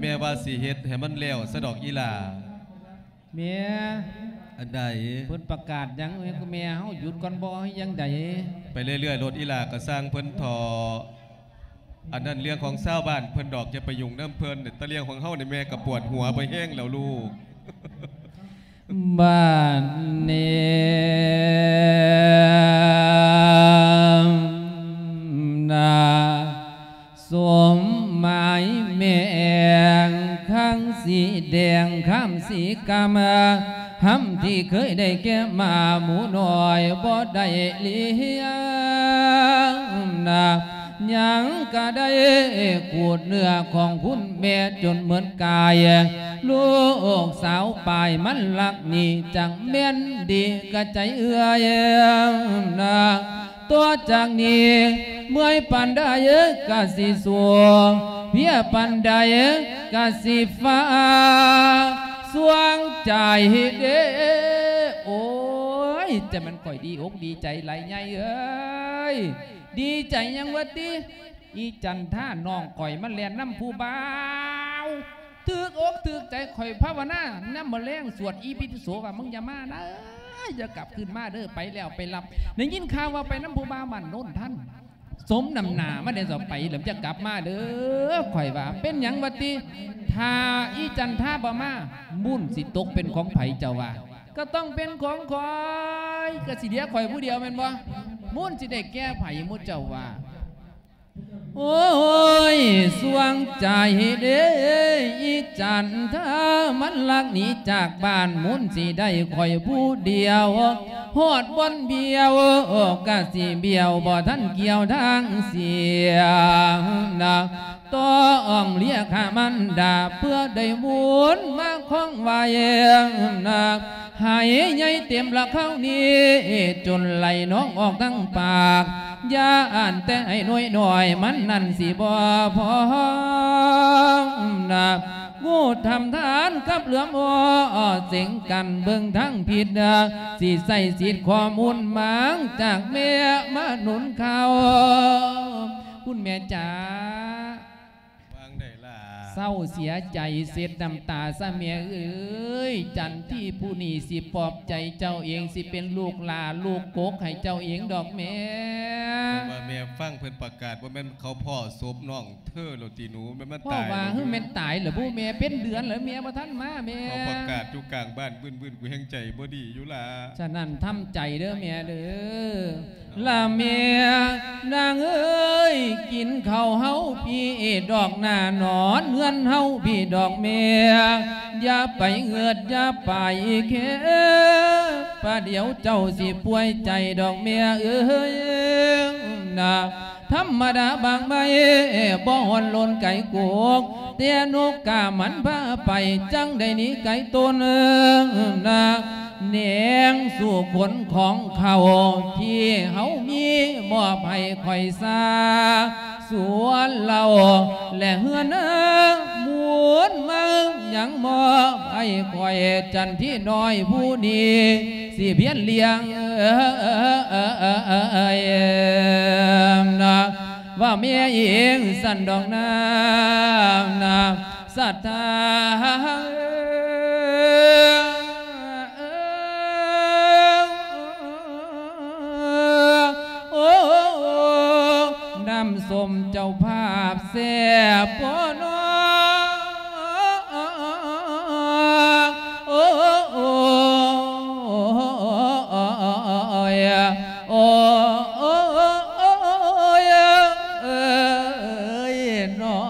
ແມ່ວ່າຊິເຮັດໃຫ້ມັນແລ້ວຊະດອກອີ່ຫຼ້າ. ແມ່ ອັນໃດ? ເພິ່ນປະກາດຫຍັງ ແມ່ເຮົາຢຸດກ່ອນບໍ່ ຫຼືຈັ່ງໃດ? ໄປເລື້ອຍໆ ໂລດອີ່ຫຼ້າ ກະຊ່າງເພິ່ນເຖາະ. ອັນນັ້ນເລື່ອງຂອງຊາວບ້ານເພິ່ນດອກ ຢ່າໄປຫຍຸ້ງນຳເພິ່ນ. ແຕ່ເລື່ອງຂອງເຮົານີ້ ແມ່ກະປວດຫົວໄປແຮງແລ້ວລູກ. ບາດນີ້ນາ ສົມໝາຍແມ່ແອງ ຄັງສີແດງ ຄຳສີກຳ ຫຳ ທີ່ເຄີຍໄດ້ແກ່ມາໝູນ້ອຍບໍ່ໄດ້ລ້ຽງນະ ຍັງກະໄດ້ຂູດເນື້ອຂອງຄຸນແມ່ຈົນໝົດກາຍ ລູກສາວປາຍມັນລັກນີ້ ຈັ່ງແມ່ນດີກະໃຈເອື້ອຍນະ. ຕໍ່ຈາກນີ້ເມື່ອຍປານໃດກະຊິສູ້ ເພຍປານໃດກະຊິຟ້າ ສວງໃຈເດ້ ໂອ້ຍ ຈະແມ່ນຂ້ອຍດີອົກດີໃຈຫຼາຍໃຫຍ່ເອີຍ. ດີໃຈຫຍັງວະຕິ? ອີຈັນທານ້ອງຂ້ອຍມັນແລ່ນນຳຜູ້ບ່າວ ຖືກອົກຖືກໃຈ ຂ້ອຍພາວະນາຍາມມື້ແລງສວດອີພິຕິໂສວ່າ ມຶງຢ່າມານະ ຢ່າກັບຄືນມາເດີ ໄປແລ້ວໄປລັບ. ໄດ້ຍິນຂ່າວວ່າໄປນຳຜູ້ບ່າວບ້ານໂນນທັນ ສົມນ້ຳໜ້າມັນແດ່ ເຈົ້າໄປແລ້ວຈະກັບມາເດີ ຂ້ອຍວ່າ. ເປັນຫຍັງວະຕິ? ຖ້າອີຈັນທາບໍ່ມາ ມູນຊິຕົກເປັນຂອງໃຜເຈົ້າວ່າ? ກໍຕ້ອງເປັນຂອງຂ້ອຍ ກໍຊິເຫຼືອຂ້ອຍຜູ້ດຽວແມ່ນບໍ່? ມູນຊິໄດ້ແກ່ໃຜໝູ່ເຈົ້າວ່າ? ໂອ້ຍ ສວງໃຈເດ້ ອີຈັນທາ ມັນລັກໜີຈາກບ້ານ ມຸນຊິໄດ້ຂ້ອຍຜູ້ດຽວ ຮອດບ່ອນບຽວ ກະຊິບຽວ ບໍ່ທັນກ່ຽວທາງເສຍນະ ຕ້ອງເລຍຂ້າມັນດາ ເພື່ອໄດ້ບຸນມາຄອງໄວ້ນະ ໃຫ້ໃຫຍ່ເຕັມລະຄາວນີ້ ຈົນໄຫຼນອງອອກທັງປາກ ຢ້ານແຕ່ໄອ້ນ້ອຍນ້ອຍມັນນັ້ນຊິບໍ່ພໍນະ ງູທຳທານກັບເຫຼືອມອເສັງກັນເບິ່ງທາງຜິດນະ ຊິໃຊ້ສິດຂໍ້ມູນໝາງຈາກແມ່ມາໜູນເຂົ້າ ຄຸນແມ່ຈ໋າ. ວ່າງໃດລະ? ເສົ້າເສຍໃຈເຊັດນ້ຳຕາຊະແມ່ເອີຍ ຈັນທີຜູ້ນີ້ຊິປອບໃຈເຈົ້າເອງ ຊິເປັນລູກຫຼ້າລູກກົກໃຫ້ເຈົ້າເອງດອກແມ່. ແຕ່ວ່າແມ່ຟັງເພິ່ນປະກາດ ບໍ່ແມ່ນເຂົາພໍ້ສົບນ້ອງເທີແລ້ວຕິໜູ? ແມ່ນມັນຕາຍ ເພາະວ່າ ແລ້ວ ຄືແມ່ນຕາຍແລ້ວບໍ່ແມ່? ເປັນເດືອນແລ້ວແມ່ບໍ່ທັນມາແມ່. ເຂົາປະກາດຢູ່ກາງບ້ານບຶ້ນໆ ກູແຮ່ງໃຈບໍ່ດີຢູ່ລະ. ສະນັ້ນທຳໃຈເດີແມ່ເດີ. ລະແມ່ນາງເອີຍ ກິນເຂົ້າເຮົາພີ້ດອກໜ້າ ນອນເຮືອນເຮົາພີ້ດອກແມ່ ຢ່າໄປເງືອດຢ່າໄປແຄ ປະດຽວເຈົ້າຊິປ່ວຍໃຈດອກແມ່ເອີຍນະ. ທຳມະດາບາງໃບບໍ່ຮ້ອນລົນໄກກົກ ແຕ່ນົກກາມັນພາໄປ ຈັ່ງໄດ້ໜີໄກຕົນນະ. ແນງສູ່ຂົນຂອງເຂົ້າທີ່ເຮົາມີ ມອບໃຫ້ຂ້ອຍຊາ ສ່ວນເຫຼົ້າ ແລະເຮືອນນາ ໝູນມາຍັງມອບໃຫ້ຂ້ອຍ ຈັນທີນ້ອຍຜູ້ນີ້ ຊິພຽນລ້ຽງນະ ວ່າແມ່ເອງຊັ້ນດອກນາ ນະ ສັດທາ ໂອ້ ນ້ຳສົ້ມເຈົ້າພາບແຊບພໍນໍ ໂອ້ ໂອ້ ໂອ້ຍ ໂອ້ ໂອ້ ໂອ້ຍ ເອີຍ ເອີຍ ເອີຍ ເນາະ.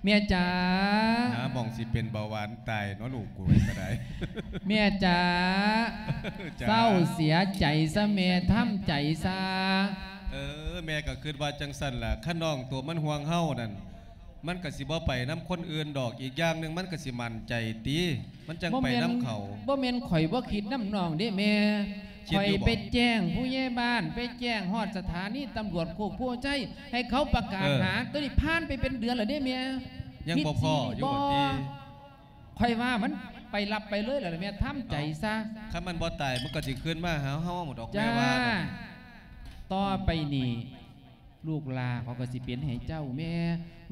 ແມ່ຈ໋າ ຫາໝ່ອງຊິເປັນເບົາຫວານຕາຍເນາະ ລູກກູກະໄດ້. ແມ່ຈ໋າ ຈ໋າ ເສົ້າເສຍໃຈຊະແມ່ ທຳໃຈຊະ. ເອີ ແມ່ກໍຄິດວ່າຈັ່ງຊັ້ນລະ ຄັນນ້ອງໂຕມັນຫ່ວງເຮົານັ້ນ ມັນກໍຊິບໍ່ໄປນຳຄົນອື່ນດອກ ອີກຢ່າງໜຶ່ງມັນກໍຊິໝັ້ນໃຈຕິ ມັນຈັ່ງໄປນຳເຂົາ. ບໍ່ແມ່ນ ບໍ່ແມ່ນຂ້ອຍບໍ່ຄິດນຳນ້ອງເດ້ແມ່ ຄິດຢູ່ບໍ່? ຂ້ອຍໄປແຈ້ງຜູ້ໃຫຍ່ບ້ານ ໄປແຈ້ງຮອດສະຖານີຕຳຫຼວດໂຄກໂພໄຊ ໃຫ້ເຂົາປະກາດ ເອີ ຫາ ໂຕນີ້ຜ່ານໄປເປັນເດືອນແລ້ວເດ້ແມ່. ຍັງບໍ່ພໍຢູ່ບໍ່ຕິ? ຂ້ອຍວ່າມັນໄປລັບໄປເລີຍແລ້ວແມ່ ທຳໃຈຊະ. ເອົ້າ ຄັນມັນບໍ່ຕາຍ ມັນກໍຊິຄືນມາຫາເຮົາດອກ ແມ່ວ່າ. ຕໍ່ໄປນີ້ ລູກຫຼ້າເຂົາກໍຊິເປັນໃຫ້ເຈົ້າແມ່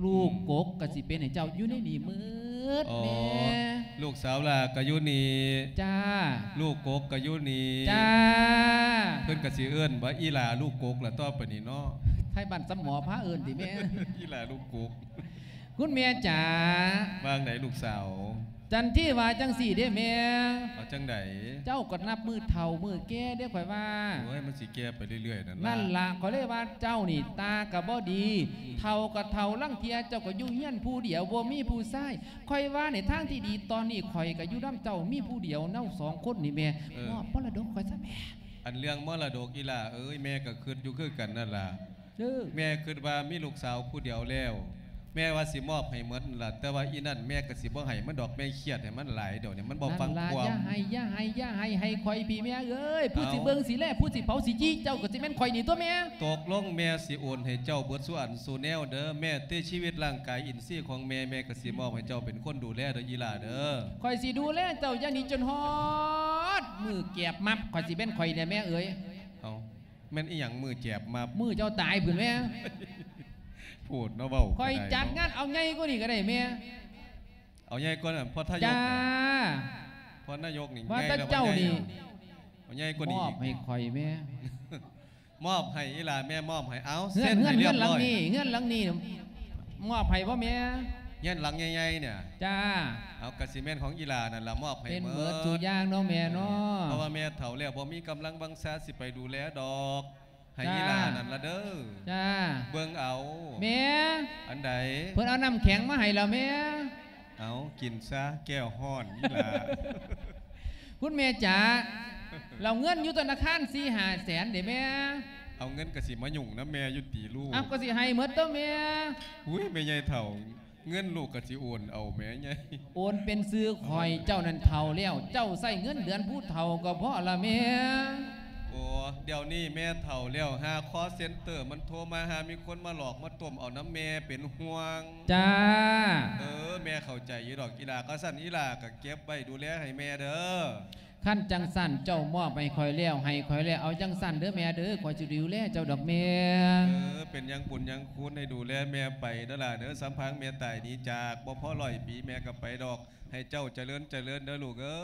ລູກ ອືມ ກົກກໍຊິເປັນໃຫ້ເຈົ້າ ຢູ່ໃນນີ້ໝົດ ອໍ ແມ່. ລູກສາວຫຼ້າກໍຢູ່ນີ້ ຈ້າ ລູກກົກກໍຢູ່ນີ້ ຈ້າ. ເພິ່ນກໍຊິເອີ້ນວ່າອີຫຼ້າລູກກົກລະຕໍ່ໄປນີ້ເນາະ. ໄທບ້ານສຳໝໍພາເອີ້ນຕິແມ່ ອີຫຼ້າລູກກົກ. ຄຸນແມ່ຈ໋າ ວ່າງໃດລູກສາວ? ຈັນທີວ່າຈັ່ງຊີ້ເດ້ແມ່. ເອົາຈັ່ງໃດ? ເຈົ້າກໍນັບມື້ເຖົ້າມື້ແກ່ເດ້ຂ້ອຍວ່າ. ໂອ້ຍ ມັນຊິແກ່ໄປເລື້ອຍໆນັ້ນລະ. ນັ້ນລະ ຂ້ອຍເລີຍວ່າເຈົ້ານີ້ຕາກໍບໍ່ດີ ອືມ ເຖົ້າກໍເຖົ້າ ລາງເທື່ອເຈົ້າກໍຢູ່ເຮືອນຜູ້ດຽວ ບໍ່ມີຜູ້ຊາຍ. ຂ້ອຍວ່າໃນທາງທີ່ດີຕອນນີ້ ຂ້ອຍກໍຢູ່ນຳເຈົ້າມີຜູ້ດຽວ ເຮົາສອງຄົນນີ້ແມ່ ເອີ ມອບມໍລະດົກຂ້ອຍຊະແມ່. ອັນເລື່ອງມໍລະດົກ ອີ່ຫຼ້າເອີຍ ແມ່ກໍຄິດຢູ່ຄືກັນນັ້ນລະ. ເອີ ແມ່ຄິດວ່າມີລູກສາວຜູ້ດຽວແລ້ວ ແມ່ວ່າຊິມອບໃຫ້ໝົດນັ້ນລະ ແຕ່ວ່າອີ່ນັ້ນແມ່ກໍຊິບໍ່ໃຫ້ມັນດອກ ແມ່ຄຽດໃຫ້ມັນຫຼາຍ ດຽວນີ້ມັນບໍ່ຟັງຄວາມ. ນັ້ນລະ ຢ່າໃຫ້ ຢ່າໃຫ້ ຢ່າໃຫ້ ໃຫ້ຂ້ອຍພີ້ແມ່ເອີຍ ຜູ້ຊິເບິ່ງຊິແລ ຜູ້ຊິເຝົ້າຊິຈີ້ ເຈົ້າກໍຊິແມ່ນຂ້ອຍນີ້ຕົວະແມ່. ຕົກລົງແມ່ຊິໂອນໃຫ້ເຈົ້າເບິດສູ່ອັນສູ່ແນວເດີ ແມ້ແຕ່ຊີວິດຮ່າງກາຍອິນຊີຂອງແມ່ ແມ່ກໍຊິມອບໃຫ້ເຈົ້າເປັນຄົນດູແລເດີ ອີ່ຫຼ້າເດີ. ຂ້ອຍຊິດູແລເຈົ້າຢ່າງນີ້ຈົນຮອດມື້ແກບມັບ ຂ້ອຍຊິແມ່ນຂ້ອຍແດ່ແມ່ເອີຍ. ເອົາ ແມ່ນອີ່ຫຍັງມື້ແຈບມາ ມື້ເຈົ້າຕາຍພຸ້ນແມ່. ໂພດເນາະ ເວົ້າກໍໄດ້ເນາະ. ຂ້ອຍຈັດງານເອົາໃຫຍ່ກວ່ານີ້ກໍໄດ້ແມ່. ເອົາໃຫຍ່ກວ່ານັ້ນ ພໍ່ທາຍົກນີ້ ຈ້າ ພໍ່ນາຍົກນີ້ ວ່າແຕ່ເຈົ້ານີ້ ເອົາໃຫຍ່ກວ່ານີ້ ມອບໃຫ້ຂ້ອຍແມ່. ມອບໃຫ້ອີ່ຫຼ້າແມ່ ມອບໃຫ້. ເອົາ ເຮືອນ ເຊັນໃຫ້ຮຽບຮ້ອຍ. ເຮືອນ ເຮືອນຫຼັງນີ້ ເຮືອນຫຼັງນີ້ ມອບໃຫ້ບໍ່ແມ່? ເຮືອນຫຼັງໃຫຍ່ໆນີ້ ຈ້າ ເອົາ ກະຊິແມ່ນຂອງອີ່ຫຼ້ານັ້ນລະ ມອບໃຫ້ ເປັນເບິດ ເບິດສູ່ຢ່າງເນາະແມ່ເນາະ. ເອີ ເພາະວ່າແມ່ເຖົ້າແລ້ວ ບໍ່ມີກຳລັງວັງຊາຊິໄປດູແລດອກ ໃຫ້ ຈ້າ ອີ່ຫຼ້ານັ້ນລະເດີ. ຈ້າ ເບິ່ງເອົາແມ່. ອັນໃດ? ເພິ່ນເອົານ້ຳແຂງມາໃຫ້ແລ້ວແມ່. ເອົາ ກິນຊະ ແກ້ວຮ້ອນນີ້ລະ. ຄຸນແມ່ຈ໋າ ລາວເງິນຢູ່ທະນາຄານສີ່ຫ້າແສນເດ້ແມ່. ເອົາ ເງິນກະຊິມາຫຍຸ້ງນຳແມ່ຢູ່ຕິລູກ. ເອົາ ກໍຊິໃຫ້ໝົດຕົວະແມ່. ອຸ້ຍ ແມ່ໃຫຍ່ເຖົ້າ ເງິນລູກກະຊິໂອນເອົາແມ່ໃຫຍ່. ໂອນເປັນຊື່ຂ້ອຍ ເຈົ້ານັ້ນເຖົ້າແລ້ວ ເຈົ້າໃຊ້ເງິນເດືອນຜູ້ເຖົ້າກໍພໍລະແມ່. ໂອ້ ດຽວນີ້ແມ່ເຖົ້າແລ້ວ ຫາຄໍເຊັນເຕີມັນໂທມາ ຫາມີຄົນມາຫຼອກມາຕົ້ມເອົານຳແມ່ ເປັນຫ່ວງ. ຈ້າ ເອີ ແມ່ເຂົ້າໃຈຢູ່ດອກ ອີ່ຫຼ້າ. ຄັນຊັ້ນ ອີ່ຫຼ້າກໍເກັບໄວ້ດູແລໃຫ້ແມ່ເດີ. ຄັນຈັ່ງຊັ້ນ ເຈົ້າມອບໃຫ້ຂ້ອຍແລ້ວ ໃຫ້ຂ້ອຍແລ້ວ ເອົາຈັ່ງຊັ້ນເດີແມ່ເດີ ຂ້ອຍຊິດູແລເຈົ້າດອກແມ່. ເອີ ເປັນຫຍັງບຸນຫຍັງຄຸນ ໃຫ້ດູແລແມ່ໄປເດີຫຼ້າເດີ. ສຳພັງແມ່ຕາຍໜີຈາກ ບໍ່ພໍຮ້ອຍປີ ແມ່ກໍໄປດອກ. ໃຫ້ເຈົ້າຈະເລີນຈະເລີນເດີລູກເອີ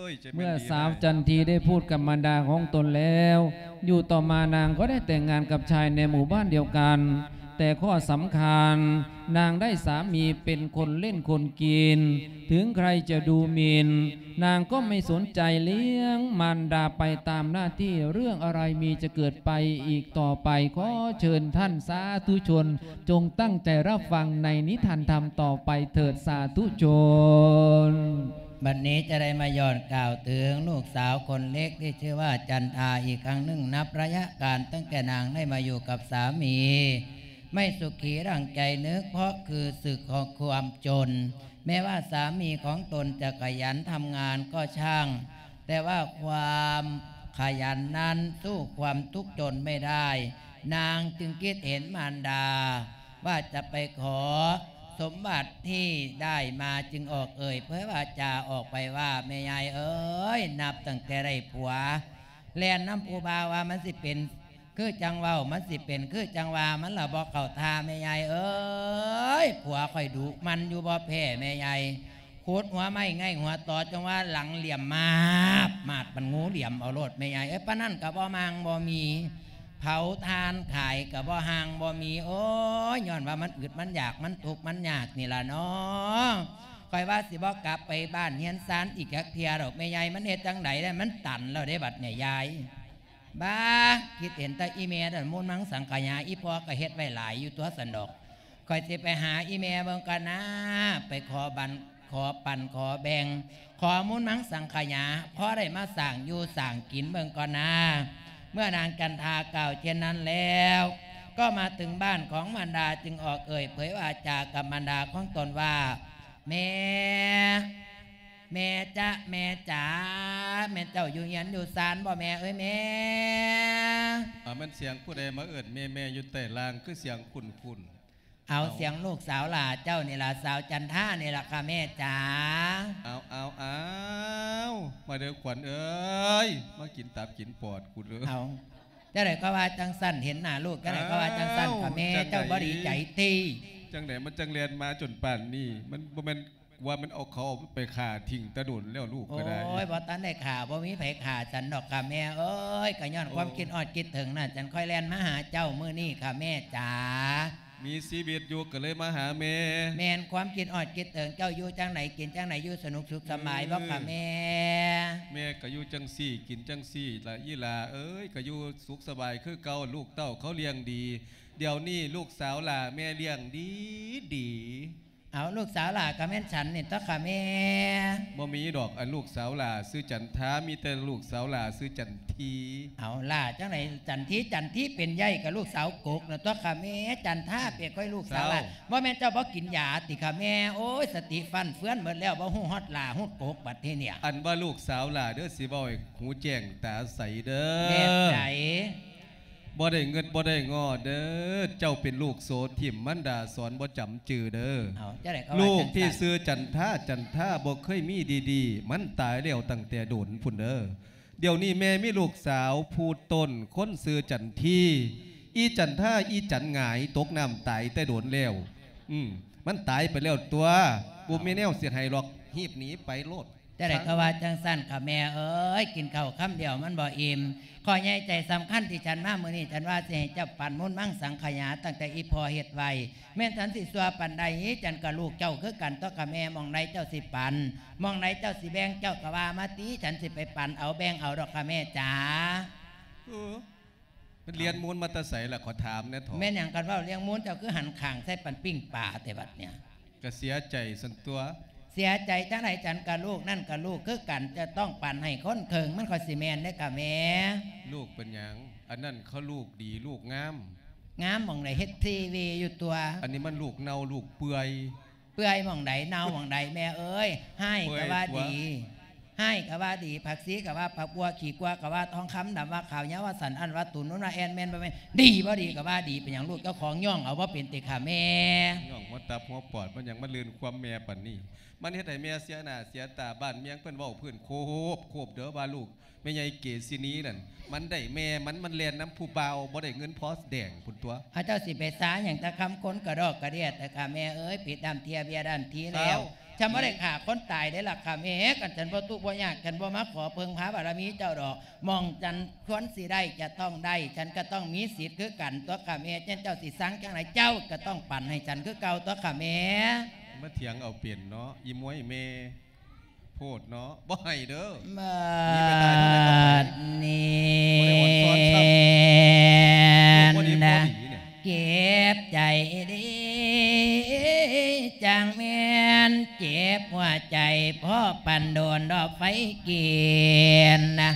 ຍ. ເມື່ອສາວຈັນທີໄດ້ພູດກັບມານດາຂອງຕົນແລ້ວ ຢູ່ຕໍ່ມານາງກໍໄດ້ແຕ່ງງານກັບຊາຍໃນໝູ່ບ້ານດຽວກັນ, ແຕ່ຂໍ້ສຳຄັນ ນາງໄດ້ສາມີເປັນຄົນຫຼິ້ນຄົນກິນ, ເຖິງໃຄຈະດູໝິ່ນ ນາງກໍໄມ່ສົນໃຈ, ລ້ຽງມານດາໄປຕາມໜ້າທີ່, ເລື່ອງອະໄລມີຈະເກີດໄປອີກຕໍ່ໄປ, ຂໍເຊີນທ່ານສາທຸຊົນ ຈົ່ງຕັ້ງໃຈຮັບຟັງໃນນິທານທຳຕໍ່ໄປເຖີດສາທຸຊົນ. ບັດນີ້ຈະໄດ້ມາຍ້ອນກ່າວເຖິງລູກສາວຄົນເລັກທີ່ຊື່ວ່າຈັນທາອີກຄັ້ງໜຶ່ງ. ນັບໄລຍະການຕັ້ງແຕ່ນາງໄດ້ມາຢູ່ກັບສາມີ ໄມ່ສຸຂີດັ່ງໃຈນຶກ ເພາະຄືສຶກຂອງຄວາມຈົນ. ແມ້ວ່າສາມີຂອງຕົນຈະຂະຫຍັນທຳງານກໍຊ່າງ, ແຕ່ວ່າຄວາມຂະຫຍັນນັ້ນສູ້ຄວາມທຸກຈົນໄມ່ໄດ້. ນາງຈຶ່ງຄິດເຫັນມານດາວ່າຈະໄປຂໍສົມບັດທີ່ໄດ້ມາ, ຈຶ່ງອອກເອີ່ຍເຜີຍວາຈາອອກໄປວ່າ, ແມ່ໃຫຍ່ເອີຍ, ນັບຕັ້ງແຕ່ໄດ້ຜົວ ແລ່ນນຳຜູ້ບ່າວວ່າມັນຊິເປັນ ຄືຈັ່ງເວົ້າມັນຊິເປັນ ຄືຈັ່ງວ່າມັນລະບໍ່ເຂົ້າທ່າແມ່ໃຫຍ່ເອີຍ. ຜົວຂ້ອຍດຸໝັ່ນຢູ່ບໍ່ແພ້ແມ່ໃຫຍ່, ຂຸດຫົວໄມ້ໄງ່ຫົວຕໍ ຈັ່ງວ່າຫຼັງຫຼຽມມາບມາດ ປານງູຫຼຽມເອົາໂລດແມ່ໃຫຍ່ເອີຍ. ປານນັ້ນກໍບໍ່ມາງບໍ່ມີ, ເຜົາຖ່ານຂາຍກໍບໍ່ຫ່າງບໍ່ມີ. ໂອ້ຍ ຍ້ອນວ່າມັນອຶດມັນຢາກ ມັນທຸກມັນຍາກນີ້ລະເນາະ. ຂ້ອຍວ່າຊິບໍ່ກັບໄປບ້ານເຮືອນຊານອີກຈັກເທື່ອດອກແມ່ໃຫຍ່. ມັນເຮັດຈັ່ງໃດໄດ້ ມັນຕັນແລ້ວເດ້ບັດນີ້ຍາຍ. ບ້າ ຄິດເຫັນແຕ່ອີ່ແມ່ນັ້ນ ມູນມັງສັງຂະຫຍາ, ອີ່ພໍ່ກໍເຮັດໄວ້ຫຼາຍຢູ່ຕົວະຊັ້ນດອກ. ຂ້ອຍຊິໄປຫາອີ່ແມ່ເບິ່ງກ່ອນນາ, ໄປຂໍບັນ ຂໍປັນຂໍແບ່ງ ຂໍມູນມັງສັງຂະຫຍາ ພໍໄດ້ມາສ້າງຢູ່ສ້າງກິນເບິ່ງກ່ອນນາ. ເມື່ອນາງຈັນທາກ່າວເຊັ່ນນັ້ນແລ້ວ ກໍມາເຖິງບ້ານຂອງມານດາ, ຈຶ່ງອອກເອີ່ຍເຜີຍວາຈາກັບມານດາຂອງຕົນວ່າ, ແມ່ ແມ່ຈ໋າ ແມ່ຈ໋າ ແມ່ນເຈົ້າຢູ່ເຮືອນຢູ່ຊານບໍ່ແມ່ເອີຍແມ່? ອາ ແມ່ນສຽງຜູ້ໃດມາເອີ້ນແມ່ໆຢູ່ໃຕ້ລ່າງ ຄືສຽງຄຸ້ນໆ? ເອົາ ເອົາ ສຽງລູກສາວຫຼ້າເຈົ້ານີ້ລະ ສາວຈັນທານີ້ລະຄ່ະແມ່ຈ໋າ. ເອົາ ເອົາ ເອົາ ມາເດີຂວັນເອີຍ ມາກິນຕັບກິນປອດກູເດີ. ເອົາ ຈັ່ງໃດກໍວ່າຈັ່ງຊັ້ນ ເຫັນໜ້າລູກຈັ່ງໃດກໍວ່າຈັ່ງຊັ້ນຄ່ະແມ່. ເຈົ້າບໍ່ດີໃຈຕິ? ຈັ່ງໃດມັນຈັ່ງແລ່ນມາຈົນປານນີ້ ມັນບໍ່ແມ່ນ ວ່າມັນເອົາເຂົາໄປຂ້າຖິ້ມແຕ່ດົນແລ້ວລູກກໍໄດ້. ໂອ້ຍ ບໍ່ທັນໄດ້ຂ້າ ບໍ່ມີໃຜຂ້າສັນດອກຄ່ະແມ່ເອີຍ. ກໍຍ້ອນຄວາມ ໂອ້ ຄິດຮອດຄິດເຖິງນັ້ນ ຈັ່ງຄ່ອຍແລ່ນມາຫາເຈົ້າມື້ນີ້ຄ່ະແມ່ຈ໋າ. ມີຊີວິດຢູ່ກໍເລີຍມາຫາແມ່. ແມ່ນຄວາມຄິດອອດຄິດເຖິງເຈົ້າຢູ່ຈັ່ງໃດ ກິນຈັ່ງໃດ ຢູ່ສະໜຸກສຸກສະບາຍບໍ່ຄະແມ່? ແມ່ກໍຢູ່ຈັ່ງຊີ້ ກິນຈັ່ງຊີ້ລະອີ່ຫຼ້າເອີຍ, ກໍຢູ່ສຸກສະບາຍຄືເກົ່າ, ລູກເຕົ້າເຂົາລ້ຽງດີ. ດຽວນີ້ລູກສາວຫຼ້າແມ່ລ້ຽງດີໆ. ເອົາ ລູກສາວຫຼ້າກໍແມ່ນສັນນີ້ຕົວະຄະແມ່. ບໍ່ມີດອກ ອັນລູກສາວຫຼ້າຊື່ຈັນທາ, ມີແຕ່ລູກສາວຫຼ້າຊື່ຈັນທີ. ເອົາ ຫຼ້າຈັ່ງໃດ ຈັນທີ ຈັນທີເປັນໃຫຍ່ກໍລູກສາວກົກນະຕົວະຄະແມ່. ຈັນທາເປັນຂ້ອຍລູກສາວຫຼ້າ. ສາວ ບໍ່ແມ່ນເຈົ້າບໍ່ກິນຢາຕິຄະແມ່? ໂອ້ຍ ສະຕິຟັ່ນເຟືອນໝົດແລ້ວ ບໍ່ຮູ້ຮອດຫຼ້າຮອດກົກບັດທີເນີ້ຍ. ອັນວ່າລູກສາວຫຼ້າເດີ້ ຊິເວົ້າໃຫ້ຫູແຈ້ງຕາໃສເດີ້. ແມ່ນໃດ? ບໍ່ໄດ້ເງິດບໍ່ໄດ້ງໍເດີ້. ເຈົ້າເປັນລູກໂສຖິ້ມ ມານດາສອນບໍ່ຈຳຈື່ເດີ້. ເອົາ ຈັ່ງໃດກໍວ່າ ລູກທີ່ ຈັ່ງຊັ້ນ ຊື່ຈັນທາ ຈັນທາບໍ່ເຄີຍມີດີໆ, ມັນຕາຍແລ້ວຕັ້ງແຕ່ດົນພຸ້ນເດີ້. ດຽວນີ້ແມ່ມີລູກສາວຜູ້ຕົ້ນຄົນຊື່ຈັນທີ. ອີຈັນທາ ອີຈັນຫງາຍຕົກນ້ຳຕາຍແຕ່ດົນແລ້ວ. ອືມ ມັນຕາຍໄປແລ້ວຕົວະ. ບໍ່ມີແນວຊິໃຫ້ດອກ, ຮີບໜີໄປໂລດ. ຈັ່ງໃດກໍວ່າຈັ່ງຊັ້ນຄະແມ່ເອີຍ, ກິນເຂົ້າຄຳດຽວມັນບໍ່ອີ່ມ. ຂໍ້ໃຫຍ່ໃຈສຳຄັນທີ່ສັນມາມື້ນີ້, ສັນວ່າຊິໃຫ້ເຈົ້າປັນມູນມັງສັງຂະຫຍາ ຕັ້ງແຕ່ອີ່ພໍ່ເຮັດໄວ້. ແມ່ນສັນຊິຊົ່ວປານໃດ, ສັນກໍລູກເຈົ້າຄືກັນຕົວະຄະແມ່. ໝ່ອງໃດເຈົ້າຊິປັນ ໝ່ອງໃດເຈົ້າຊິແບ່ງ ເຈົ້າກໍວ່າມາຕິ, ສັນຊິໄປປັນເອົາແບ່ງເອົາດອກຄະແມ່ຈ໋າ. ເອີ ມັນລ້ຽງມູນມາແຕ່ໃສລະ ຂໍຖາມແດ່ເຖາະ. ແມ່ນຫຍັງ ຄັນເວົ້າລ້ຽງມູນ ເຈົ້າຄືຫັນຂ້າງໃສ່ປັນປີ້ງປາແຕ່ບັດເນີ້ຍ? ກະເສຍໃຈຊັ້ນຕົວະ. ເສຍໃຈຈັ່ງໃດ? ສັນກະລູກ ນັ້ນກະລູກຄືກັນ, ຈະຕ້ອງປັນໃຫ້ຄົນເຄິ່ງ ມັນຄ່ອຍຊິແມ່ນເດ້ກະແມ່. ລູກເປັນຫຍັງ? ອັນນັ້ນເຂົາລູກດີລູກງາມ. ງາມໝ່ອງໃດ? ເຮັດທີວີຢູ່ຕົວະ. ອັນນີ້ມັນລູກເນົ່າລູກເປື່ອຍ. ເປື່ອຍໝ່ອງໃດ ເນົ່າໝ່ອງໃດແມ່ເອີຍ. ຮ້າຍກະວ່າດີ ເປື່ອຍຕົວະ. ຮ້າຍກະວ່າດີ, ຜັກຊີກະວ່າຜັກບົ່ວ, ຂີ້ກົວກະວ່າທອງຄຳ, ດຳວ່າຂາວ, ຍາວວ່າສັ້ນ, ອັ້ນວ່າຕູນ, ນຸນວ່າແອ່ນ, ແມ່ນບໍ່ແມ່ນ, ດີບໍ່ດີກະວ່າດີ. ເປັນຫຍັງລູກເຈົ້າຂອງຍ້ອງເອົາບໍ່ເປັນຕິຄະແມ່? ຍ້ອງຫົວຕັບຫົວປອດ ມັນຫຍັງມາລື່ນຄວາມແມ່ປານນີ້? ມັນເຮັດໃຫ້ແມ່ເສຍໜ້າເສຍຕາ. ບ້ານເມືອງເພິ່ນເວົ້າພື້ນໂຄບໂຄບເດີ້ວ່າລູກ ແມ່ໃຫຍ່ເກສິນີນັ້ນ ມັນໄດ້ແມ່ມັນ ມັນແລ່ນນຳຜູ້ບ່າວ ບໍ່ໄດ້ເງິນພໍແດງພຸ້ນຕົວະ. ເອົາ ເຈົ້າຊິໄປຊາຫຍັງແຕ່ຄຳຄົນກະດອກກະເດຍແທ້ຄະແມ່ເອີຍ. ຜິດດ້ານທີເບຍດ້ານທີແລ້ວ. ສາວ ຈະບໍ່ໄດ້ຂ້າຄົນຕາຍເດ້ລະຄະແມ່. ຄັນສັນບໍ່ທຸກບໍ່ຍາກ ສັນບໍ່ມາຂໍເພິ່ງພາບາລະມີເຈົ້າດອກ. ໝ່ອງສັນຄວນຊິໄດ້ຈະຕ້ອງໄດ້, ສັນກະຕ້ອງມີສິດຄືກັນຕົວະຄະແມ່. ເຊັ່ນເຈົ້າຊິສັ່ງຈັ່ງໃດ ເຈົ້າກະຕ້ອງປັນໃຫ້ສັນຄືເກົ່າຕົວະຄະແມ່. ມາຖຽງເອົາເປັນເນາະ ອີໝວຍແມ່. ໂພດເນາະ ບໍ່ໃຫ້ເດີ້. ບາດນີ້ ບໍ່ໄດ້ອ່ອນຊ້ອນຊ້ຳ ບໍ່ດີບໍ່ດີນີ້. ເຈັບໃຈເດ້ ຈັ່ງແມ່ນເຈັບຫົວໃຈ ພໍປານໂດນດອກໄຟກິນນະ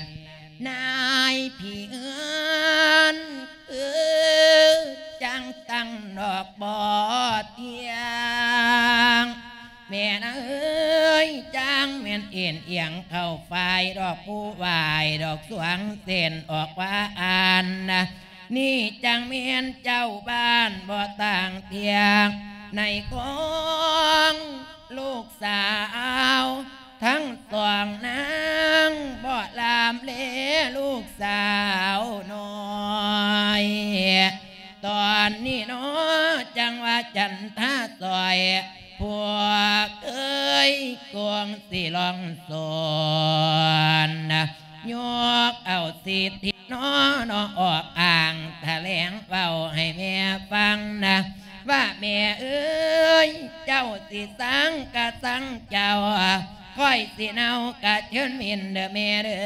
ນາຍຜີເຮືອນ ຄືຈັ່ງຕັ້ງດອກບໍ່ທ່ຽງ. ແມ່ນເອີຍ ຈັ່ງແມ່ນເອັນອຽງເຂົ້າຝ່າຍ ດອກຜູ້ວາຍ ດອກສວງເສັ້ນອອກວ່າອັນນະ ນີ້ຈັ່ງແມ່ນເຈົ້າບ້ານບໍ່ຕ່າງທ່ຽງ ໃນຂອງລູກສາວທັງສອງນາງ ບໍ່ລາມເລລູກສາວນ້ອຍ. ຕອນນີ້ເນາະ ຈັ່ງວ່າຈັນທາຊ່ອຍ ພວກເອີຍ ກວງຊິລອງສອນ ຍົກເອົາສິດທິເນາະ ເນາະ ອອກອ້າງຖະແຫຼງເວົ້າໃຫ້ແມ່ຟັງນະ ວ່າແມ່ເອີຍ ເຈົ້າຊິສັງກະສັງເຈົ້າ ຂ້ອຍຊິເນົາກະເຊີນເໝັນເດີແມ່ເດີ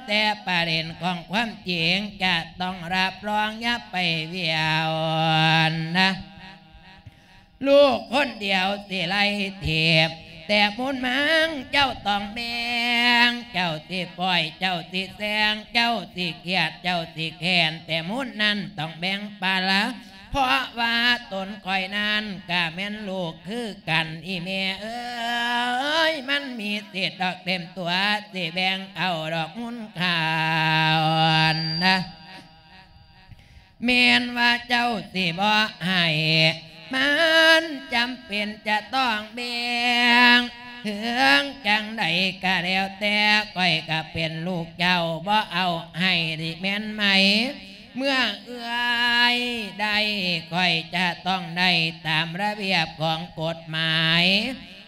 ແຕ່ປະເດັນຂອງຄວາມຈິງຈະຕ້ອງຮັບຮອງ ຢ່າໄປວຽວນະ ລູກຄົນດຽວຊິໄລ່ຖີບ ແຕ່ມູນມັງເຈົ້າຕ້ອງແບ່ງ ເຈົ້າຊິປ່ອຍ ເຈົ້າຊິແຊງ ເຈົ້າຊິຄຽດ ເຈົ້າຊິແຄ້ນ ແຕ່ມູນນັ້ນຕ້ອງແບ່ງປະລະ ເພາະວ່າຕົນຂ້ອຍນັ້ນກະແມ່ນລູກຄືກັນ ອີແມ່ເອີຍ ມັນມີສິດດອກເຕັມຕົວ ຊິແບ່ງເອົາດອກມູນຂ້າວນະ ແມ່ນວ່າເຈົ້າຊິບໍ່ໃຫ້ ມັນຈຳເປັນຈະຕ້ອງແບ່ງ ເຖິງຈັ່ງໃດກະແລ້ວແຕ່ ຂ້ອຍກະເປັນລູກເຈົ້າ ບໍ່ເອົາໃຫ້ນີ້ແມ່ນໄໝ? ເມື່ອເອື້ອຍໄດ້ ຂ້ອຍຈະຕ້ອງໄດ້ຕາມລະບຽບຂອງກົດໝາຍ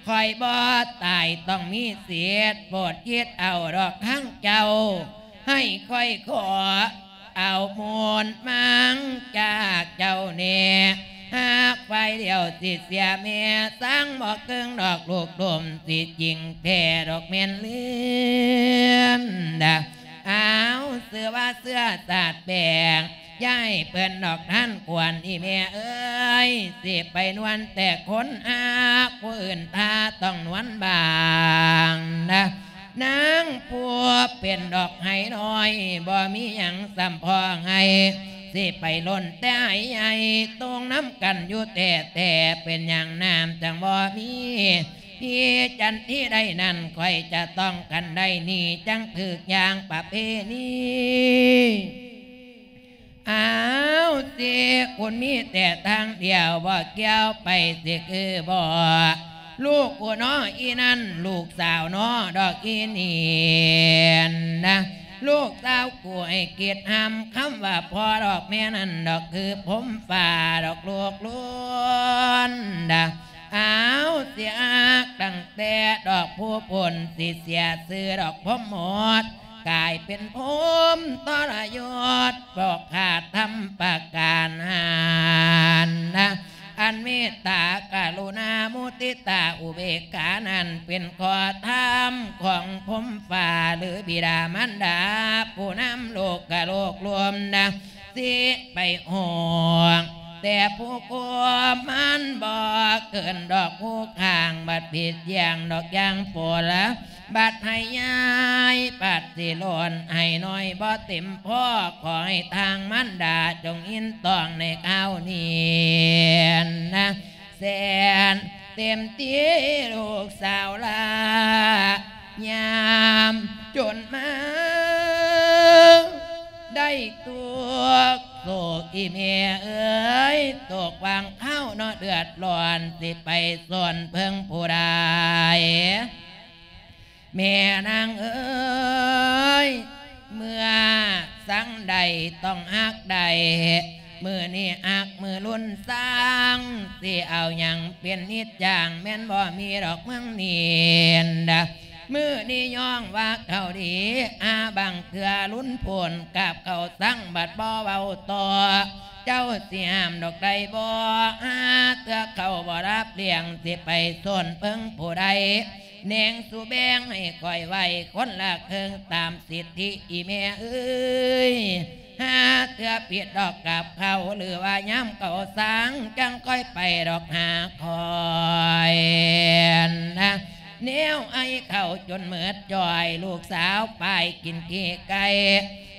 ຂ້ອຍບໍ່ຕາຍຕ້ອງມີສິດ ໂປດຄິດເອົາດອກທາງເຈົ້າ ໃຫ້ຂ້ອຍຂໍ ເອົາມູນມັງຈາກເຈົ້າແນ່ ຫາກຝ່າຍດຽວຊິເສຍແມ່ ສັງບໍ່ເກີງດອກລູກດົມ ຊິຈິງແທ້ດອກແມ່ນເລື່ອນດາ ເອົາ ຊື່ວ່າເຊື້ອຊາດແປງ ຢ່າໃຫ້ເພິ່ນດອກທ່ານຄວນ ອີ່ແມ່ເອີຍ ຊິໄປນວນແຕ່ຄົນຮັກ ຜູ້ອື່ນຖ້າຕ້ອງນວນບາງນະ ນາງຜູ້ເປັນດອກໄຮ່ນ້ອຍ ບໍ່ມີຫຍັງສ່ຳພໍໄຮ່ ຊິໄປຫຼົ່ນແຕ່ໄຮ່ໃຫຍ່ ຕົງນຳກັນຢູ່ແທ້ໆ ເປັນຫຍັງນ້ຳຈັ່ງບໍ່ມີ ພີ່ຈັນທີໃດນັ້ນ ຂ້ອຍຈະຕ້ອງກັນໄດ້ນີ້ ຈັ່ງຖືກຢ່າງປະເພນີ. ອ້າວ ຊິຄຸນມີແຕ່ທາງດຽວ ບໍ່ກ່ຽວໄປຊິຄືບໍ່ ລູກກູເນາະອີ່ນັ້ນ ລູກສາວເນາະດອກອີ່ນີ້ນະ ລູກສາວກູໃຫ້ຄິດຫ້າມ ຄຳວ່າພໍ່ດອກແມ່ນັ້ນດອກ ຄືພົມຟ້າດອກລູກລຸນດາ ອ້າວ ຊິຮັກຕັ້ງແຕ່ດອກຜູ້ພົ້ນ ຊິເສຍຊື່ດອກພົມໝົດ ກາຍເປັນພົມທໍລະຍົດ ບໍ່ຂາດທຳປະການຫັ້ນນະ ອັນເມດຕາກະລຸນາມຸທິຕາອຸເບກຂານັ້ນ ເປັນຂໍ້ທຳຂອງພົມຟ້າ ຫຼື ບິດາມານດາ ຜູ້ນຳໂລກກະໂລກລວມນະ ຊິໄປຮອງ ແຕ່ຜູ້ຄວມມັນບໍ່ເກີນດອກ ຜູ້ຂ້າງບັດຜິດຢ່າງດອກຢ່າງຜົນ ບັດໃຫ້ໃຫຍ່ບັດຊິລົ້ນ ໃຫ້ນ້ອຍບໍ່ເຕັມພໍ ຂໍໃຫ້ທາງມານດາຈົ່ງຍິນຕ້ອງໃນຄາວນີ້ນະ ແສນເຕັມທີ່ລູກສາວລາ ຍາມຈົນມາ ໄດ້ຕົກໂສກອີ່ແມ່ເອີຍ ຕົກຫວ່າງຄາວເນາະເດືອດຮ້ອນ ຊິໄປສົນເພິ່ງຜູ້ໃດ ແມ່ນາງເອີຍ ເມື່ອສັງໄດ້ຕ້ອງຮັກໄດ້ ມື້ນີ້ຮັກມື້ລຸນສັງ ຊິເອົາຫຍັງເປັນນິດຈັ່ງ ແມ່ນບໍ່ມີດອກເມືອງນີ້ນະ ມື້ນີ້ຍ້ອງວ່າເຂົ້າດີ ອາ ບາງເທື່ອລຸນໂພນ ກາບເຂົ້າສັງບັດບໍ່ເວົ້າຕໍ່ ເຈົ້າຊິຫ້າມດອກໄດ້ບໍ່ ຫາເທື່ອເຂົ້າບໍ່ຮັບລ້ຽງ ຊິໄປສົນເພິ່ງຜູ້ໃດ ແນງສູ່ແບ່ງໃຫ້ຂ້ອຍໄວ້ຄົນລະເຄິ່ງຕາມສິດທິອີ່ແມ່ເອີຍ ຫາເທື່ອຜິດດອກກັບເຂົາ ຫຼືວ່າຍາມເຂົາສັງ ຈັ່ງຄ່ອຍໄປດອກຫາຂ້ອຍນະ ແນວໄອເຂົ້າຈົນເໝິດຈ່ອຍ ລູກສາວປາຍກິນຂີ້ໄກ່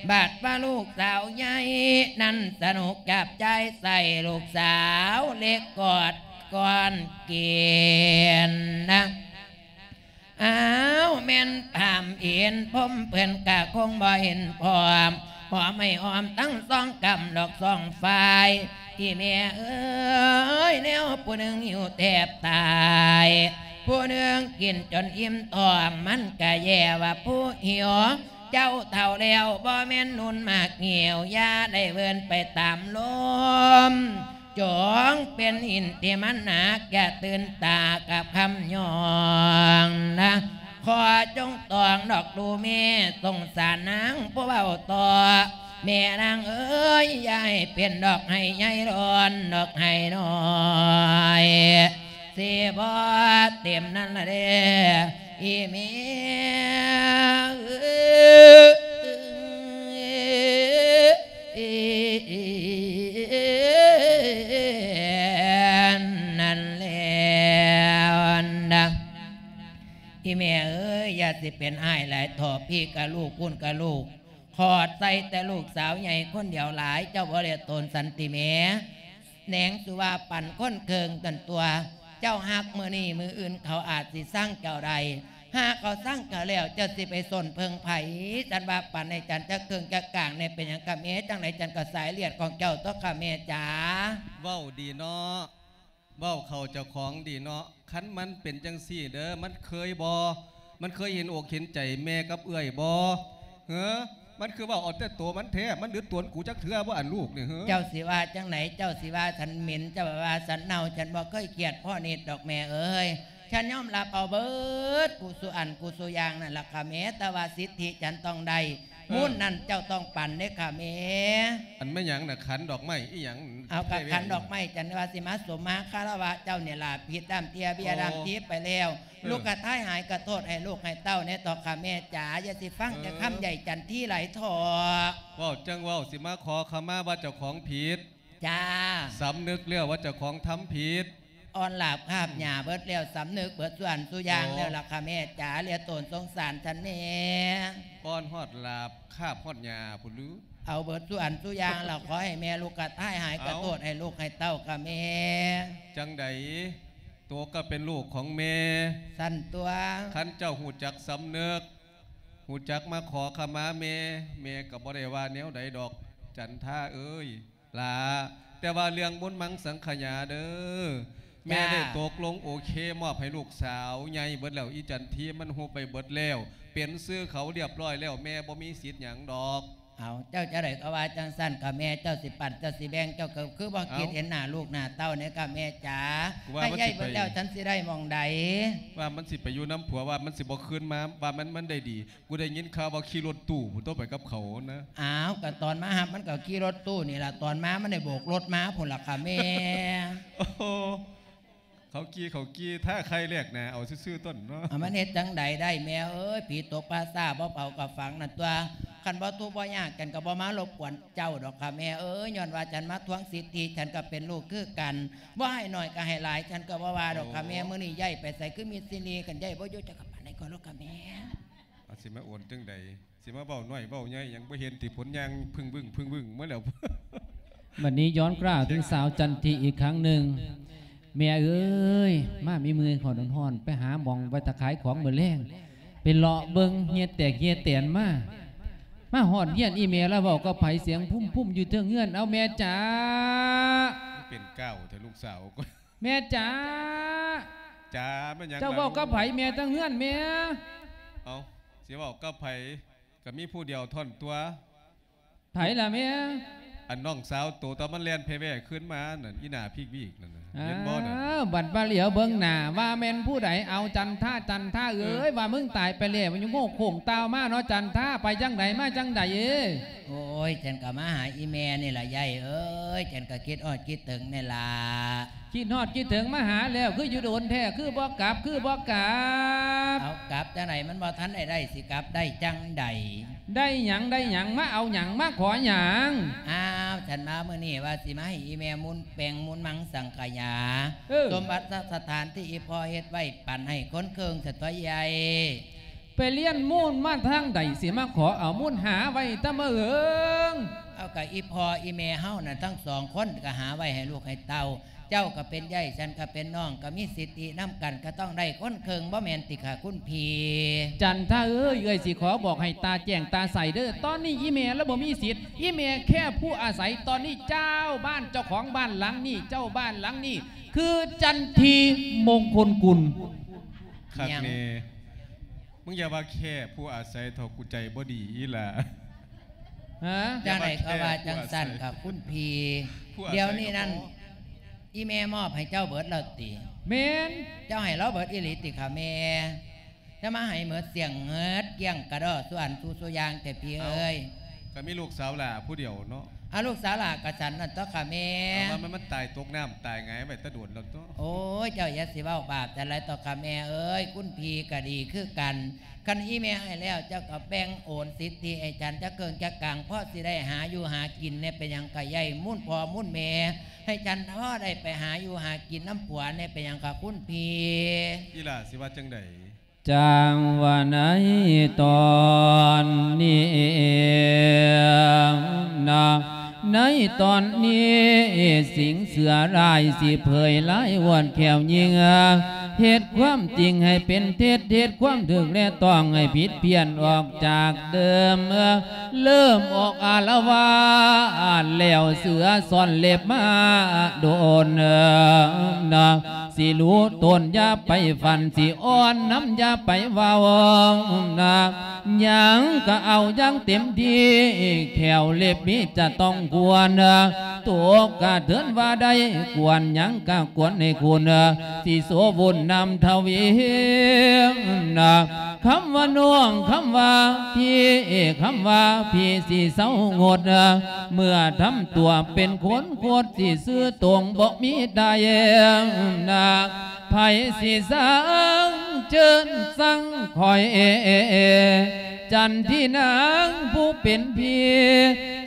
ບາດວ່າລູກສາວໃຫຍ່ນັ້ນສະໜຸກຈັບຈ່າຍໃສ່ ລູກສາວເລັກກອດກ່ອນກິນນະ ອ້າວ ແມ່ນພາມເຫັນພົມເພິ່ນກະຄົງບໍ່ເຫັນພ້ອມ ຫອມໃຫ້ຫອມທັງສອງກຳດອກສອງຝ່າຍ ອີ່ແມ່ເອີຍ ແນວຜູ້ໜຶ່ງຫິວແທບຕາຍ ຜູ້ໜຶ່ງກິນຈົນອີ່ມທ້ອງ ມັນກະແຍ່ວ່າຜູ້ຫິວ ເຈົ້າເຖົ້າແລ້ວບໍ່ແມ່ນໜຸ່ມໝາກຫຽວ ຢ່າໄດ້ເວີນໄປຕາມລົມ ຈົ່ງເປັນຫີນທີ່ມັນໜັກ ຢ່າຕື່ນຕາກັບຄຳຍ້ອງນະ ຂໍຈົ່ງຕ້ອງດອກດູແມ່ ສົງສານນາງຜູ້ເວົ້າຕໍ່ ແມ່ນາງເອີຍ ຢ່າໃຫ້ເປັນດອກໄຮ່ໃຫຍ່ລ້ອນ ດອກໄຮ່ນ້ອຍ ຊິບໍ່ເຕັມນັ້ນລະເດ້ ອີ່ແມ່ເອີຍ ນັ້ນແລ້ວນະ ອີ່ແມ່ເອີຍ ຢ່າຊິເປັນອ້າຍຫຼາຍເຖາະ ພີ່ກະລູກ ພຸ້ນກະລູກ ຂອດໃສ່ແຕ່ລູກສາວໃຫຍ່ຄົນດຽວຫຼາຍ ເຈົ້າບໍ່ໄດ້ໂຕນສັນຕິແມ່ ແນງສຸວ່າປັນຄົນເຄິ່ງຕົນຕົວ ເຈົ້າຮັກມື້ນີ້ ມື້ອື່ນເຂົາອາດຊິຊັງເຈົ້າໄດ້ ຫາເຂົາຊັງເຈົ້າແລ້ວ ເຈົ້າຊິໄປສົນເພິ່ງໃຜ ສັນວ່າປັນໃຫ້ຈັນຈັກເຄິ່ງຈັກກາງແດ່ ເປັນຫຍັງກະແມ່ ຈັ່ງໃດຈັນກໍສາຍເລືອດຂອງເຈົ້າຕົວະກະແມ່ຈ໋າ. ເວົ້າດີເນາະ ເວົ້າເຂົ້າເຈົ້າຂອງດີເນາະ ຄັນມັນເປັນຈັ່ງຊີ້ເດີ ມັນເຄີຍບໍ່ ມັນເຄີຍເຫັນອົກເຫັນໃຈແມ່ກັບເອື້ອຍບໍ່ ເຮີ ມັນຄືເວົ້າເອົາແຕ່ໂຕມັນແທ້ ມັນດືດຕົວນກູຈັກເທື່ອບໍ່ ອັນລູກນີ້ ເຮີ ເຈົ້າຊິວ່າຈັ່ງໃດ ເຈົ້າຊິວ່າສັນເໝັນ ເຈົ້າວ່າສັນເນົ່າ ສັນບໍ່ເຄີຍກຽດພໍ່ນິດດອກແມ່ເອີຍ ສັນຍອມຮັບເອົາເບິດ ກູສູ່ອັນກູສູ່ຢ່າງນັ້ນລະກະແມ່ ແຕ່ວ່າສິດທິສັນຕ້ອງໄດ້ ເອີ ມູນນັ້ນເຈົ້າຕ້ອງປັນເດ້ຂ້າແມ່. ອັນແມ່ນຫຍັງນະ? ຂັນດອກໄມ້ອີ່ຫຍັງ? ເອົາ ກະຂັນດອກໄມ້ ຈັນວ່າຊິມາສົມມາຄາລະວະເຈົ້ານີ້ລະ. ຜິດດ້າມເຕ້ຍເບ້ຍ ໂອ້ ດ້າມຕີບໄປແລ້ວ ເອີ ລູກກະທ້າຍຫາຍກະໂທດໃຫ້ລູກໃຫ້ເຕົ້າແດ່ເຖາະຂ້າແມ່ຈ໋າ. ຢ່າຊິຟັງແຕ່ຄຳ ເອີ ໃຫຍ່ຈັນທີຫຼາຍເຖາະ. ເວົ້າຈັ່ງເວົ້າ ຊິມາຂໍຂະມາວ່າເຈົ້າຂອງຜິດ. ຈ້າ ສຳນຶກແລ້ວວ່າເຈົ້າຂອງທຳຜິດ. ອ່ອນລາບຄາບຫຍ້າເບິດແລ້ວ ສຳນຶກເບິດສູ່ອັນສູ່ຢ່າງ ໂອ້ ແລ້ວລະຂ້າແມ່ຈ໋າ. ເຫຼືອໂຕນສົງສານສັນແດ່. ອ່ອນຮອດລາບຄາບຮອດຫຍ້າພຸ້ນຫຼື? ເອົາເບິດສູ່ອັນສູ່ຢ່າງລະ. ຂໍໃຫ້ແມ່ລູກກະທ້າຍຫາຍກະໂທດໃຫ້ລູກໃຫ້ເຕົ້າຂ້າແມ່. ຈັ່ງໃດ ໂຕກະເປັນລູກຂອງແມ່. ຊັ້ນຕົວະ. ຄັນເຈົ້າຮູ້ຈັກສຳນຶກ ຮູ້ຈັກມາຂໍຂະມາແມ່ ແມ່ກະບໍ່ໄດ້ວ່າແນວໃດດອກ ຈັນທາເອີຍ. ຫຼ້າ ແຕ່ວ່າເລື່ອງມູນມັງສັງຂະຫຍາເດີ ແມ່ ຈ້າ ໄດ້ຕົກລົງໂອເຄ ມອບໃຫ້ລູກສາວໃຫຍ່ເບິດແລ້ວ. ອີ່ຈັນທີມັນຮູ້ໄປເບິດແລ້ວ ເປັນຊື່ເຂົາລຽບຮ້ອຍແລ້ວ ແມ່ບໍ່ມີສິດຫຍັງດອກ. ເອົາ ເຈົ້າຈັ່ງໃດກະວ່າຈັ່ງຊັ້ນຂ້າແມ່. ເຈົ້າຊິປັນ ເຈົ້າຊິແບ່ງ ເຈົ້າກະຄືບໍ່ ເອົ້າ ຄິດເຫັນໜ້າລູກໜ້າເຕົ້າແດ່ຂ້າແມ່ຈ໋າ. ໃຫ້ໃຫຍ່ເບິດແລ້ວ ເຈົ້າຊິໄດ້ໝ່ອງໃດ? ວ່າມັນຊິໄປຢູ່ນຳຜົວ ວ່າມັນຊິບໍ່ຄືນມາ ວ່າມັນ ມັນໄດ້ດີ. ກູໄດ້ຍິນຂ່າວວ່າຂີ່ລົດຕູ້ພຸ້ນຕົວະ ໄປກັບເຂົານະ. ອ້າວ ກະຕອນມາຮັບມັນກະຂີ່ລົດຕູ້ນີ້ລະ ຕອນມາມັນໄດ້ໂບກລົດມາພຸ້ນລະຄ່າແມ່. ໂອ້ ເຂົາຂີ່ ເຂົາຂີ່ ຖ້າໄຄແລກໜ້າເອົາຊື່ໆ ຕົນເນາະ. ອາ ມັນເຮັດຈັ່ງໃດໄດ້ແມ່ເອີຍ ຜີຕົກປ່າຊ້າບໍ່ເຜົາກະຝັງນັ້ນຕົວະ. ຄັນບໍ່ທຸກບໍ່ຍາກ ຈັ່ງກະບໍ່ມາລົບກວນເຈົ້າດອກຄ່າແມ່ເອີຍ. ຍ້ອນວ່າຈັ່ງມາທວງສິດທິ ຈັ່ງກະເປັນລູກຄືກັນ ບໍ່ໃຫ້ໜ້ອຍກະໃຫ້ຫຼາຍ ຈັ່ງກະບໍ່ວ່າດອກຄ່າແມ່. ໂອ້ ມື້ນີ້ຍ້າຍໄປໃສຄືມິດຊີລີ ຄັນຍ້າຍບໍ່ຢູ່ ເຈົ້າກະປານໃດກະໂລດຄ່າແມ່. ອາ ຊິມາໂອນຈັ່ງໃດ ຊິມາເວົ້ານ້ອຍເວົ້າໃຫຍ່ຫຍັງ ບໍ່ເຫັນຕິ ຜົນຍ່າງພຶ້ງວຶ້ງ ພຶ້ງວຶ້ງມາແລ້ວ. ບັດນີ້ຍ້ອນກະເຖິງສາວຈັນທີອີກຄັ້ງໜຶ່ງ. ແມ່ເອີຍ ມາມີເມື່ອຍຮ້ອນໆ ໄປຫາໝ່ອງໄວ້ຖ້າຂາຍຂອງມື້ແລງ ໄປເລາະເບິ່ງເຫື່ອແຕກເຫື່ອແຕນມາ ມາຮອດເຮືອນອີ່ແມ່ລະເວົ້າກັບໃຜ ສຽງພຸ້ມໆ ຢູ່ເທິງເຮືອນ. ເອົາແມ່ຈ໋າ ເປັນກ້າວແທ້ລູກສາວ. ແມ່ຈ໋າ ຈ໋າ ແມ່ນຫຍັງ ເຈົ້າເວົ້າກັບໃຜແມ່ ທາງເຮືອນແມ່? ເອົ້າ ຊິເວົ້າກັບໃຜ ກະມີຜູ້ດຽວເທົ່ານັ້ນຕົວະ. ໃຜລະແມ່? ອັນນ້ອງສາວໂຕ ຕອນມັນແລ່ນແຜ່ແວ່ຄືນມານັ້ນ ອີ່ໜ້າພິກວີກນັ້ນນະ ເຫັນບໍ່ນັ້ນ? ອ້າວ ບັດມາຫຼຽວເບິ່ງໜ້າ ວ່າແມ່ນຜູ້ໃດ? ເອົາ ຈັນທາ ຈັນທາເອີຍ ເອີ ວ່າມຶງຕາຍໄປແລ້ວ ມັນຍັງໂງ່ໂຄ້ງຕ່າວມາເນາະ ຈັນທາ. ໄປຈັ່ງໃດ ມາຈັ່ງໃດ? ໂອ້ຍ ຈັ່ງກະມາຫາອີ່ແມ່ນີ້ລະ ຍາຍເອີຍ ຈັ່ງກະຄິດຮອດຄິດເຖິງແນ່ລະ. ຄິດຮອດຄິດເຖິງມາຫາແລ້ວ ຄືຢູ່ດົນແທ້ ຄືບໍ່ກັບ ຄືບໍ່ກັບ? ເອົາ ກັບຈັ່ງໃດ ມັນບໍ່ທັນໄດ້ໄດ້ ຊິກັບໄດ້ຈັ່ງໃດ? ໄດ້ຫຍັງ ໄດ້ຫຍັງ ມາເອົາຫຍັງ ມາຂໍຫຍັງ? ອ້າວ ສັນມາມື້ນີ້ວ່າຊິມາໃຫ້ອີ່ແມ່ມູນແປງມູນມັງສັງຂະຫຍາ ເອີ ສົມບັດສະຖານທີ່ອີ່ພໍ່ເຮັດໄວ້ ປັນໃຫ້ຄົນເຄິ່ງສະຕົວະໃຫຍ່. ໄປລຽນມູນມາທາງໃດ ຊິມາຂໍເອົາມູນ ຫາໄວ້ແຕ່ມາເຫິງ? ເອົາ ກະອີ່ພໍ່ອີ່ແມ່ເຮົານັ້ນ ທັງສອງຄົນກະຫາໄວ້ໃຫ້ລູກໃຫ້ເຕົ້າ. ເຈົ້າກະເປັນເອື້ອຍ ສັນກະເປັນນ້ອງ ກະມີສິດທິນຳກັນ ກະຕ້ອງໄດ້ຄົນເຄິ່ງ ບໍ່ແມ່ນຕິຄະຄຸນພີ່? ຈັນທາເອີຍ ເອື້ອຍຊິຂໍບອກໃຫ້ຕາແຈ້ງຕາໃສເດີ ຕອນນີ້ອີ່ແມ່ລະບໍ່ມີສິດ ອີ່ແມ່ແຄ່ຜູ້ອາໄສ ຕອນນີ້ເຈົ້າບ້ານເຈົ້າຂອງບ້ານຫຼັງນີ້ ເຈົ້າບ້ານຫຼັງນີ້ ຄືຈັນທີ ມົງຄົນກຸນ. ຄັກແນ່ ຫຍັງ? ມຶງຢ່າວ່າແຄ່ຜູ້ອາໄສເຖາະ ກູໃຈບໍ່ດີອີ່ຫຼ້າ. ຮະ? ຈັ່ງໃດກະວ່າຈັ່ງຊັ້ນກະຄຸນພີ່. ດຽວນີ້ນັ້ນ ອີ່ແມ່ມອບໃຫ້ເຈົ້າເບິດແລ້ວຕິ? ແມ່ນ. ເຈົ້າໃຫ້ລາວເບິດອີ່ຫຼີຕິຄະແມ່? ຈະມາໃຫ້ເໝິດສ້ຽງເໝິດກ້ຽງກະດໍ້ ສູ່ອັນສູ່ສູ່ຢ່າງແທ້ພີ່ເອີຍ. ກະມີລູກສາວຫຼ້າຜູ້ດຽວເນາະ. ອາ ລູກສາວຫຼ້າກະສັນນັ້ນຕົວະຄະແມ່. ເອົາ ມັນ ມັນຕາຍຕົກນ້ຳຕາຍຫງາຍໄວ້ແຕ່ດົນແລ້ວຕົວະ. ໂອ້ຍ ເຈົ້າຢ່າຊິເວົ້າບາບຈັ່ງໃດຕົວະຄະແມ່ເອີຍ ຄຸນພີ່ກະດີຄືກັນ. ຄັນອີ່ແມ່ໃຫ້ແລ້ວ ເຈົ້າກະແບ່ງໂອນສິດທິໃຫ້ສັນຈັກເຄິ່ງຈັກກາງ ພໍຊິໄດ້ຫາຢູ່ຫາກິນແດ່ ເປັນຫຍັງກະໃຫຍ່ ມູນພໍ່ມູນແມ່ ໃຫ້ສັນພໍໄດ້ໄປຫາຢູ່ຫາກິນນຳຜົວແດ່ ເປັນຫຍັງຄະຄຸນພີ່? ອີ່ຫຼ້າຊິວ່າຈັ່ງໃດ? ຈັ່ງວ່າໃນຕອນນີ້ນະ ໃນຕອນນີ້ ສິງເສືອລາຍຊິເຜີຍລາຍອວດແຂ້ວຍິ່ງ ເຮັດຄວາມຈິງໃຫ້ເປັນເທັດ ເຮັດຄວາມຖືກແລະຕ້ອງໃຫ້ຜິດພຽນອອກຈາກເດີມ ເລີ່ມອອກອາລະວາດແລ້ວ ເສືອຊ່ອນເລັບມາດົນນະ ຊິຮູ້ຕົນຢ່າໄປຝັນ ຊິອ່ອນນຳຢ່າໄປເວົ້ານະ ຫຍັງກະເອົາຢ່າງເຕັມທີ່ ແຂ້ວເລັບມີຈະຕ້ອງຄວນ ຕົກກະເຖິນວ່າໄດ້ຄວນ ຫຍັງກະຄວນໃຫ້ຄຸນ ຊິໂສວຸນນຳທະວີນະ ຄຳວ່ານ້ອງ ຄຳວ່າພີ່ ຄຳວ່າພີ່ຊິເຊົາງົດ ເມື່ອທຳຕົວເປັນຄົນໂຄດ ຊິຊື່ຕົງບໍ່ມີໄດ້ນາ ໃຜຊິສັງເຈີນສັງຂ້ອຍ ຈັນທີນາງຜູ້ເປັນພີ່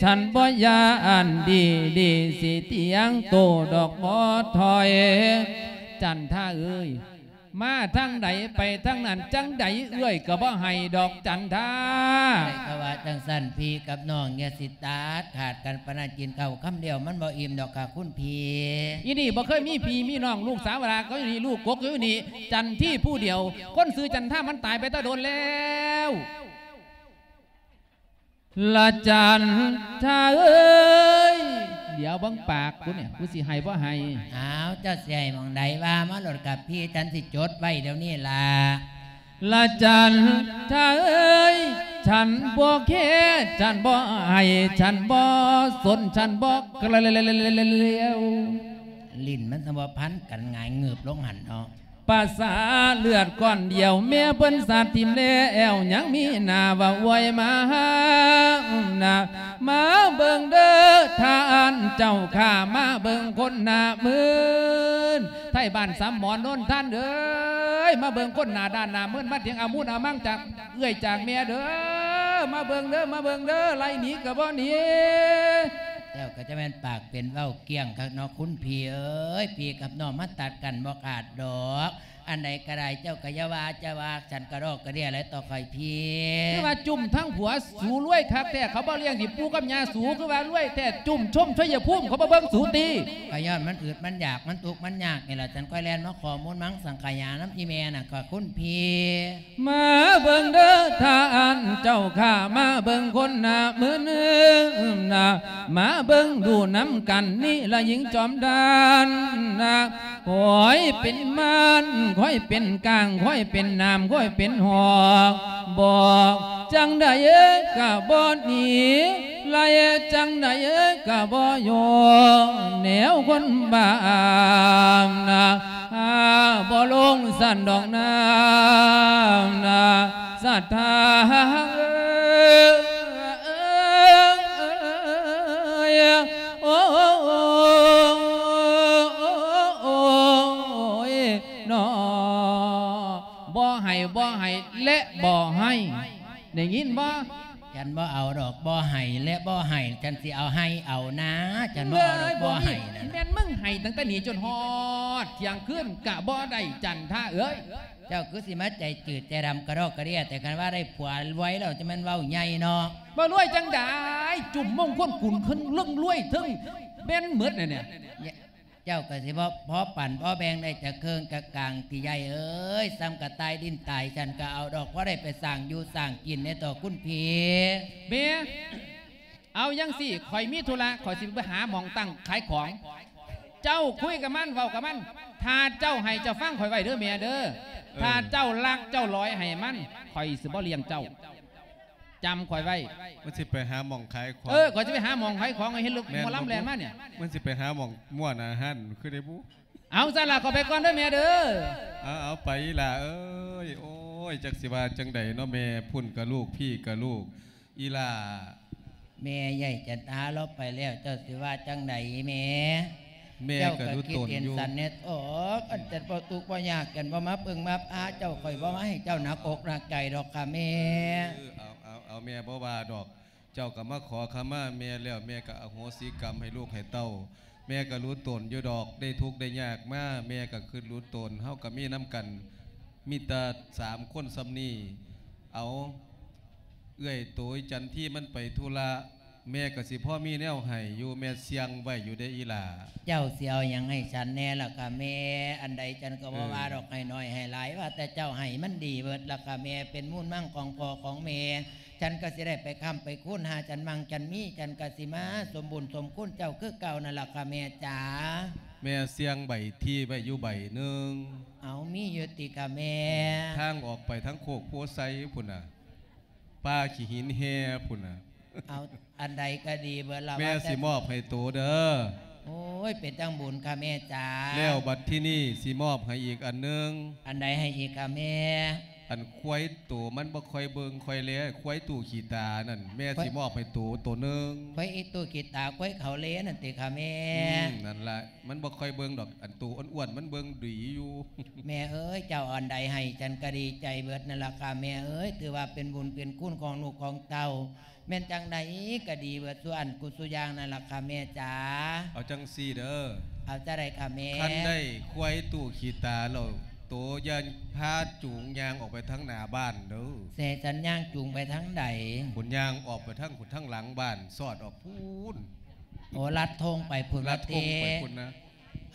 ສັນບໍ່ຢ້ານດີ ດີຊິຕຽງໂຕດອກບໍ່ຖອຍ ຈັນທາເອີຍ ມາທາງໃດໄປທາງນັ້ນ ຈັ່ງໃດເອື້ອຍກໍບໍ່ໃຫ້ດອກຈັນທາ. ໃຜກໍວ່າຈັ່ງຊັ້ນ ພີ່ກັບນ້ອງຢ່າຊິຕັດຂາດກັນປານນັ້ນ ກິນເຂົ້າຄຳດຽວມັນບໍ່ອີ່ມດອກຄ່າຄຸນພີ່. ອີນີ້ບໍ່ເຄີຍມີພີ່ມີນ້ອງ ລູກສາວຫຼາກໍຢູ່ນີ້ ລູກກົກກໍຢູ່ນີ້ ຈັນທີຜູ້ດຽວ ຄົນຊື່ຈັນທາມັນຕາຍໄປແຕ່ດົນແລ້ວ. ລະຈັນທາເອີຍ ດຽວເບິ່ງປາກກູນີ້ ກູຊິໃຫ້ບໍ່ໃຫ້. ອ້າວ ເຈົ້າຊິໃຫ້ໝ່ອງໃດວ່າມາໂລດກັບພີ່ ສັນຊິຈົດໄວ້ດຽວນີ້ລະ. ລະຈັນທາເອີຍ ສັນບໍ່ແຄ ສັນບໍ່ໃຫ້ ສັນບໍ່ສົນ ສັນບໍ່ກະລຽວ. ຫຼິ້ນມັນສະບໍ່ພັນກັນ ຫງາຍງືບລົງຫັ້ນເນາະ. ປະສາເລືອດກ້ອນດຽວ ແມ່ເພິ່ນສາດຖິ້ມແລ້ວ ຍັງມີໜ້າວ່າອວຍມາຫານະ ມາເບິ່ງເດີທ່ານເຈົ້າຂ້າ ມາເບິ່ງຄົນໜ້າມື່ນ ໄທບ້ານສາມໝໍ ໂນນທານເອີຍ ມາເບິ່ງຄົນໜ້າດ້ານໜ້າມື່ນ ມາຖຽງອາມຸນອາມັງຈາກເອື້ອຍຈາກແມ່ເດີ ມາເບິ່ງເດີ ມາເບິ່ງເດີ ໄລ່ໜີກໍບໍ່ໜີ. ເຈົ້າກໍຈະແມ່ນປາກເປັນເວົ້າກ້ຽງຄັກເນາະ ຄຸນພີ່ເອີຍ ພີ່ກັບນ້ອງມັນຕັດກັນບໍ່ຂາດດອກ ອັນໃດກໍໄດ້ ເຈົ້າກໍຢ່າວ່າ ຈະວ່າ ສັນກະດອກກະເດຍແຫຼະຕໍ່ຂ້ອຍພີ່. ຄືວ່າຈຸ້ມທັງຜົວ ສູລວຍຄັກແທ້ ເຂົາບໍ່ລ້ຽງຊິປູ່ກັບຍ່າສູ ຄືວ່າລວຍແທ້ ຈຸ້ມຊົມໄຊຍະພູມ ເຂົາບໍ່ເບິ່ງສູຕິ. ກໍຍ້ອນມັນອຶດມັນຢາກ ມັນທຸກມັນຍາກນີ້ລະ ສັນຄ່ອຍແລ່ນມາຂໍມູນມັງສັງຂະຫຍານຳອີ່ແມ່ນະ ກໍຄຸນພີ່. ມາເບິ່ງເດີທ່ານເຈົ້າຂ້າ ມາເບິ່ງຄົນໜ້າມຶນນະ ມາເບິ່ງດູນຳກັນນີ້ລະຍິງຈອມທານນະ ຂ້ອຍເປັນມ່ານ ຂ້ອຍເປັນກາງ ຂ້ອຍເປັນໜາມ ຂ້ອຍເປັນຫອກ ບອກຈັ່ງໃດກະບໍ່ໜີ ໄລ່ຈັ່ງໃດກະບໍ່ໂຍ ແນວຄົນບ້ານະ ຫາບໍ່ລົງສັນດອກນານະ ສັດທາເອີຍ ໂອ້ຍ ນອ ບໍ່ໃຫ້ ບໍ່ໃຫ້ ແລະ ບໍ່ໃຫ້ ໄດ້ຍິນບໍ່? ສັນບໍ່ເອົາດອກ ບໍ່ໃຫ້ ແລະ ບໍ່ໃຫ້ ສັນຊິເອົາໃຫ້ເອົານາ ສັນບໍ່ເອົາດອກ ບໍ່ໃຫ້ນັ້ນ. ແມ່ນມຶງໃຫ້ຕັ້ງແຕ່ນີ້ຈົນຮອດທ່ຽງຄືນກະບໍ່ໄດ້ ຈັນທາເອີຍ. ເຈົ້າຄືຊິມາໃຈຈືດໃຈດຳກະດອກກະເດຍ ແຕ່ຄັນວ່າໄດ້ຜົວລວຍແລ້ວ ຈະແມ່ນເວົ້າໃຫຍ່ເນາະ. ບໍ່ລວຍຈັ່ງໃດ ຈຸ້ມມົງຄົນກຸນເຄິ່ງເລິງລວຍເທິງແມ່ນໝົດແນວນີ້. ເຈົ້າກໍຊິບໍ່ພໍປັນພໍແບ່ງໄດ້ຈັກເຄິ່ງຈັກກາງຕິໃຫຍ່ເອີຍ. ສ່ຳກະຕ່າຍດິນຕາຍ ສັນກໍເອົາດອກ ພໍໄດ້ໄປສ້າງຢູ່ສ້າງກິນແດ່ຕໍ່ຄຸນພີ່. ແມ່ ເອົາຈັ່ງຊີ້ ຂ້ອຍມີທຸລະ ຂ້ອຍຊິໄປຫາໝ່ອງຕັ້ງຂາຍຂອງ. ເຈົ້າຄຸຍກັບມັນ ເວົ້າກັບມັນ ຖ້າເຈົ້າໃຫ້ເຈົ້າຟັງຂ້ອຍໄວ້ເດີແມ່ເດີ. ເອີ ຖ້າເຈົ້າລັກເຈົ້າຫຼອຍໃຫ້ມັນ ຂ້ອຍຊິບໍ່ລ້ຽງເຈົ້າ. ຈຳຂ້ອຍໄວ້. ມັນຊິໄປຫາໝ່ອງຂາຍຂອງ. ເອີ ຂ້ອຍຊິໄປຫາໝ່ອງຂາຍຂອງ ໃຫ້ເຫັນລົດ ແມ່ນ ໝໍລຳແລ່ນມານີ້. ມັນຊິໄປຫາໝ່ອງມ່ວນອາຫານຄືໄດ໋ບຸ. ເອົາຊັ້ນລະ ຂໍໄປກ່ອນເດີແມ່ເດີ. ເອົາ ເອົາໄປອີ່ຫຼ້າເອີຍ. ໂອ້ຍ ຈັກຊິວ່າຈັ່ງໃດເນາະ ແມ່ພຸ້ນກະລູກ ພີ່ກະລູກ ອີ່ຫຼ້າ. ແມ່ ໃຫຍ່ຈັນທາລາວໄປແລ້ວ ເຈົ້າຊິວ່າຈັ່ງໃດແມ່? ແມ່ກໍຮູ້ຕົນຢູ່ ເຈົ້າກໍຄິດເຫັນສັນແດ່ອອກ ອັນຈັນບໍ່ທຸກບໍ່ຍາກ ຈັນບໍ່ມາເບິ່ງມາພາເຈົ້າ ຂ້ອຍບໍ່ມາໃຫ້ເຈົ້າໜັກອົກໜັກໃຈດອກຄ່ະແມ່. ເອີ ເອົາ ເອົາ ເອົາ ແມ່ບໍ່ວ່າດອກ. ເຈົ້າກໍມາຂໍຂະມາແມ່ແລ້ວ ແມ່ກໍອະໂຫສິກຳໃຫ້ລູກໃຫ້ເຕົ້າ. ແມ່ກໍຮູ້ຕົນຢູ່ດອກ ໄດ້ທຸກໄດ້ຍາກມາ ແມ່ກໍຄິດຮູ້ຕົນ. ເຮົາກໍມີນຳກັນ ມີແຕ່ສາມຄົນສ່ຳນີ້. ເອົາ ເອື້ອຍໂຕຍຈັນທີມັນໄປທຸລະ ແມ່ກໍຊິພໍມີແນວໃຫ້ຢູ່ ແມ່ສ່ຽງໄວ້ຢູ່ເດ້ອີ່ຫຼ້າ. ເຈົ້າຊິເອົາຫຍັງໃຫ້ສັນແດ່ລະກະແມ່? ອັນໃດສັນກໍບໍ່ວ່າດອກ ເອີ ໃຫ້ໜ້ອຍໃຫ້ຫຼາຍ ວ່າແຕ່ເຈົ້າໃຫ້ມັນດີເບິດລະກະແມ່. ເປັນມູນມັງຂອງພໍ່ຂອງແມ່ ສັນກໍຊິໄດ້ໄປຄ້ຳໄປຄູນ ຫາສັນໝັ່ງສັນມີ ສັນກໍຊິມາສົມບຸນສົມຄຸນເຈົ້າຄືເກົ່ານັ້ນລະກະແມ່ຈ໋າ. ແມ່ສ່ຽງໃບທີໄວ້ຢູ່ໃບໜຶ່ງ. ເອົາ ມີຢູ່ຕິກະແມ່? ທາງອອກໄປທາງໂຄກໂພໄຊພຸ້ນນະ ປ່າຂີ້ຫີນແຮ່ພຸ້ນນະ. ເອົາ ອັນໃດກໍດີເບິດລະ ແມ່ ວ່າແຕ່ ຊິມອບໃຫ້ໂຕເດີ. ໂອ້ຍ ເປັນຈັ່ງບຸນກະແມ່ຈ໋າ. ແລ້ວບັດທີນີ້ຊິມອບໃຫ້ອີກອັນໜຶ່ງ. ອັນໃດໃຫ້ອີກກະແມ່? ອັນຄວາຍໂຕມັນບໍ່ຄ່ອຍເບິ່ງຄ່ອຍແລ ຄວາຍຕູ້ຂີ້ຕານັ້ນ ແມ່ຊິມອບໃຫ້ໂຕໂຕໜຶ່ງ. ຄວາຍຕູ້ຂີ້ຕາ ຄວາຍເຂົາເລນັ້ນຕິຄະແມ່? ອືມ ນັ້ນລະ ມັນບໍ່ຄ່ອຍເບິ່ງດອກ ອັນໂຕອ້ວນໆມັນເບິ່ງດີຢູ່. ແມ່ເອີຍ ເຈົ້າອັນໃດໃຫ້ ຈັນກະດີໃຈເບິດນັ້ນລະຄະແມ່ເອີຍ ຖືວ່າເປັນບຸນເປັນຄຸນຂອງລູກຂອງເຕົ້າ. ແມ່ນຈັ່ງໃດກະດີເບິດສູ່ອັນກຸສູ່ຢ່າງນັ້ນລະຄະແມ່ຈ໋າ. ເອົາຈັ່ງຊີ້ເດີ. ເອົາຈັ່ງໃດຄະແມ່? ຄັນໄດ້ຄວາຍຕູ້ຂີ້ຕາແລ້ວ ໂຕຢ່າພາຈູງຍ່າງອອກໄປທາງໜ້າບ້ານເດີ. ແຊສັນຍ່າງຈູງໄປທາງໃດ? ພຸ້ນ ຍ່າງອອກໄປທາງພຸ້ນ ທາງຫຼັງບ້ານ ສອດອອກພຸ້ນ. ໂອ້ ລັດທົ່ງໄປພຸ້ນ ລັດທົ່ງໄປພຸ້ນນະ.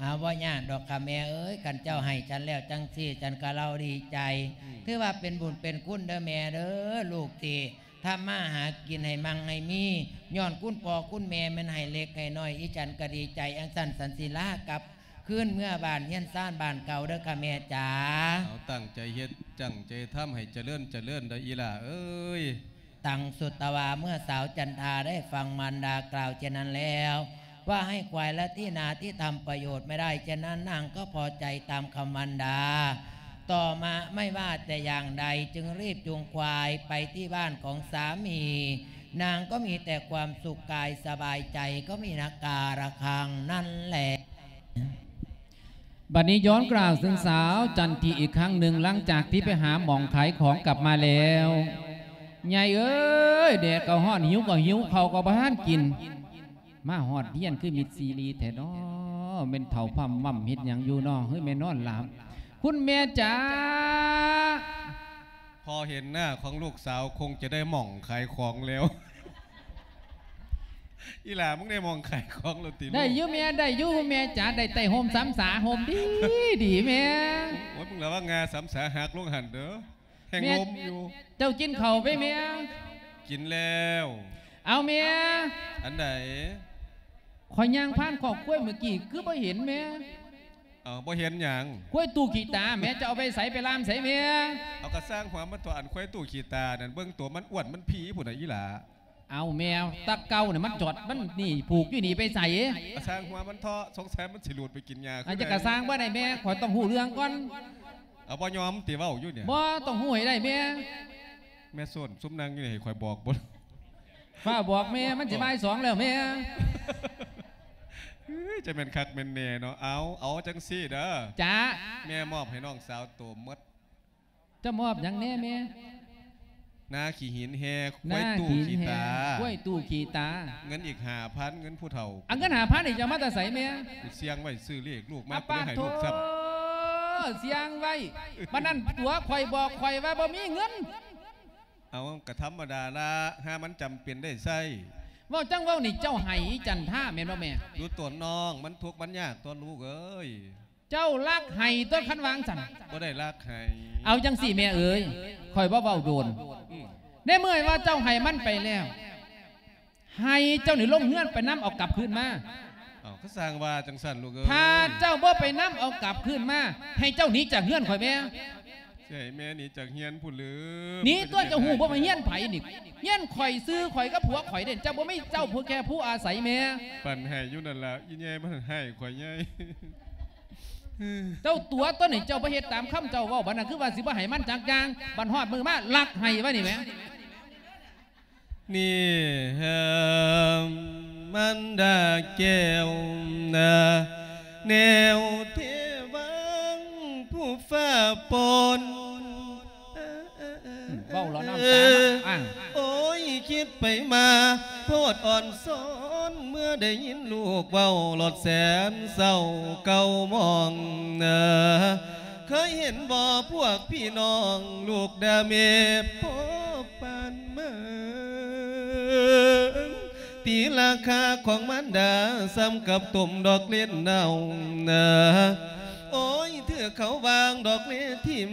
ອາ ບໍ່ຍາກດອກຄະແມ່ເອີຍ ຄັນເຈົ້າໃຫ້ສັນແລ້ວຈັ່ງຊີ້ ສັນກະເລົ່າດີໃຈ. ອືມ ຖືວ່າເປັນບຸນເປັນຄຸນເດີແມ່ເດີ ລູກຊິທຳມາຫາກິນໃຫ້ມັ່ງໃຫ້ມີ ຍ້ອນຄຸນພໍ່ຄຸນແມ່ແມ່ນໃຫ້ເລັກໃຫ້ນ້ອຍ ອີສັນກະດີໃຈ ອັງຊັ້ນສັນຊິລາກັບຄືນເມືອບ້ານເຮືອນຊານບ້ານເກົ່າເດີຄະແມ່ຈ໋າ. ເອົາ ຕັ້ງໃຈເຮັດ ຕັ້ງໃຈທຳໃຫ້ຈະເລີນຈະເລີນເດີອີ່ຫຼ້າເອີຍ. ຕັງສຸດຕະວາ ເມື່ອສາວຈັນທາໄດ້ຟັງມານດາກ່າວເຊັ່ນນັ້ນແລ້ວ ວ່າໃຫ້ຄວາຍລະທີ່ນາທີ່ທຳປະໂຫຍດໄມ່ໄດ້ເຊັ່ນນັ້ນ ນາງກໍພໍໃຈຕາມຄຳມານດາ. ຕໍ່ມາໄມ່ວ່າແຕ່ຢ່າງໃດ ຈຶ່ງຣີບຈູງຄວາຍໄປທີ່ບ້ານຂອງສາມີ. ນາງກໍມີແຕ່ຄວາມສຸກກາຍສະບາຍໃຈ ກໍມີນະກາລະຄັງນັ້ນແຫຼະ. ບັດນີ້ຍ້ອນການເຖິງສາວຈັນທີອີກຄັ້ງໜຶ່ງ ຫຼັງຈາກທີ່ໄປຫາໝ່ອງຂາຍຂອງກັບມາແລ້ວ. ໃຫຍ່ເອີຍ ແດດກໍຮ້ອນ ຫິວກໍຫິວ ເຂົ້າກໍບໍ່ທັນກິນ ມາຮອດເຮືອນຄືມິດຊີຣີແທ້ນໍ ແມ່ນເຖົ້າພຳມຳເຮັດຫຍັງຢູ່ນໍ ເຮີ້ຍ ແມ່ນນອນຫຼັບ. ຄຸນແມ່ຈ໋າ ພໍເຫັນໜ້າຂອງລູກສາວຄົງຈະໄດ້ໝ່ອງຂາຍຂອງແລ້ວ. ອີ່ຫຼ້າ ມຶງໄດ້ໝ່ອງຂາຍຂອງແລ້ວຕິລູກ? ໄດ້ຢູ່ແມ່ ໄດ້ຢູ່ແມ່ຈ໋າ ໄດ້ໄຕ້ຮົ່ມສຳສາ ຮົ່ມດີດີແມ່. ໂອ້ຍ ມຶງລະວັງງາສຳສາຫັກລົງຫັ້ນເດີ ແຮງລົມຢູ່. ເຈົ້າກິນເຂົ້າໄປແມ່? ກິນແລ້ວ. ເອົາແມ່ ອັນໃດ? ຂ້ອຍຍ່າງຜ່ານຄອກຄວາຍມື້ກີ້ ຄືບໍ່ເຫັນແມ່. ເອົາ ບໍ່ເຫັນຫຍັງ? ຄວາຍຕູ້ຂີ້ຕາແມ່ ຈະເອົາໄປໃສ ໄປລ່າມໃສແມ່? ເອົາ ກະຊ່າງຫົວມັນຕົວະ ອັນຄວາຍຕູ້ຂີ້ຕານັ້ນ ເບິ່ງຕົວມັນອ້ວນມັນພີພຸ້ນນະອີ່ຫຼ້າ. ເອົາແມ່ ຕາເກົ່ານີ້ມັນຈອດ ມັນນີ້ ຜູກຢູ່ນີ້ໄປໃສ? ກະຊ່າງຫົວມັນເທາະ ສົງໄສມັນຊິຫຼຸດໄປກິນຫຍ້າ. ອັນຈະກະຊ່າງບໍ່ໄດ້ແມ່ ຂ້ອຍຕ້ອງຮູ້ເລື່ອງກ່ອນ. ເອົາ ບໍ່ຍອມຕິເວົ້າຢູ່ນີ້? ບໍ່ ຕ້ອງຮູ້ໃຫ້ໄດ້ແມ່. ແມ່ໂຊນ ຊຸມນັ່ງຢູ່ນີ້ໃຫ້ຂ້ອຍບອກບໍ່? ຟ້າວບອກແມ່ ມັນຊິບ່າຍສອງແລ້ວແມ່. ເອີຍ ຈະແມ່ນຄັກແມ່ນແນ່ເນາະ. ເອົາ ເອົາຈັ່ງຊີ້ເດີ ຈ໋າ ແມ່ມອບໃຫ້ນ້ອງສາວໂຕໝົດ. ເຈົ້າມອບຫຍັງແນ່ແມ່? ນາຂີ້ຫີນແຮ່ ນາຂີ້ຫີນແຮ່ ຄວາຍຕູ້ຂີ້ຕາ ຄວາຍຕູ້ຂີ້ຕາ. ເງິນອີກຫ້າພັນ ເງິນຜູ້ເຖົ້າ. ເອົາເງິນຫ້າພັນນີ້ຈະເອົາມາແຕ່ໃສແມ່? ໄປສ່ຽງໄວ້ຊື້ເລກ ລູກມາ ປາດໂທ ກໍໄດ້ໃຫ້ລູກຊ້ຳ ສ່ຽງໄວ້. ບັດນັ້ນຕົວະ ຂ້ອຍບອກຂ້ອຍວ່າບໍ່ມີເງິນ. ເອົາ ກະທຳມະດາລະ ຫາມັນຈຳເປັນໄດ້ໃຊ້. ເວົ້າຈັ່ງເວົ້ານີ້ ເຈົ້າໃຫ້ຈັນທາແມ່ນບໍ່ແມ່? ດູຕົວນ້ອງ ມັນທຸກມັນຍາກຕົວະລູກເອີຍ. ເຈົ້າລັກໄຫ້ຕົວະ ຄັນວ່າຈັ່ງຊັ້ນ. ບໍ່ໄດ້ລັກໄຫ້. ເອົາຈັ່ງຊີ້ແມ່ເອີຍ ຂ້ອຍບໍ່ເວົ້າດົນ. ອືມ ໃນເມື່ອວ່າເຈົ້າໃຫ້ມັນໄປແລ້ວ ໃຫ້ເຈົ້ານີ້ລົງເຮືອນໄປນຳເອົາກັບຄືນມາ. ເອົາ ກະຊ່າງວ່າຈັ່ງຊັ້ນລູກເອີຍ. ຖ້າເຈົ້າບໍ່ໄປນຳເອົາກັບຄືນມາ ໃຫ້ເຈົ້າໜີຈາກເຮືອນຂ້ອຍແມ່. ຊິໃຫ້ແມ່ໜີຈາກເຮືອນພຸ້ນຫຼື? ໜີຕົວະ ເຈົ້າຮູ້ບໍ່ວ່າເຮືອນໃຜນີ້? ເຮືອນຂ້ອຍ ຊື່ຂ້ອຍກັບຜົວຂ້ອຍເດ້. ເຈົ້າບໍ່ມີເຈົ້າ ຜູ້ແກ່ຜູ້ອາໄສແມ່. ປັ່ນໃຫ້ຢູ່ນັ້ນລະ ອີ່ແຍ່ມັນໃຫ້ຂ້ອຍໃຫຍ່. ເຈົ້າຕົວະຕົວະນີ້ ເຈົ້າບໍ່ເຮັດຕາມຄຳເຈົ້າເວົ້າ ບັດນັ້ນຄືວ່າຊິບໍ່ໃຫ້ມັນຈັກຢ່າງ ບັດຮອດມື້ມາລັກໄຫ້ວ່ານີ້ແໝ. ນີ້ເຮີ້ມ ມັນດາແກ້ວນາ ແນວເທວັງຜູ້ຟ້າປົນ. ເວົ້າແລ້ວນ້ຳຕາມາ ໂອ້ຍ ຄິດໄປມາໂພດອ່ອນຊ້ອນ ເມື່ອໄດ້ຍິນລູກເວົ້າລອດແສນເສົ້າເກົ່າໝອງ. ເຄີຍເຫັນບໍ່ພວກພີ່ນ້ອງ ລູກດາແມ່ພໍປານເມືອງ ຕີລາຄາຂອງມານດາ ສ່ຳກັບຕົ້ມດອກເລັດເນົ່າ. ໂອ້ຍ ຖືກເຂົາວາງດອກເລຖິ້ມ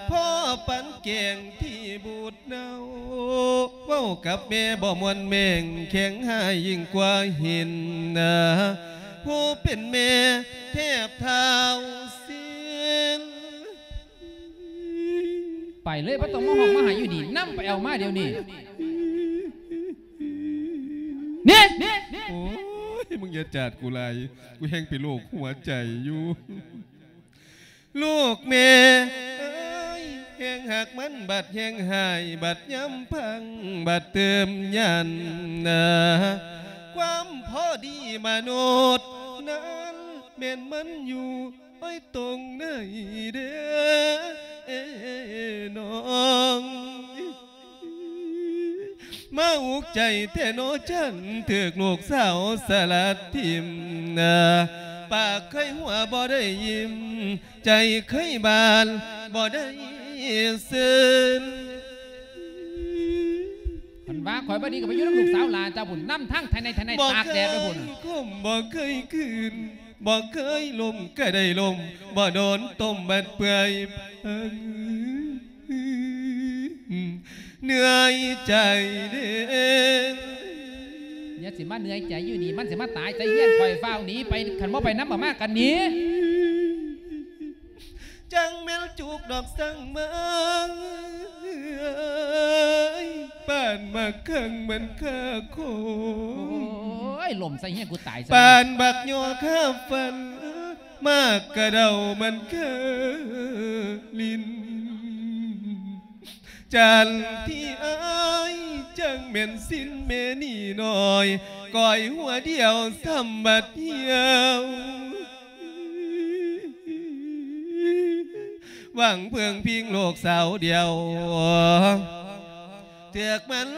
ພໍປານແກ້ງທີ່ບູດ ເນົ່າ ເວົ້າກັບແມ່ບໍ່ມ່ວນແມ່ງ ແຂງຮ້າຍຍິ່ງກວ່າຫີນນາ ຜູ້ເປັນແມ່ແທບທ້າວຊີ້ນ. ໄປເລີຍ ບໍ່ຕ້ອງມາຮ້ອງມາໄຫ້ຢູ່ນີ້ ນຳໄປເອົາມາດຽວນີ້ ນີ້. ໂອ້ຍ ມຶງຢ່າຈາດກູຫຼາຍ ກູແຮ່ງເປັນໂລກຫົວໃຈຢູ່ ລູກແມ່ເອີຍ. ແຮງຮັກມັນບັດແຮງຮ້າຍ ບັດຍາມພັງບັດເຕີມຢັນນາ ຄວາມພໍດີມະນຸດນັ້ນ ແມ່ນມັນຢູ່ໂອ້ຍຕົງໃນເດ້ນ້ອງ. ມາອຸກໃຈແທ້ນໍ ຈັນຖືກລູກສາວສະລັດຖິ້ມນາ ປາກເຄີຍຫົວບໍ່ໄດ້ຍິ້ມ ໃຈເຄີຍບານບໍ່ໄດ້ຊື່ນ. ຄັນວ່າຂ້ອຍບໍ່ດີກໍໄປຢູ່ນຳລູກສາວຫຼ້າເຈົ້າພຸ້ນ ນຳທາງໄທໃນໄທໃນຕາກແດດໄປພຸ້ນ. ບໍ່ເຄີຍຄົມບໍ່ເຄີຍຄືນ ບໍ່ເຄີຍລົມກໍໄດ້ລົມ ບໍ່ໂດນຕົ້ມບັດເປື່ອຍ ເອີ ເໜື່ອຍໃຈເດ້. ຢ່າຊິມາເໜື່ອຍໃຈຢູ່ນີ້ ມັນຊິມາຕາຍໃສ່ເຮືອນຂ້ອຍ ຟ້າວໜີໄປ ຄັນບໍ່ໄປນຳອອກມາກໍໜີ. ຈັ່ງແມ່ນຈຸກດອກສັງມາ ປານໝາກຄັງມັນຄາຄົງ ໂອ້ຍ ລົມໃສ່ເຮືອນກູຕາຍຊະ ປານບັກຍໍຄາຟັນ ໝາກກະເດົາມັນຄາລິນ. ຈັນທີ່ອ້າຍ ຈັ່ງແມ່ນສິນແມ່ນີ້ນ້ອຍ ກ້ອຍຫົວດຽວສ່ຳບັດຫ່ຽວ ຫວັງເພິ່ງພິງລູກສາວດຽວ ເຖືກມັນ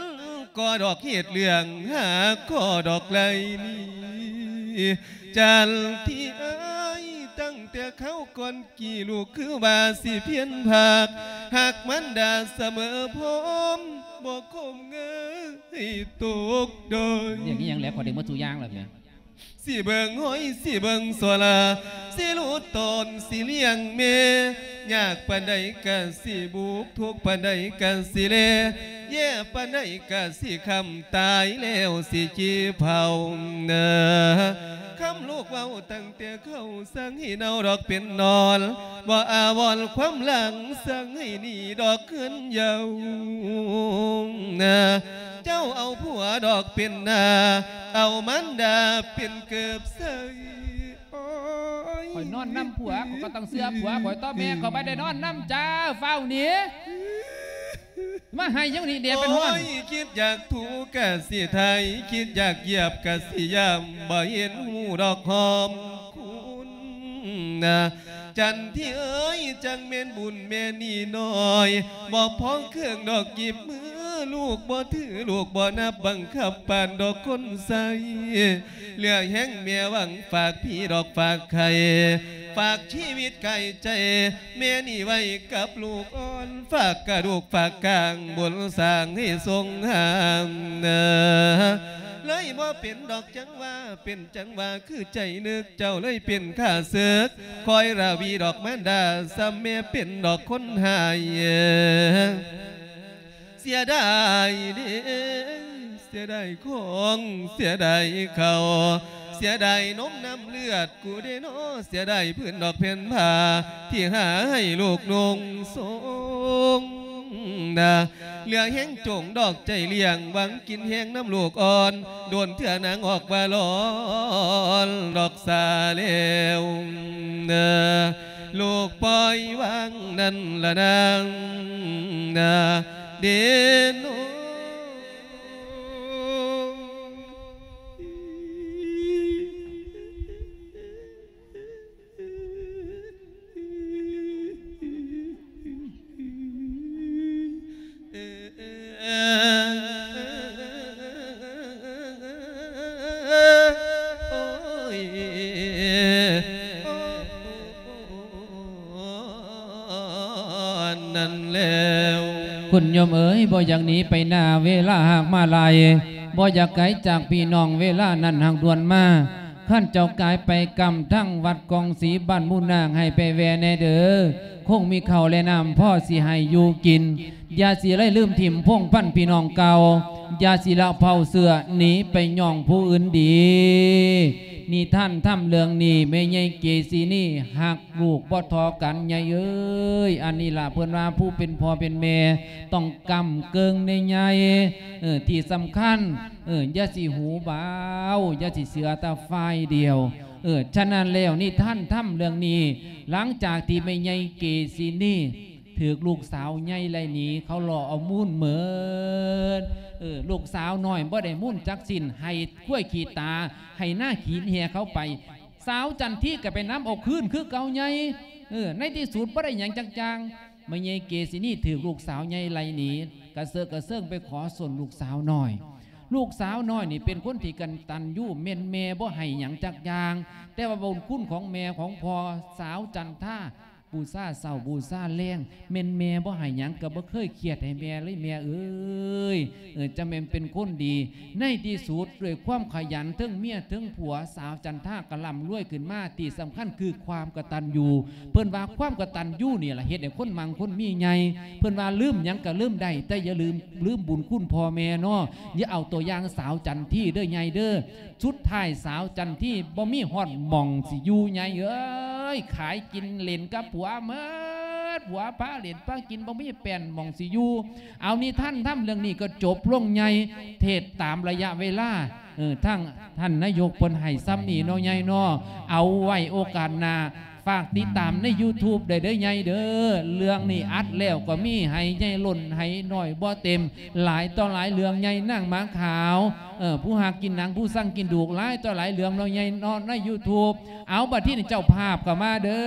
ກໍດອກເຮັດເລື່ອງ ຫາກໍດອກໄລ່ໜີ. ຈັນທີ່ອ້າຍ ຕັ້ງແຕ່ຄາວກ່ອນ ກີ້ລູກຄືວ່າຊິພຽນພາກ ຮັກມານດາສະເໝີພ້ອມ ບໍ່ຄົມເງີຍຕົກດ້ອຍ. ຢ່າງນີ້ຫຍັງແຫຼະ ຂ້ອຍໄດ້ໝົດທຸກຢ່າງແລ້ວແໝ່. ຊິເບິ່ງຫ້ອຍ ຊິເບິ່ງໂຊລາ ຊິຫຼຸດໂຕນ ຊິລ້ຽງແມ່ ຍາກປານໃດກະຊິບຸກ ທຸກປານໃດກະຊິແລ ແຍ່ປານໃດກະຊິຄ້ຳ ຕາຍແລ້ວຊິຈີ່ເຜົາເນີ. ຄຳລູກເວົ້າຕັ້ງແຕ່ ເຂົາສັ່ງໃຫ້ເນົ່າດອກເປັນໜໍ່ ບໍ່ອາວອນຄວາມຫຼັງ ສັ່ງໃຫ້ໜີດອກເຮືອນເຍົານາ. ເຈົ້າເອົາຜົວດອກເປັນໜ້າ ເອົາມານດາເປັນເກີບໃສ່. ໂອ້ຍ ຂ້ອຍນອນນຳຜົວ ຂ້ອຍກໍຕ້ອງເຊື່ອຜົວຂ້ອຍຕົວະ ແມ່ຂ້ອຍບໍ່ໄດ້ນອນນຳຈ້າ ຟ້າວໜີ. ມາໄຫ້ຫຍັງນີ້ແດ່ເປັນຮ້ອນ. ໂອ້ຍ ຄິດຢາກຖູກະຊິໄຖ ຄິດຢາກຢຽບກະຊິຢາມ ບໍ່ເຫັນຮູ້ດອກຫອມຄຸນນາ. ຈັນທີ່ເອີຍ ຈັ່ງແມ່ນບຸນແມ່ນີ້ນ້ອຍ ບໍ່ພໍເຄື່ອງດອກກິບມື ລູກບໍ່ຖື ລູກບໍ່ນັບ ບັງຄັບປານດອກຄົນໃຊ້ ເຫຼືອແຮງແມ່ຫວັງ ຝາກພີ່ດອກຝາກໄຂ່ ຝາກຊີວິດກາຍໃຈ ແມ່ນີ້ໄວ້ກັບລູກອ່ອນ ຝາກກະດູກຝາກກາງ ບຸນສ້າງໃຫ້ຊົງຫາມນາ. ເລີຍບໍ່ເປັນດອກຈັ່ງວ່າ ເປັນຈັ່ງວ່າຄືໃຈນຶກ ເຈົ້າເລີຍເປັນຂ້າເສິກ ຄອຍລະວີດອກມານດາ ສ່ຳແມ່ເປັນດອກຄົນຮ້າຍ. ເສຍດາຍເດ້ ເສຍດາຍຂອງ ເສຍດາຍເຂົ້າ ເສຍດາຍນົມນ້ຳເລືອດ ກູເດນໍ ເສຍດາຍພື້ນດອກແຜ່ນຜ້າ ທີ່ຫາໃຫ້ລູກນຸ່ງຊົງນາ. ເຫຼືອແຮງຈົງດອກໃຈລ້ຽງ ຫວັງກິນແຮງນຳລູກອ່ອນ ໂດນເທື່ອນາງອອກວ່າລອນດອກສາແລ້ວນາ. ລູກປ່ອຍວາງນັ້ນລະນາງນາ ເດໂນ. ນັ້ນແລ້ວ ຄຸນໂຍມເອີຍ ບໍ່ຢາກໜີໄປໜ້າ ເວລາຫາກມາຫຼາຍ ບໍ່ຢາກໄກຈາກພີ່ນ້ອງ ເວລານັ້ນຫາກດ່ວນມາ. ຄັນເຈົ້າກາຍໄປກຳທາງວັດກອງສີ ບ້ານໝູນາງ ໃຫ້ໄປແວ່ແດ່ເດີ ຄົງມີເຂົ້າແລະນ້ຳພໍຊິໃຫ້ຢູ່ກິນ. ຢ່າຊິໄດ້ລືມຖິ້ມພົງພັນພີ່ນ້ອງເກົ່າ ຢ່າຊິລະເຜົາເຊື້ອໜີໄປຍ້ອງຜູ້ອື່ນດີ. ນິທານທຳເລື່ອງນີ້ ແມ່ໃຫຍ່ເກສີນີຮັກລູກບໍ່ທໍ່ກັນ ໃຫຍ່ເອີຍ. ອັນນີ້ລະເພິ່ນວ່າຜູ້ເປັນພໍ່ເປັນແມ່ຕ້ອງກຳເກິ່ງໃນໃຫຍ່. ເອີ ທີ່ສຳຄັນ ເອີ ຢ່າຊິຫູບາວ ຢ່າຊິເຊື່ອແຕ່ຝ່າຍດຽວ. ເອີ ສະນັ້ນແລ້ວ ນິທານທຳເລື່ອງນີ້ ຫຼັງຈາກທີ່ແມ່ໃຫຍ່ເກສີນີ ຖືກລູກສາວໃຫຍ່ໄລ່ໜີ ເຂົາລໍ້ເອົາມູນເໝິດ. ເອີ ລູກສາວນ້ອຍບໍ່ໄດ້ມູນຈັກຊິ້ນ ໄຫ້ຄວາຍຂີ້ຕາ ໄຫ້ນາຂີ້ເຫື່ອເຂົາໄປ. ສາວຈັນທີກໍໄປນຳເອົາຄືນຄືເກົ່າໃຫຍ່. ເອີ ໃນທີ່ສຸດບໍ່ໄດ້ຫຍັງຈັກຢ່າງ. ແມ່ໃຫຍ່ເກສິນີຖືກລູກສາວໃຫຍ່ໄລ່ໜີ ກະເຊີກກະເຊີງໄປຂໍສົ້ນລູກສາວນ້ອຍ. ລູກສາວນ້ອຍນີ້ເປັນຄົນທີ່ກະຕັນຍູ ແມ່ນແມ່ບໍ່ໃຫ້ຫຍັງຈັກຢ່າງ, ແຕ່ວ່າບຸນຄຸນຂອງແມ່ຂອງພໍ່ ສາວຈັນທາ ບູຊາເຊົ້າບູຊາແລງ ແມ່ນແມ່ບໍ່ໃຫ້ຫຍັງ ກໍບໍ່ເຄີຍຄຽດໃຫ້ແມ່ເລີຍ ແມ່ເອີຍ. ເອີ ຈະແມ່ນເປັນຄົນດີ. ໃນທີ່ສຸດ ດ້ວຍຄວາມຂະຫຍັນ ເທິງເມຍເທິງຜົວ ສາວຈັນທາກໍລ່ຳລວຍຂຶ້ນມາ. ທີ່ສຳຄັນຄືຄວາມກະຕັນຍູ. ເພິ່ນວ່າຄວາມກະຕັນຍູນີ້ລະເຮັດໃຫ້ຄົນມັ່ງຄົນມີໃຫຍ່. ເພິ່ນວ່າລືມຫຍັງກໍລືມໄດ້ ແຕ່ຢ່າລືມ ລືມບຸນຄຸນພໍ່ແມ່ເນາະ. ຢ່າເອົາຕົວຢ່າງສາວຈັນທີເດີໃຫຍ່ເດີ. ສຸດທ້າຍສາວຈັນທີບໍ່ມີຮອດໝ່ອງຊິຢູ່ ໃຫຍ່ເອີຍ. ຂາຍກິນເຫຼັ້ນກັບຜົວເໝິດ ຜົວພາເຫຼັ້ນພາກິນ ບໍ່ມີແປ້ນໝ່ອງຊິຢູ່. ເອົາ ນິທານທຳເລື່ອງນີ້ກໍຈົບລົງໃຫຍ່. ເທດຕາມໄລຍະເວລາ ເອີ ທາງທ່ານນາຍົກເພິ່ນໃຫ້ສ່ຳນີ້ເນາະ ໃຫຍ່ເນາະ. ເອົາໄວ້ໂອກາດໜ້າ ຝາກຕິດຕາມໃນຢູທູບໄດ້ເດີໃຫຍ່ເດີ. ເລື່ອງນີ້ອັດແລ້ວກໍມີ ໃຫ້ໃຫຍ່ລົ້ນໃຫ້ນ້ອຍບໍ່ເຕັມ. ຫຼາຍຕໍ່ຫຼາຍເລື່ອງໃຫຍ່ ນາງໝາຂາວ ເອີ ຜູ້ຮັກກິນໜັງ ຜູ້ຊັງກິນດູກ ຫຼາຍຕໍ່ຫຼາຍເລື່ອງເນາະໃຫຍ່ເນາະ ໃນຢູທູບ. ເອົາ ບັດທີນີ້ເຈົ້າພາບກໍມາເດີ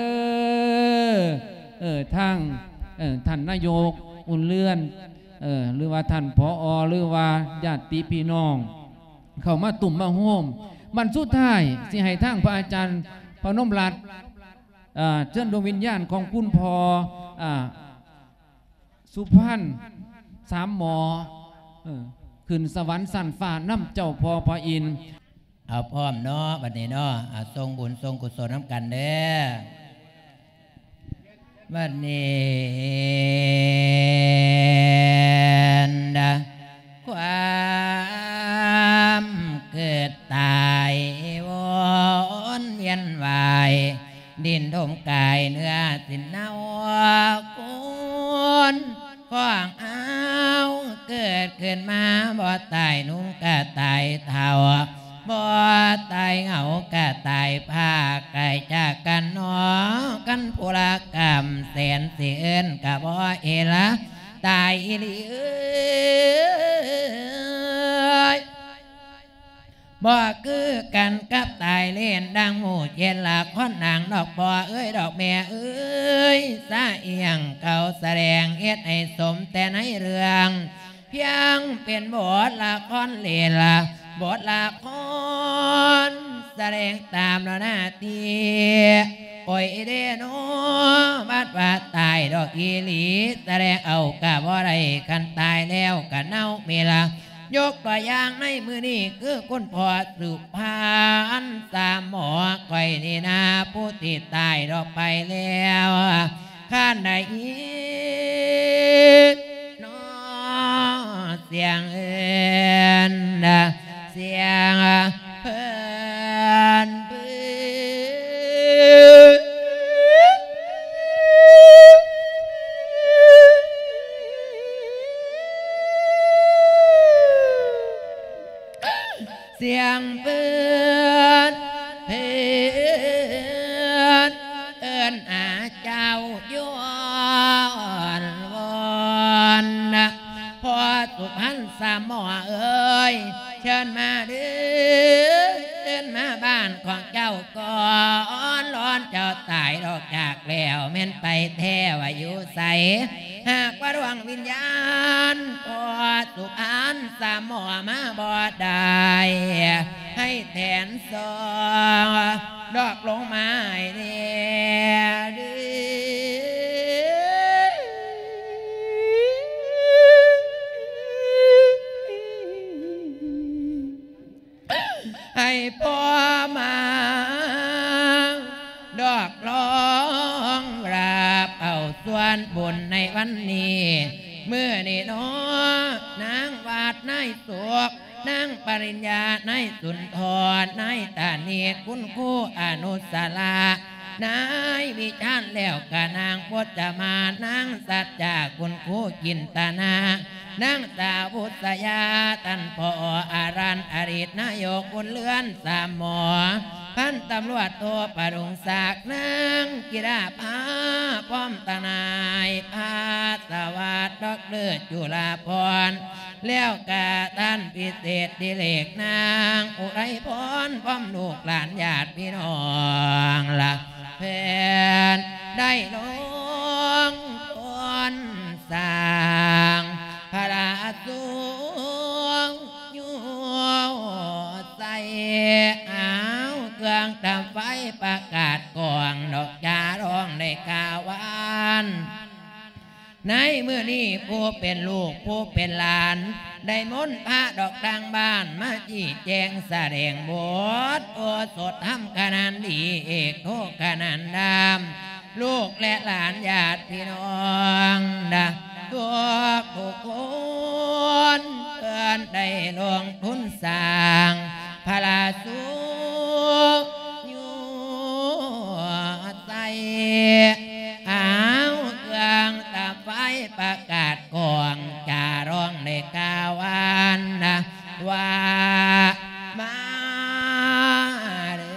ເອີ ທາງ ເອີ ທ່ານນາຍົກອຸ່ນເຮືອນ ເອີ ຫຼືວ່າທ່ານ ຜອ ຫຼືວ່າຍາດຕິພີ່ນ້ອງ ເຂົ້າມາຕຸ້ມມາໂຮມ. ບັດສຸດທ້າຍຊິໃຫ້ທາງພະອາຈານພະນົມລັດ ເອີ ເຊີນດວງວິນຍານຂອງຄຸນພໍ່ ເອີ ສຸພັນ ສາມໝໍ ເອີ ຂຶ້ນສະຫວັນຊັ້ນຟ້ານຳເຈົ້າພໍ່ພະອິນ. ເອົາ ພ້ອມເນາະ ບັດນີ້ເນາະ ອາ ສົ່ງບຸນສົ່ງກຸສົນນຳກັນເດີ. ບັດນີ້ ຄວາມເກີດຕາຍວົນວຽນວ່າຍ ດິນຖົມກາຍເນື້ອສິນເນົາ ຄົນຂອງເຮົາເກີດຂຶ້ນມາບໍ່ຕາຍ ໜຸ່ມກະຕາຍເຖົ້າ ບໍ່ຕາຍເຫງົາກະຕາຍພາກ ກາຍຈາກກັນເນາະ ຄັນຜູ້ລະກຳແສນຊິເອີ້ນກະບໍ່ເອລະ ຕາຍອີ່ຫຼີເອີຍ. ບໍ່ຄືກັນກັບຕາຍເລນ ດັ່ງໝູ່ເຈັດລະຄອນນາງ ດອກພໍ່ເອີຍ ດອກແມ່ເອີຍ ສະອຽງເຂົາສະແດງ ເຮັດໃຫ້ສົມແຕ່ໃນເລື່ອງ ພຽງເປັນບົດລະຄອນເລນ ບົດລະຄອນສະແດງຕາມລະໜ້າທີ່ ໂອຍເດໂນ ບັດວ່າຕາຍດອກອີ່ຫຼີ ສະແດງເອົາກະບໍ່ໄດ້ ຄັນຕາຍແລ້ວກະເນົ່າເມລະ. ຍົກຕົວຢ່າງໃນມື້ນີ້ ຄືຄຸນພໍ່ສຸພັນ ສາມໝໍ ຂ້ອຍນີ້ນາ ຜູ້ທີ່ຕາຍດອກໄປແລ້ວ ຄັນໄດ້ຍິນເນາະ ສຽງເອີ້ນ ສຽງເພິ່ນ ສຽງເພິ່ນ ເພິ່ນເອີ້ນຫາເຈົ້າ ຍ້ອນວອນນະ ພໍ່ສຸພັນສາໝໍເອີຍ ເຊີນມາເດີ ເຊີນມາບ້ານຂອງເຈົ້າກ່ອນ ລອນເຈົ້າຕາຍດອກຈາກແລ້ວ ແມ່ນໄປແທ້ວ່າຢູ່ໃສ ຫາກວ່າດວງວິນຍານ ພໍ່ສຸພັນສາໝໍມາບໍ່ໄດ້ ໃຫ້ແທນສອງດອກລົງມາໃຫ້ແດ່ເດີ ໃຫ້ພໍ່ມາ ດອກລອງລາບເອົາສ່ວນບຸນໃນວັນນີ້ ມື້ນີ້ເນາະ ນາງວາດ ນາຍສຸກ ນາງປະລິນຍາ ນາຍສຸນທອນ ນາຍຕານີດ ຄຸນຄູອະນຸດສະລະ ນາຍວິຈານແລ້ວກະນາງພົດຈະມານ ນາງສັດຈາ ຄຸນຄູຈິນຕະນາ ນາງສາວບຸດສະຍາ ທ່ານພໍ່ອາລັນ ອະດີດນາຍົກບຸນເຮືອນສາມໝໍ ພັນຕຳຫຼວດໂທປະດຸງສັກ ນາງກິລາພາ ພ້ອມທະນາຍພາສວັດ ດອກເຕີ ຈຸລາພອນ ແລ້ວກະທ່ານພິເສດດິເລກ ນາງອຸໄລພອນ ພ້ອມລູກຫຼານຍາດພີ່ນ້ອງລະ ເພິ່ນໄດ້ລົງທຶນສ້າງພະລາສູງຢູ່ໃສ່ ເອົາເຄື່ອງທຳໄຟປະກາດກອງ ດອກຈາຮ້ອງໄດ້ກາວວານ ໃນມື້ນີ້ຜູ້ເປັນລູກຜູ້ເປັນຫຼານ ໄດ້ມົນພະດອກທາງບ້ານ ມາຊີ້ແຈງສະແດງບົດໂອສົດທຳຂະໜານດີ ເອກໂທຂະໜານດາມ ລູກແລະຫຼານຍາດພີ່ນ້ອງນະ ທຸກໆຄົນ ເພິ່ນໄດ້ລົງທຶນສ້າງພະລາສູງຢູ່ໃສ່ ເອົາເຄື່ອງຕາໄຟປະກາດກອງ ຈາຮ້ອງໄດ້ກາວວານນະ ວ່າມາເດີ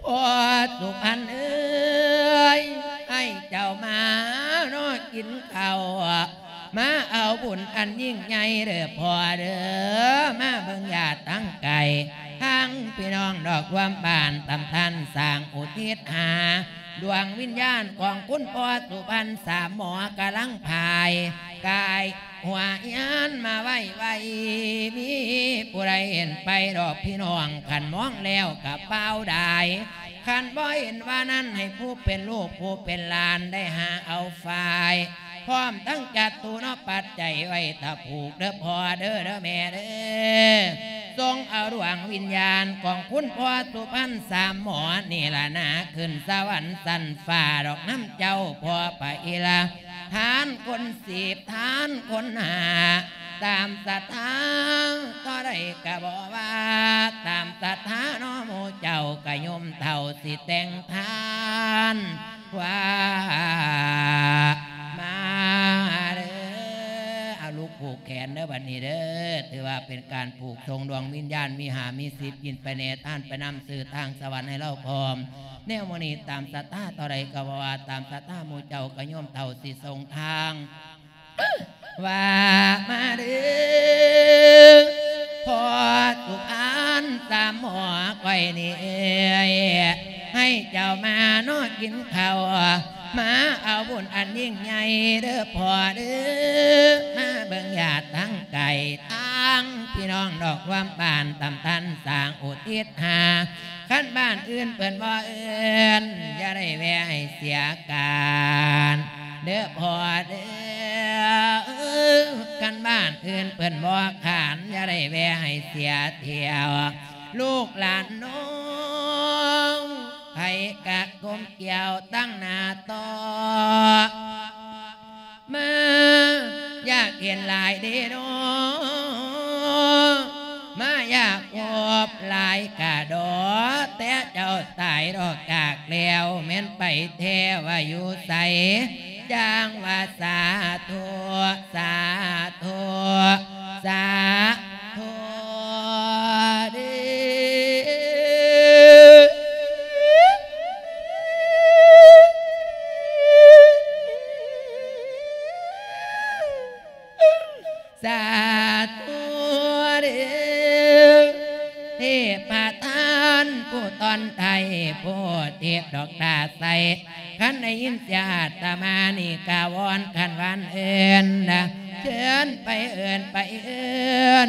ພໍ່ສຸພັນເອີຍ ໃຫ້ເຈົ້າມາເນາະກິນເຂົ້າ ມາເອົາບຸນອັນຍິ່ງໃຫຍ່ເດີພໍ່ເດີ ມາເບິ່ງຍາດທາງໄກ ທັງພີ່ນ້ອງດອກລວມບ້ານ ຕຳທ່ານສ້າງອຸທິດຫາ ດວງວິນຍານຂອງຄຸນພໍ່ສຸພັນ ສາມໝໍກຳລັງພາຍກາຍຫົວຍານມາໄວໆ ມີຜູ້ໃດເຫັນໄປດອກພີ່ນ້ອງ ຄັນມອງແລ້ວກະຟ້າວດາຍ ຄັນບໍ່ເຫັນວ່ານັ້ນ ໃຫ້ຜູ້ເປັນລູກຜູ້ເປັນຫຼານໄດ້ຫາເອົາຝ້າຍ ພ້ອມທັງຈັດຕູເນາະ ປັດໄຈໄວ້ຖ້າຜູກເດີພໍ່ເດີ ເດີແມ່ເດີ ສົ່ງເອົາດວງວິນຍານຂອງຄຸນພໍ່ສຸພັນສາມໝໍນີ້ລະນາ ຂຶ້ນສະຫວັນຊັ້ນຟ້າດອກນຳເຈົ້າພໍ່ພະອິລະ ທານຄົນສິບ ທານຄົນຫ້າ ຕາມສັດທາເທົ່າໃດກະບໍ່ວ່າ ຕາມສັດທາເນາະໝູ່ເຈົ້າກະໂຍມເຖົ້າ ຊິແຕ່ງທານວ່າມາເດີ ເອົາລູກຜູກແຂນເດີບັດນີ້ເດີ ຖືວ່າເປັນການຜູກສົ່ງດວງວິນຍານ ມີຫ້າມີສິບ ກິນໄປແດ່ ທານໄປນຳ ຊື່ທາງສະຫວັນໃຫ້ລາວພ້ອມ ແນວມື້ນີ້ຕາມສັດທາເທົ່າໃດກະບໍ່ວ່າ ຕາມສັດທາໝູ່ເຈົ້າກະໂຍມເຖົ້າ ຊິສົ່ງທາງ ວ່າມາເດີ ພໍ່ສຸພັນສາມໝໍຂ້ອຍນີ້ເອີຍ ໃຫ້ເຈົ້າມາເນາະກິນເຂົ້າ ມາເອົາບຸນອັນຍິ່ງໃຫຍ່ເດີພໍ່ເດີ ມາເບິ່ງຍາດທາງໄກ ທັງພີ່ນ້ອງດອກລວມບ້ານ ຕຳທ່ານສ້າງອຸທິດຫາ ຄັນບ້ານອື່ນເພິ່ນບໍ່ເອີ້ນ ຢ່າໄດ້ແວ່ໃຫ້ເສຍການເດີພໍ່ເດີ ຄັນບ້ານອື່ນເພິ່ນບໍ່ຂານ ຢ່າໄດ້ແວ່ໃຫ້ເສຍຖ້ຽວ ລູກຫຼານນ້ອງ ໃຜກະກົ້ມກ້ຽວຕັ້ງໜ້າຕໍ່ ມາຢາກເຫັນຫຼາຍເດເນາະ ມາຢາກພົບຫຼາຍກະດໍ ແຕ່ເຈົ້າຕາຍດອກຈາກແລ້ວ ແມ່ນໄປແທ້ວ່າຢູ່ໃສ ຈັ່ງວ່າສາທຸ ສາທຸ ສາທຸເດ. ສາທຸເດ ເທພະທ່ານຜູ້ຕ້ອນໄທ ຜູ້ເທບດອກຕາໃສ ຄັນໄດ້ຍິນສຽງອາດຕະມານີ້ກະວອນຂັນວານເອີ້ນນະ ເຊີນໄປເອີ້ນ ໄປເອີ້ນ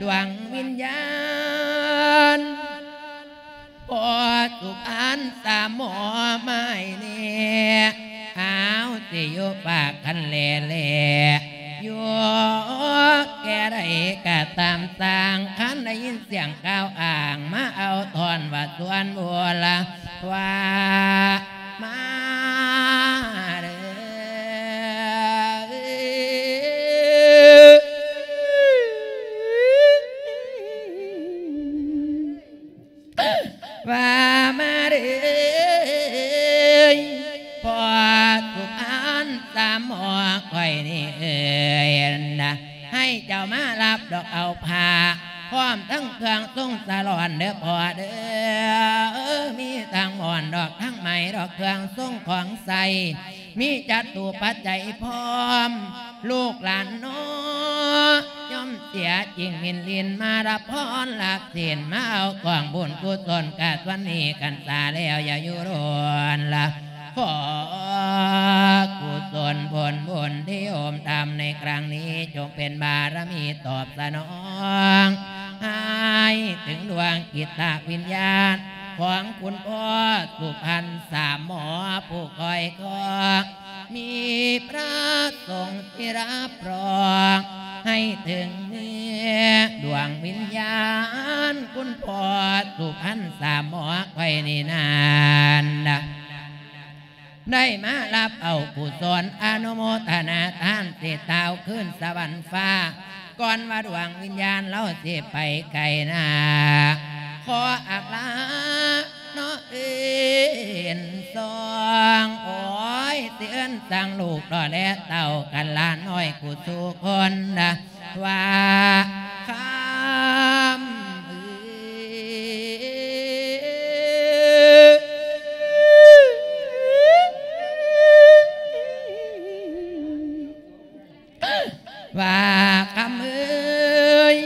ດວງວິນຍານ ພໍ່ສຸພານສາມໝໍມາໃຫ້ແນ່ ອ້າວ ຊິຢູ່ປາກຄັນແລແລ ຢູ່ແກ່ໃດກະຕາມຊ່າງ ຄັນໄດ້ຍິນສຽງກ່າວອ້າງ ມາເອົາທ່ອນວ່າສວນບູລະ ວ່າ ມາເດີ ວ່າມາເດີ ພໍ່ສຸພັນສາມໝໍຂ້ອຍນີ້ເອີຍນະ ໃຫ້ເຈົ້າມາຮັບດອກເອົາຜ້າ ພ້ອມທັງເຄື່ອງຊົງສະຫຼອນເດີພໍ່ເດີ ມີທັງໝອນດອກ ທັງໄໝດອກ ເຄື່ອງຊົງຂອງໃຊ້ ມີຈະຕຸປັດໄຈພ້ອມ ລູກຫຼານເນາະ ຍ່ອມເສຍຈິງມິນລິນ ມາຮັບພອນລັກສິນ ມາເອົາກອງບຸນກຸສົນ ກາດວັນນີ້ກັນສາແລ້ວ ຢ່າຢູ່ດົນລະ ຂໍກຸສົນຜົນບຸນທີ່ໂຮມທຳໃນຄັ້ງນີ້ ຈົ່ງເປັນບາລະມີຕອບສະໜອງ ໃຫ້ເຖິງດວງຈິດຕະວິນຍານ ຂອງຄຸນພໍ່ສຸພັນສາມໝໍ ຜູ້ຄອຍຄອງ ມີພະສົງທີ່ຮັບຮອງ ໃຫ້ເຖິງເມືອດວງວິນຍານ ຄຸນພໍ່ສຸພັນສາມໝໍຂ້ອຍນີ້ນັ້ນນະ ໄດ້ມາຮັບເອົາກຸສົນ ອະນຸໂມທະນາທານ ເສດທ້າວຄືນສະຫວັນຟ້າ ກ່ອນວ່າດວງວິນຍານລາວຊິໄປໄກນາ ຂໍອາກລາເນາະເອີນສອງ ໂອ້ຍ ຊິເອີ້ນສັ່ງລູກດອກແລເຕົ້າກັນຫຼານນ້ອຍກູສູ່ຄົນນະ ວ່າຄຳເອີຍ ວ່າຄຳເອີຍ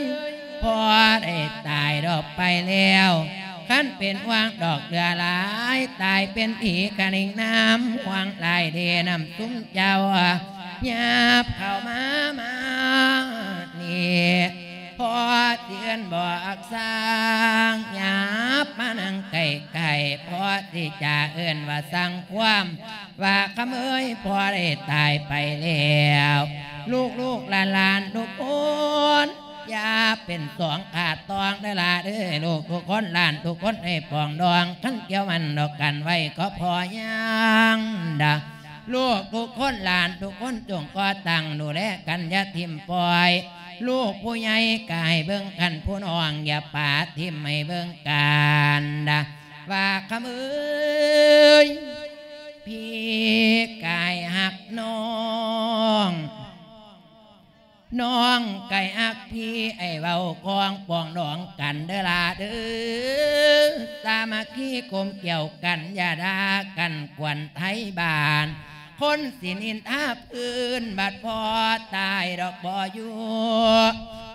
ພໍ່ໄດ້ຕາຍດອກໄປແລ້ວ ຄັນເປັນຫວ່າງດອກເຫຼືອຫຼາຍ ຕາຍເປັນຜີກະນິງນ້ຳ ຫວ່າງຫຼາຍເດນຳຊຸມເຈົ້າ ຫຍັບເຂົ້າມາ ມານີ້ ພໍ່ຊິເອີ້ນບອກສ້າງ ຫຍັບມານັ່ງໃກ້ໆ ພໍ່ຊິຈະເອີ້ນວ່າສັ່ງຄວາມ ວ່າຄຳເອີຍ ພໍ່ໄດ້ຕາຍໄປແລ້ວ ລູກໆຫຼານໆທຸກຄົນ ຢ່າເປັນສອງຂາດຕອງເດີຫຼ້າເດີ ລູກທຸກຄົນຫຼານທຸກຄົນໃຫ້ປອງດອງ ຄັນກ່ຽວມັນດອກກັນໄວ້ກໍພໍຍັງດາ ລູກທຸກຄົນຫຼານທຸກຄົນຈົ່ງກໍ່ຕັ້ງດູແລກັນ ຢ່າຖິ້ມປ່ອຍ ລູກຜູ້ໃຫຍ່ກໍໃຫ້ເບິ່ງກັນ ຜູ້ນ້ອງຢ່າປະຖິ້ມ ໃຫ້ເບິ່ງກັນດາ ວ່າຄຳເອີຍ ພີ່ກາຍຮັກນ້ອງ ນ້ອງກາຍຮັກພີ່ ໃຫ້ເວົ້າຄອງປອງດອງກັນເດີຫຼ້າເດີ ສາມັກຄີກົມກຽວກັນ ຢ່າດ່າກັນກວນໄທບ້ານ ຄົນຊິນິນທາພື້ນ ບັດພໍ່ຕາຍດອກບໍ່ຢູ່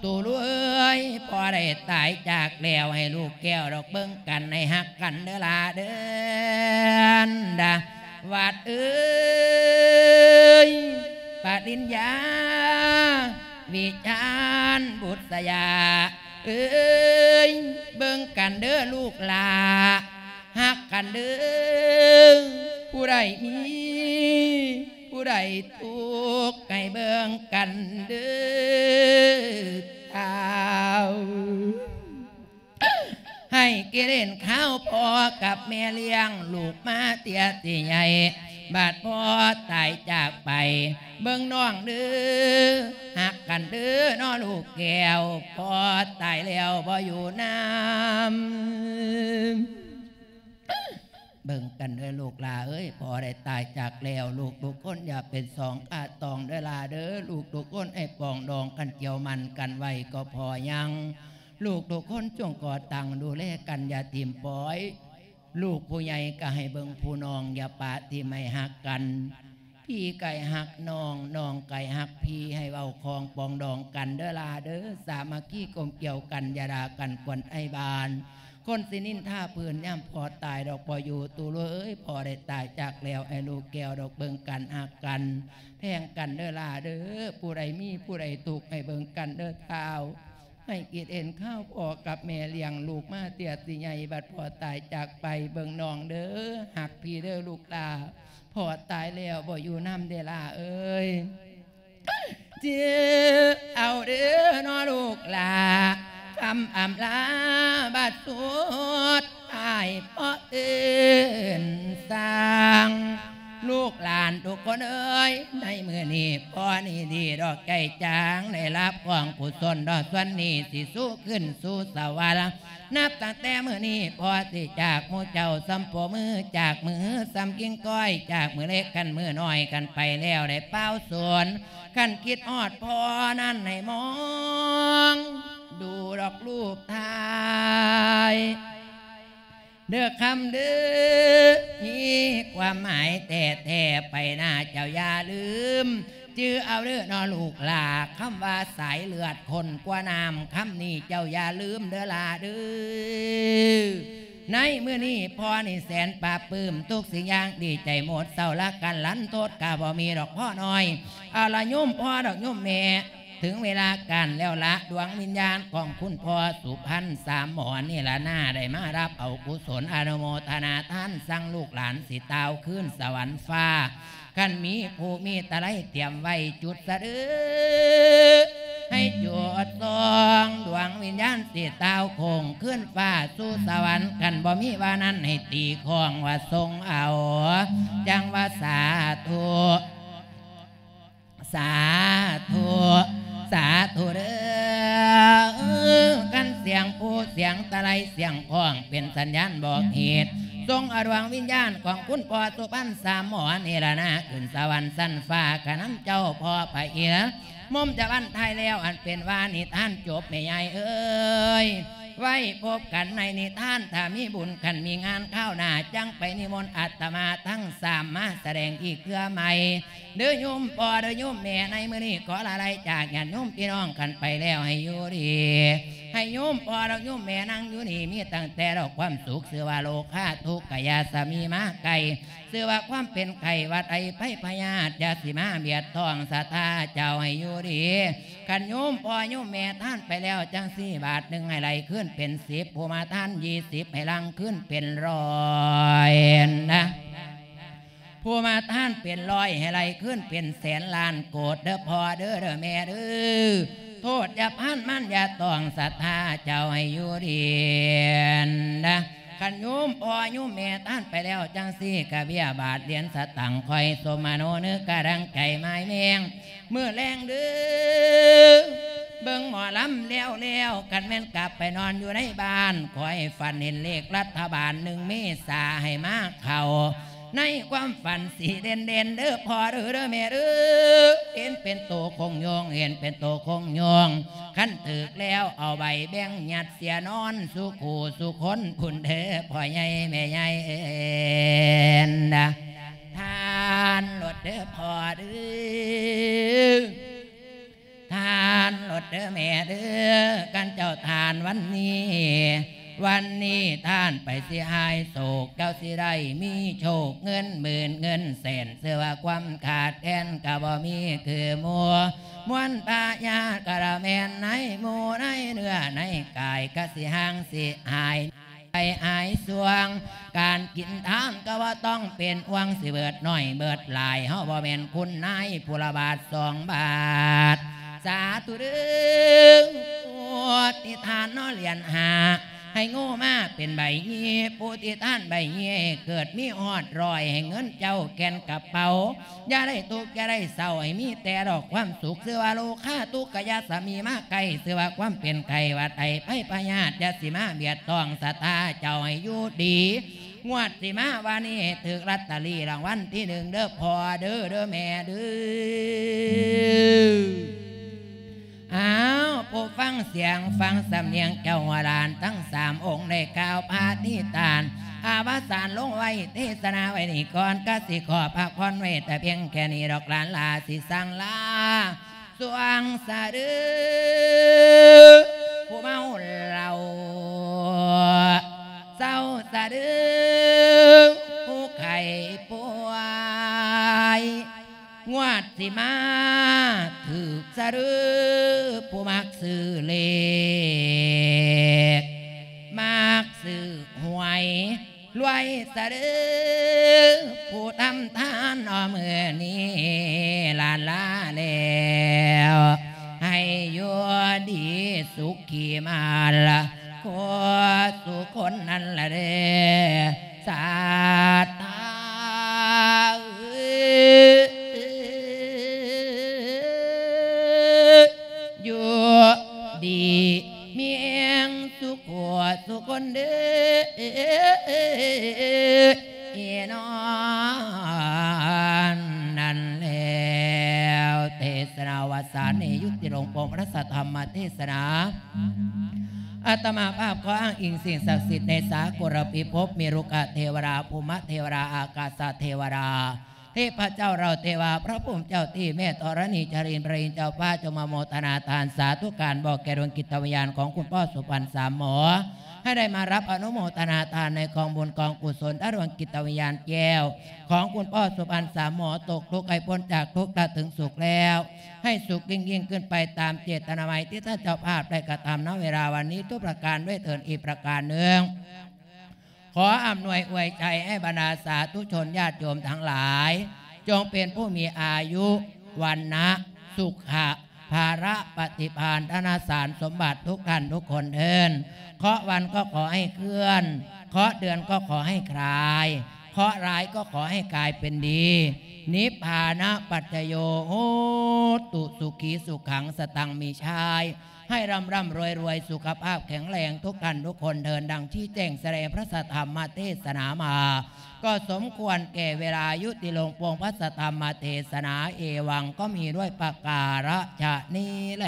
ຕູເອີຍ ພໍ່ໄດ້ຕາຍຈາກແລ້ວ ໃຫ້ລູກແກ້ວດອກເບິ່ງກັນ ໃຫ້ຮັກກັນເດີຫຼ້າເດີ ດາ ວັດເອີຍ ປະລິນຍາ ວິຈານ ບຸດສະຍາ ເອີຍ ເບິ່ງກັນເດີລູກຫຼ້າ ຮັກກັນເດີ ຜູ້ໃດມີ ຜູ້ໃດທຸກ ໃຫ້ເບິ່ງກັນເດີທ້າວ ໃຫ້ກິເລນຄາວພໍ່ກັບແມ່ລ້ຽງລູກມາເຕຍຊິໃຫຍ່ ບາດພໍ່ຕາຍຈາກໄປ ເບິ່ງນ້ອງເດີ ຮັກກັນເດີເນາະລູກແກ້ວ ພໍ່ຕາຍແລ້ວບໍ່ຢູ່ນຳ ເບິ່ງກັນເດີລູກຫຼ້າເອີຍ ພໍ່ໄດ້ຕາຍຈາກແລ້ວ ລູກທຸກຄົນຢ່າເປັນສອງຂາດຕອງເດີຫຼ້າເດີ ລູກທຸກຄົນໃຫ້ປອງດອງກັນ ກ່ຽວມັນກັນໄວ້ກໍພໍຍັງ ລູກທຸກຄົນຈົ່ງກໍ່ຕັ້ງດູແລກັນ ຢ່າຖິ້ມປ່ອຍ ລູກຜູ້ໃຫຍ່ກໍໃຫ້ເບິ່ງຜູ້ນ້ອງ ຢ່າປະຖິ້ມ ໃຫ້ຮັກກັນ ພີ່ກາຍຮັກນ້ອງ ນ້ອງກາຍຮັກພີ່ ໃຫ້ເວົ້າຄອງປອງດອງກັນເດີຫຼ້າເດີ ສາມັກຄີກົມກຽວກັນ ຢ່າດ່າກັນກວນໄທບ້ານ ຄົນຊິນິນທາພື້ນ ຍາມພໍ່ຕາຍດອກບໍ່ຢູ່ ຕູເອີຍ ພໍ່ໄດ້ຕາຍຈາກແລ້ວ ໃຫ້ລູກແກ້ວດອກເບິ່ງກັນ ຮັກກັນ ແພງກັນເດີຫຼ້າເດີ ຜູ້ໃດມີ ຜູ້ໃດທຸກ ໃຫ້ເບິ່ງກັນເດີທ້າວ ໃຫ້ກິດເອັນຄາວພໍ່ກັບແມ່ລ້ຽງລູກມາເຕຍຊິໃຫຍ່ ບັດພໍ່ຕາຍຈາກໄປ ເບິ່ງນ້ອງເດີ ຮັກພີ່ເດີລູກຫຼ້າ ພໍ່ຕາຍແລ້ວບໍ່ຢູ່ນຳເດີຫຼ້າເອີຍ ຈື່ເອົາເດີເນາະລູກຫຼ້າ ຄຳອຳລາບັດສຸດທ້າຍ ພໍ່ເອີ້ນ ສາງ ລູກຫຼານທຸກຄົນເອີຍ ໃນມື້ນີ້ພໍ່ນີ້ດີດອກໃຈຈາງ ໄດ້ຮັບກອງກຸສົນດອກສ່ວນນີ້ ຊິສູ່ຂຶ້ນສູ່ສະຫວັນ. ນັບຕັ້ງແຕ່ມື້ນີ້ ພໍ່ຊິຈາກໝູ່ເຈົ້າສ່ຳໂປມື ຈາກມືສ່ຳກິ່ງກ້ອຍ ຈາກມືເລັກກັນມືນ້ອຍກັນໄປແລ້ວ ໄດ້ປ່າວສອນ ຄັນຄິດຮອດພໍ່ນັ້ນໃຫ້ມອງດູດອກຮູບຖ່າຍ ເດີຄຳເດີ ມີຄວາມໝາຍແທ້ໆ ໄປໜ້າເຈົ້າຢ່າລືມ ຈື່ເອົາເດີເນາະລູກຫຼ້າ ຄຳວ່າສາຍເລືອດຂຸ້ນກວ່ານ້ຳ ຄຳນີ້ເຈົ້າຢ່າລືມເດີຫຼ້າເດີ. ໃນມື້ນີ້ພໍ່ນີ້ແສນປາບປຶ້ມ ທຸກສິ່ງຢ່າງດີໃຈໝົດ ເສົ້າລະກັນລັນທົດກະບໍ່ມີດອກພໍ່ນ້ອຍ ເອົາລະໂຍມພໍ່ດອກໂຍມແມ່ ເຖິງເວລາການແລ້ວລະ ດວງວິນຍານຂອງຄຸນພໍ່ສຸພັນສາມໝໍນີ້ລະນາ ໄດ້ມາຮັບເອົາກຸສົນອະນຸໂມທະນາທານ ສັ່ງລູກຫຼານຊິຕ່າວຄືນສະຫວັນຟ້າ ຄັນມີພູມີຕະໄລຕຽມໄວ້ຈຸດສະເດີ ໃຫ້ຈຸດສ່ອງ ດວງວິນຍານຊິຕ່າວໂຄ້ງຄືນຟ້າສູ່ສະຫວັນ ຄັນບໍ່ມີວ່ານັ້ນໃຫ້ຕີຄ້ອງວ່າສົ່ງເອົາ ຈັ່ງວ່າສາທຸ ສາທຸ ສາທຸເດີ. ຄັນສຽງພູສຽງຕະໄລສຽງຄ້ອງເປັນສັນຍານບອກເຫດ ສົ່ງເອົາດວງວິນຍານຂອງຄຸນພໍ່ສຸພັນສາມໝໍນີ້ລະນາ ຂຶ້ນສະຫວັນຊັ້ນຟ້າ ກະນຳເຈົ້າພໍ່ພະອິນ ມົມຈະວັນທ້າຍແລ້ວ ອັນເປັນວ່ານິທານຈົບແມ່ຍາຍເອີຍ ໄວ້ພົບກັນໃນນິທານ ຖ້າມີບຸນຄັນມີງານຄາວໜ້າ ຈັ່ງໄປນິມົນອາດຕະມາທັງສາມມາສະແດງອີກເທື່ອໃໝ່ ເດີໂຍມພໍ່ເດີໂຍມແມ່ ໃນມື້ນີ້ຂໍລາໄລຈາກຍາດໂຍມພີ່ນ້ອງກັນໄປແລ້ວ ໃຫ້ຢູ່ດີ ໃຫ້ໂຍມພໍ່ດອກໂຍມແມ່ນັ່ງຢູ່ນີ້ ມີຕັ້ງແຕ່ດອກຄວາມສຸກ ຊື່ວ່າໂລຄາທຸກກະຢ່າສະມີມາໃກ້ ຊື່ວ່າຄວາມເປັນໄຂ້ຫວັດໄອໄພພະຍາດ ຢ່າຊິມາບຽດຕ້ອງສັດທາເຈົ້າໃຫ້ຢູ່ດີ. ຄັນໂຍມພໍ່ໂຍມແມ່ທານໄປແລ້ວຈັ່ງຊີ້ ບາດໜຶ່ງໃຫ້ໄຫຼຄືນເປັນສິບ ຜູ້ມາທານຍີ່ສິບ ໃຫ້ຫຼັ່ງຄືນເປັນຮ້ອຍນະ ຜູ້ມາທານເປັນຮ້ອຍ ໃຫ້ໄຫຼຄືນເປັນແສນລ້ານໂກດເດີພໍ່ເດີ ເດີແມ່ເດີ ໂທດຢ່າພານມານຢ່າຕ້ອງສັດທາເຈົ້າໃຫ້ຢູ່ດີນະ. ຄັນໂຍມພໍ່ໂຍມແມ່ທານໄປແລ້ວຈັ່ງຊີ້ ກະເບ້ຍບາດຫຼຽນສະຕັງ ຄອຍສົມມະໂນນຶກກະດັງໃຈໝາຍແມງ ມື້ແລງເດີ ເບິ່ງໝໍລຳແລ້ວໆ ຄັນແມ່ນກັບໄປນອນຢູ່ໃນບ້ານ ຂໍໃຫ້ຝັນເຫັນເລກລັດຖະບານໜຶ່ງເມສາໃຫ້ມາເຂົ້າ ໃນຄວາມຝັນສີເດັ່ນໆ ເດີພໍ່ເດີ ເດີແມ່ເດີ ເຫັນເປັນໂຕຄົງໂຍງ ເຫັນເປັນໂຕຄົງໂຍງ ຄັນຖືກແລ້ວເອົາໃບແບ່ງຍັດເສຍນອນ ສູ່ຄູ່ສູ່ຄົນພຸ້ນເດີ ພໍ່ໃຫຍ່ແມ່ໃຫຍ່ເອີນນະ ທານໂລດເດີພໍ່ເດີ ທານໂລດເດີແມ່ເດີ ຄັນເຈົ້າທານວັນນີ້ ວັນນີ້ທານໄປຊິຫາຍໂສກ ເຈົ້າຊິໄດ້ມີໂຊກເງິນໝື່ນເງິນແສນ ຊື່ວ່າຄວາມຂາດແຄນກະບໍ່ມີຄືໝູ່ ມວນພະຍາດກະລະແມ່ນໃນໝູ່ໃນເນື້ອໃນກາຍ ກະຊິຫ່າງຊິຫາຍ ໄປຫາຍຊ່ວງ ການກິນທານກະບໍ່ຕ້ອງເປັນຫ່ວງ ຊິເບີດໜ້ອຍເບີດຫຼາຍ ເຮົາບໍ່ແມ່ນຄຸນນາຍຜູ້ລະບາດສອງບາດ ສາທຸເດີ ຜູ້ທີ່ທານເນາະຫຼຽນຫ້າ ໃຫ້ໂງ່ມາເປັນໃບຍີ່ ຜູ້ທີ່ທານໃບຍີ່ ເກີດມີຮອດຮ້ອຍ ໃຫ້ເງິນເຈົ້າແກ່ນກະເປົາ ຢ່າໄດ້ທຸກຢ່າໄດ້ເສົ້າ ໃຫ້ມີແຕ່ດອກຄວາມສຸກ ຊື່ວ່າໂລຄາທຸກກະຢ່າສະມີມາໃກ້ ຊື່ວ່າຄວາມເປັນໄຂ້ຫວັດໄອໄພພະຍາດ ຢ່າຊິມາບຽດຕ້ອງສັດທາເຈົ້າໃຫ້ຢູ່ດີ ງວດຊິມາວ່ານີ້ ຖືກລອດຕະລີລາງວັນທີໜຶ່ງເດີພໍ່ເດີ ເດີແມ່ເດີ. ອ້າວ ຜູ້ຟັງສຽງຟັງສຳນຽງເຈົ້າຫົວຫຼານທັງສາມອົງ ໄດ້ກ່າວປະຕິຖານອະວະສານລົງໄວ້ ເທສະນາໄວ້ນີ້ກ່ອນ ກະຊິຂໍພັກຜ່ອນໄວ້ແຕ່ພຽງແຄ່ນີ້ດອກ ຫຼານຫຼ້າຊິສັ່ງລາ ສ່ວງສະເດີ ຜູ້ເມົາເຫຼົ້າ ເຊົາສະເດີ ຜູ້ໄຂ້ປ່ວຍ ງວດຊິມາຖືກສະເດີ ຜູ້ມັກຊື້ເລກ ມັກຊື້ຫວຍ ລວຍສະເດີ ຜູ້ທຳທານເນາະ ມື້ນີ້ລາລາແລ້ວ ໃຫ້ຢູ່ດີສຸຂີມາລະ ໂຄສຸຄົນນັ້ນລະເດີ ສາທາ ງສຸໂຂສຸຄົນເດີເນາະ. ນັ້ນແລ້ວ ເທດສະໜາວັດສານີ້ ຍຸຕິລົງປົງພະລັດສະທຳມະເທດສະໜາ. ອາດຕະມາພາບຂໍອ້າງອີງສິ່ງສັກສິດໃນສາກົນລະພິພົບ ມີລຸກກະເທວະດາ ພູມະເທວະດາ ອາກາສະເທວະດາ ເທບພະເຈົ້າເຫຼົ່າເທວາ ພະພູມເຈົ້າທີ່ ແມ່ທໍລະນີ ຈາລິນ ພະອິນເຈົ້າຟ້າ ຈົ່ງມາໂມທະນາທານສາທຸການບອກແກ່ດວງຈິດຕະວິນຍານຂອງຄຸນພໍ່ສຸພັນສາມໝໍ ໃຫ້ໄດ້ມາຮັບອະນຸໂມທະນາທານໃນກອງບຸນກອງກຸສົນ ຖ້າດວງຈິດຕະວິນຍານແກ້ວຂອງຄຸນພໍ່ສຸພັນສາມໝໍຕົກທຸກໃຫ້ພົ້ນຈາກທຸກ ຖ້າເຖິງສຸກແລ້ວ ໃຫ້ສຸກຍິ່ງໆຂຶ້ນໄປຕາມເຈດຕະນາໄມທີ່ທ່ານເຈົ້າພາບໄດ້ກະທຳ ນະເວລາວັນນີ້ທຸກປະການດ້ວຍເທີ້ນ. ອີກປະການໜຶ່ງ ຂໍອຳນວຍອວຍໄຊໃຫ້ບັນດາສາທຸຊົນຍາດໂຍມທັງຫຼາຍ ຈົ່ງເປັນຜູ້ມີອາຍຸ ວັນນະ ສຸຂະ ພາລະ ປະຕິພານ ທະນະສານສົມບັດທຸກທ່ານທຸກຄົນເທີ້ນ. ເຄາະວັນກໍຂໍໃຫ້ເຄື່ອນ ເຄາະເດືອນກໍຂໍໃຫ້ຄລາຍ ເຄາະຮ້າຍກໍຂໍໃຫ້ກາຍເປັນດີ ນິບພານະປັດຈະໂຍ ໂຫຕຸ ສຸຂີສຸຂັງ ສະຕັງມີຊາຍ ໃຫ້ລ່ຳໆລວຍໆ ສຸຂະພາບແຂງແຮງທຸກທ່ານທຸກຄົນເທີ້ນ. ດັ່ງຊີ້ແຈງສະແດງພະສັດທຳມະເທດສະໜາມາ ກໍສົມຄວນແກ່ເວລາ ຍຸຕິລົງປົງພະສັດທຳມະເທດສະໜາ. ເອວັງ ກໍມີດ້ວຍປະກາລະຊະນີ້ແລ.